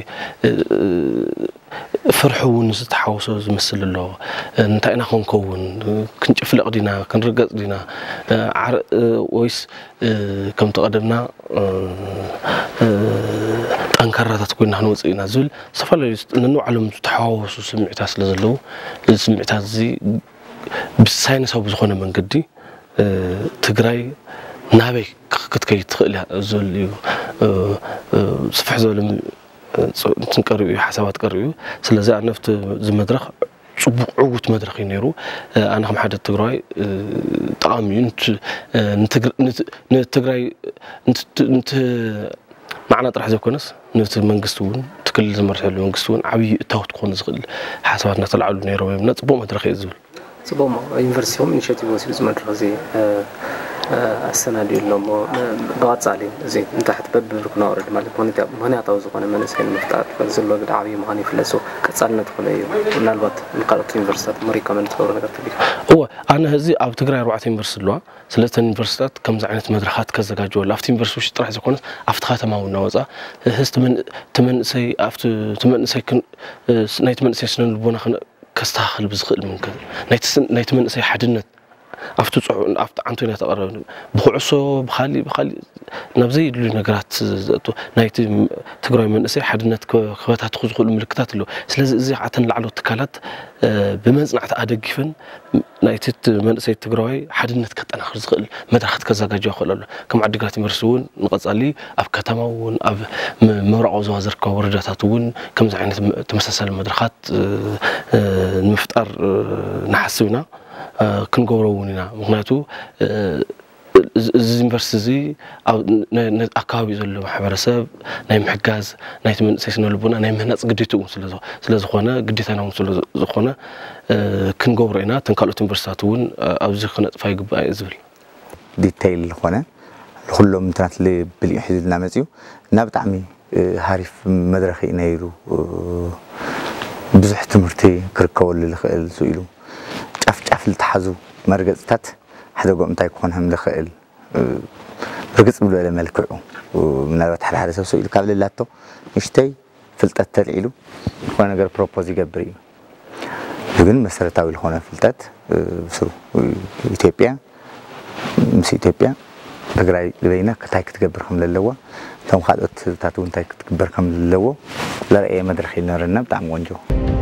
ፍርሒ እውን ዝተሓወሶ ዝመስል ኣሎ። እንታይ ኢና ክንከውን ክንጭፍለቕ ዲና ክንርገፅ ዲና ወይስ ከምቲ ቀደምና ጠንካራታት ኮይና ክንወፅእ ኢና ዝብል ዝተፈላለዩ ነንባዕሎም ዝተሓዋወሱ ስምዒታት ስለ ዘለዉ እዚ ስምዒታት እዚ ብሳይንሳዊ ብዝኾነ መንገዲ ትግራይ ናበይ ክትከይድ ትኽእል እያ። ዘልዩ ስፍሕ ዝበለ ትንቀሪኡ እዩ፣ ሓሳባት ቀሪቡ። ስለዚ ኣነፍቲ እዚ መድረኽ ፅቡቕ ዕዉት መድረኽ እዩ ነይሩ። ኣነ ከም ሓደ ትግራዋይ ጠቓሚ እዩ። ንትግራይ ንዓና ጥራሕ ዘይኮነስ ነቲ መንግስቲ እውን፣ እቲ ክልል ዝመርሐሉ መንግስቲ እውን ዓብዪ እታወት ክኾኑ ዝኽእል ሓሳባት እናተላዕሉ ነይሮም እዮም እና ፅቡቕ መድረኽ እዩ ዝብል። ፅቡቕ እሞ ዩኒቨርሲቲኹም ኢኒሽቲቭ ወሲዱ እዚ መድረኽ እዚ ኣሰናዲኡ ኣሎ እሞ ብቐፃሊ እዚ ንታሕቲ በብብርኩ ናውረድ ማለት ምክንያታዊ ዝኾነ መንእሰይ ንምፍጣር ዘሎ ግዳ ዓብዪ ምዃኑ ይፍለፁ ቀፃልነት ዝኾነ እዩ። ምናልባት ንካልኦት ዩኒቨርሲቲታት ሪኮመንድ ትገብሩ ነገር ተቢሉ እወ ኣነ እዚ ኣብ ትግራይ ኣርባዕተ ዩኒቨርሲቲ ኣለዋ። ስለተን ዩኒቨርሲታት ከምዚ ዓይነት መድረኻት ከዘጋጀወሉ ኣብቲ ዩኒቨርሲቲ ውሽጢ ጥራሕ ዘይኮነስ ኣብቲ ከተማ እውን እናወፃ ህዝቲ መንእሰይ ኣብቲ መንእሰይ ናይቲ መንእሰይ ስነ ልቦና ከስተኻኽል ብዝኽእል መንገዲ ናይቲ መንእሰይ ሓድነት ኣብቲ ፅዑ ኣብቲ ዓንቶ ኢና ተቐረብ ብኩዕሶ ብካሊእ ብካሊእ ናብ ዘይድልዩ ነገራት ዘእቱ ናይቲ ትግራዊ መንእሰይ ሓድነት ክበታትኹ ዝኽእሉ ምልክታት ኣለዉ። ስለዚ እዚ ከዓ እተን ላዕለዎት ትካላት ብመፅናዕቲ ኣደጊፈን ናይቲ መንእሰይ ትግራዋይ ሓድነት ከጠናኽር ዝኽእል መድረኻት ከዘጋጅዋ ክኽእል ኣሎ። ከም ዓዲግራት ዩኒቨርሲቲ እውን ንቐፃሊ ኣብ ከተማ እውን ኣብ ምብራቕ ዞባ ዝርከቡ ወረዳታት እውን ከምዚ ዓይነት ተመሳሳሊ መድረኻት ንምፍጣር ንሓስብ ኢና፣ ክንገብሮ እውን ኢና። ምክንያቱ እዚ ዩኒቨርሲቲ እዚ ኣካባቢ ዘሎ ማሕበረሰብ ናይ ምሕጋዝ ናይቲ መንእሰይ ስነ ልቦና ናይ ምህናፅ ግዴታ እውን ስለዝኾነ ግዴታና እውን ስለዝኾነ ክንገብሮ ኢና። እተን ካልኦት ዩኒቨርሲታት እውን ኣብዚ ክነጥፋ ይግባእ እዩ ዝብል። ዲተይል ዝኾነ ንኩሎም እንትናት ብልዩ ሒዙልና መፅዩ እና ብጣዕሚ ሃሪፍ መድረኽ እዩ ነይሩ። ብዙሕ ትምህርቲ ክርከበሉ ዝኽእል ስኢሉ ጫፍ ጫፍ ዝተሓዙ መርገፅታት ሓደ ጎም እንታይ ክኾን ከም ዝኽእል ብርግፅ ብዝበለ መልክዑ ምናልባት ሓደ ሓደ ሰብ ስኢሉ ካብ ልላቶ ንሽተይ ፍልጠት ተልዒሉ ዝኾነ ነገር ፕሮፖዝ ይገብር እዩ። ግን መሰረታዊ ዝኾነ ፍልጠት ብስሩ ኢትዮጵያ ምስ ኢትዮጵያ ትግራይ ዝበይና እንታይ ክትገብር ከም ዘለዋ እቶም ካልኦት ህዝብታት እውን እንታይ ክትግበር ከም ዘለዎ ለረእየ መድረክ ይነበረና ብጣዕሚ ቆንጆ።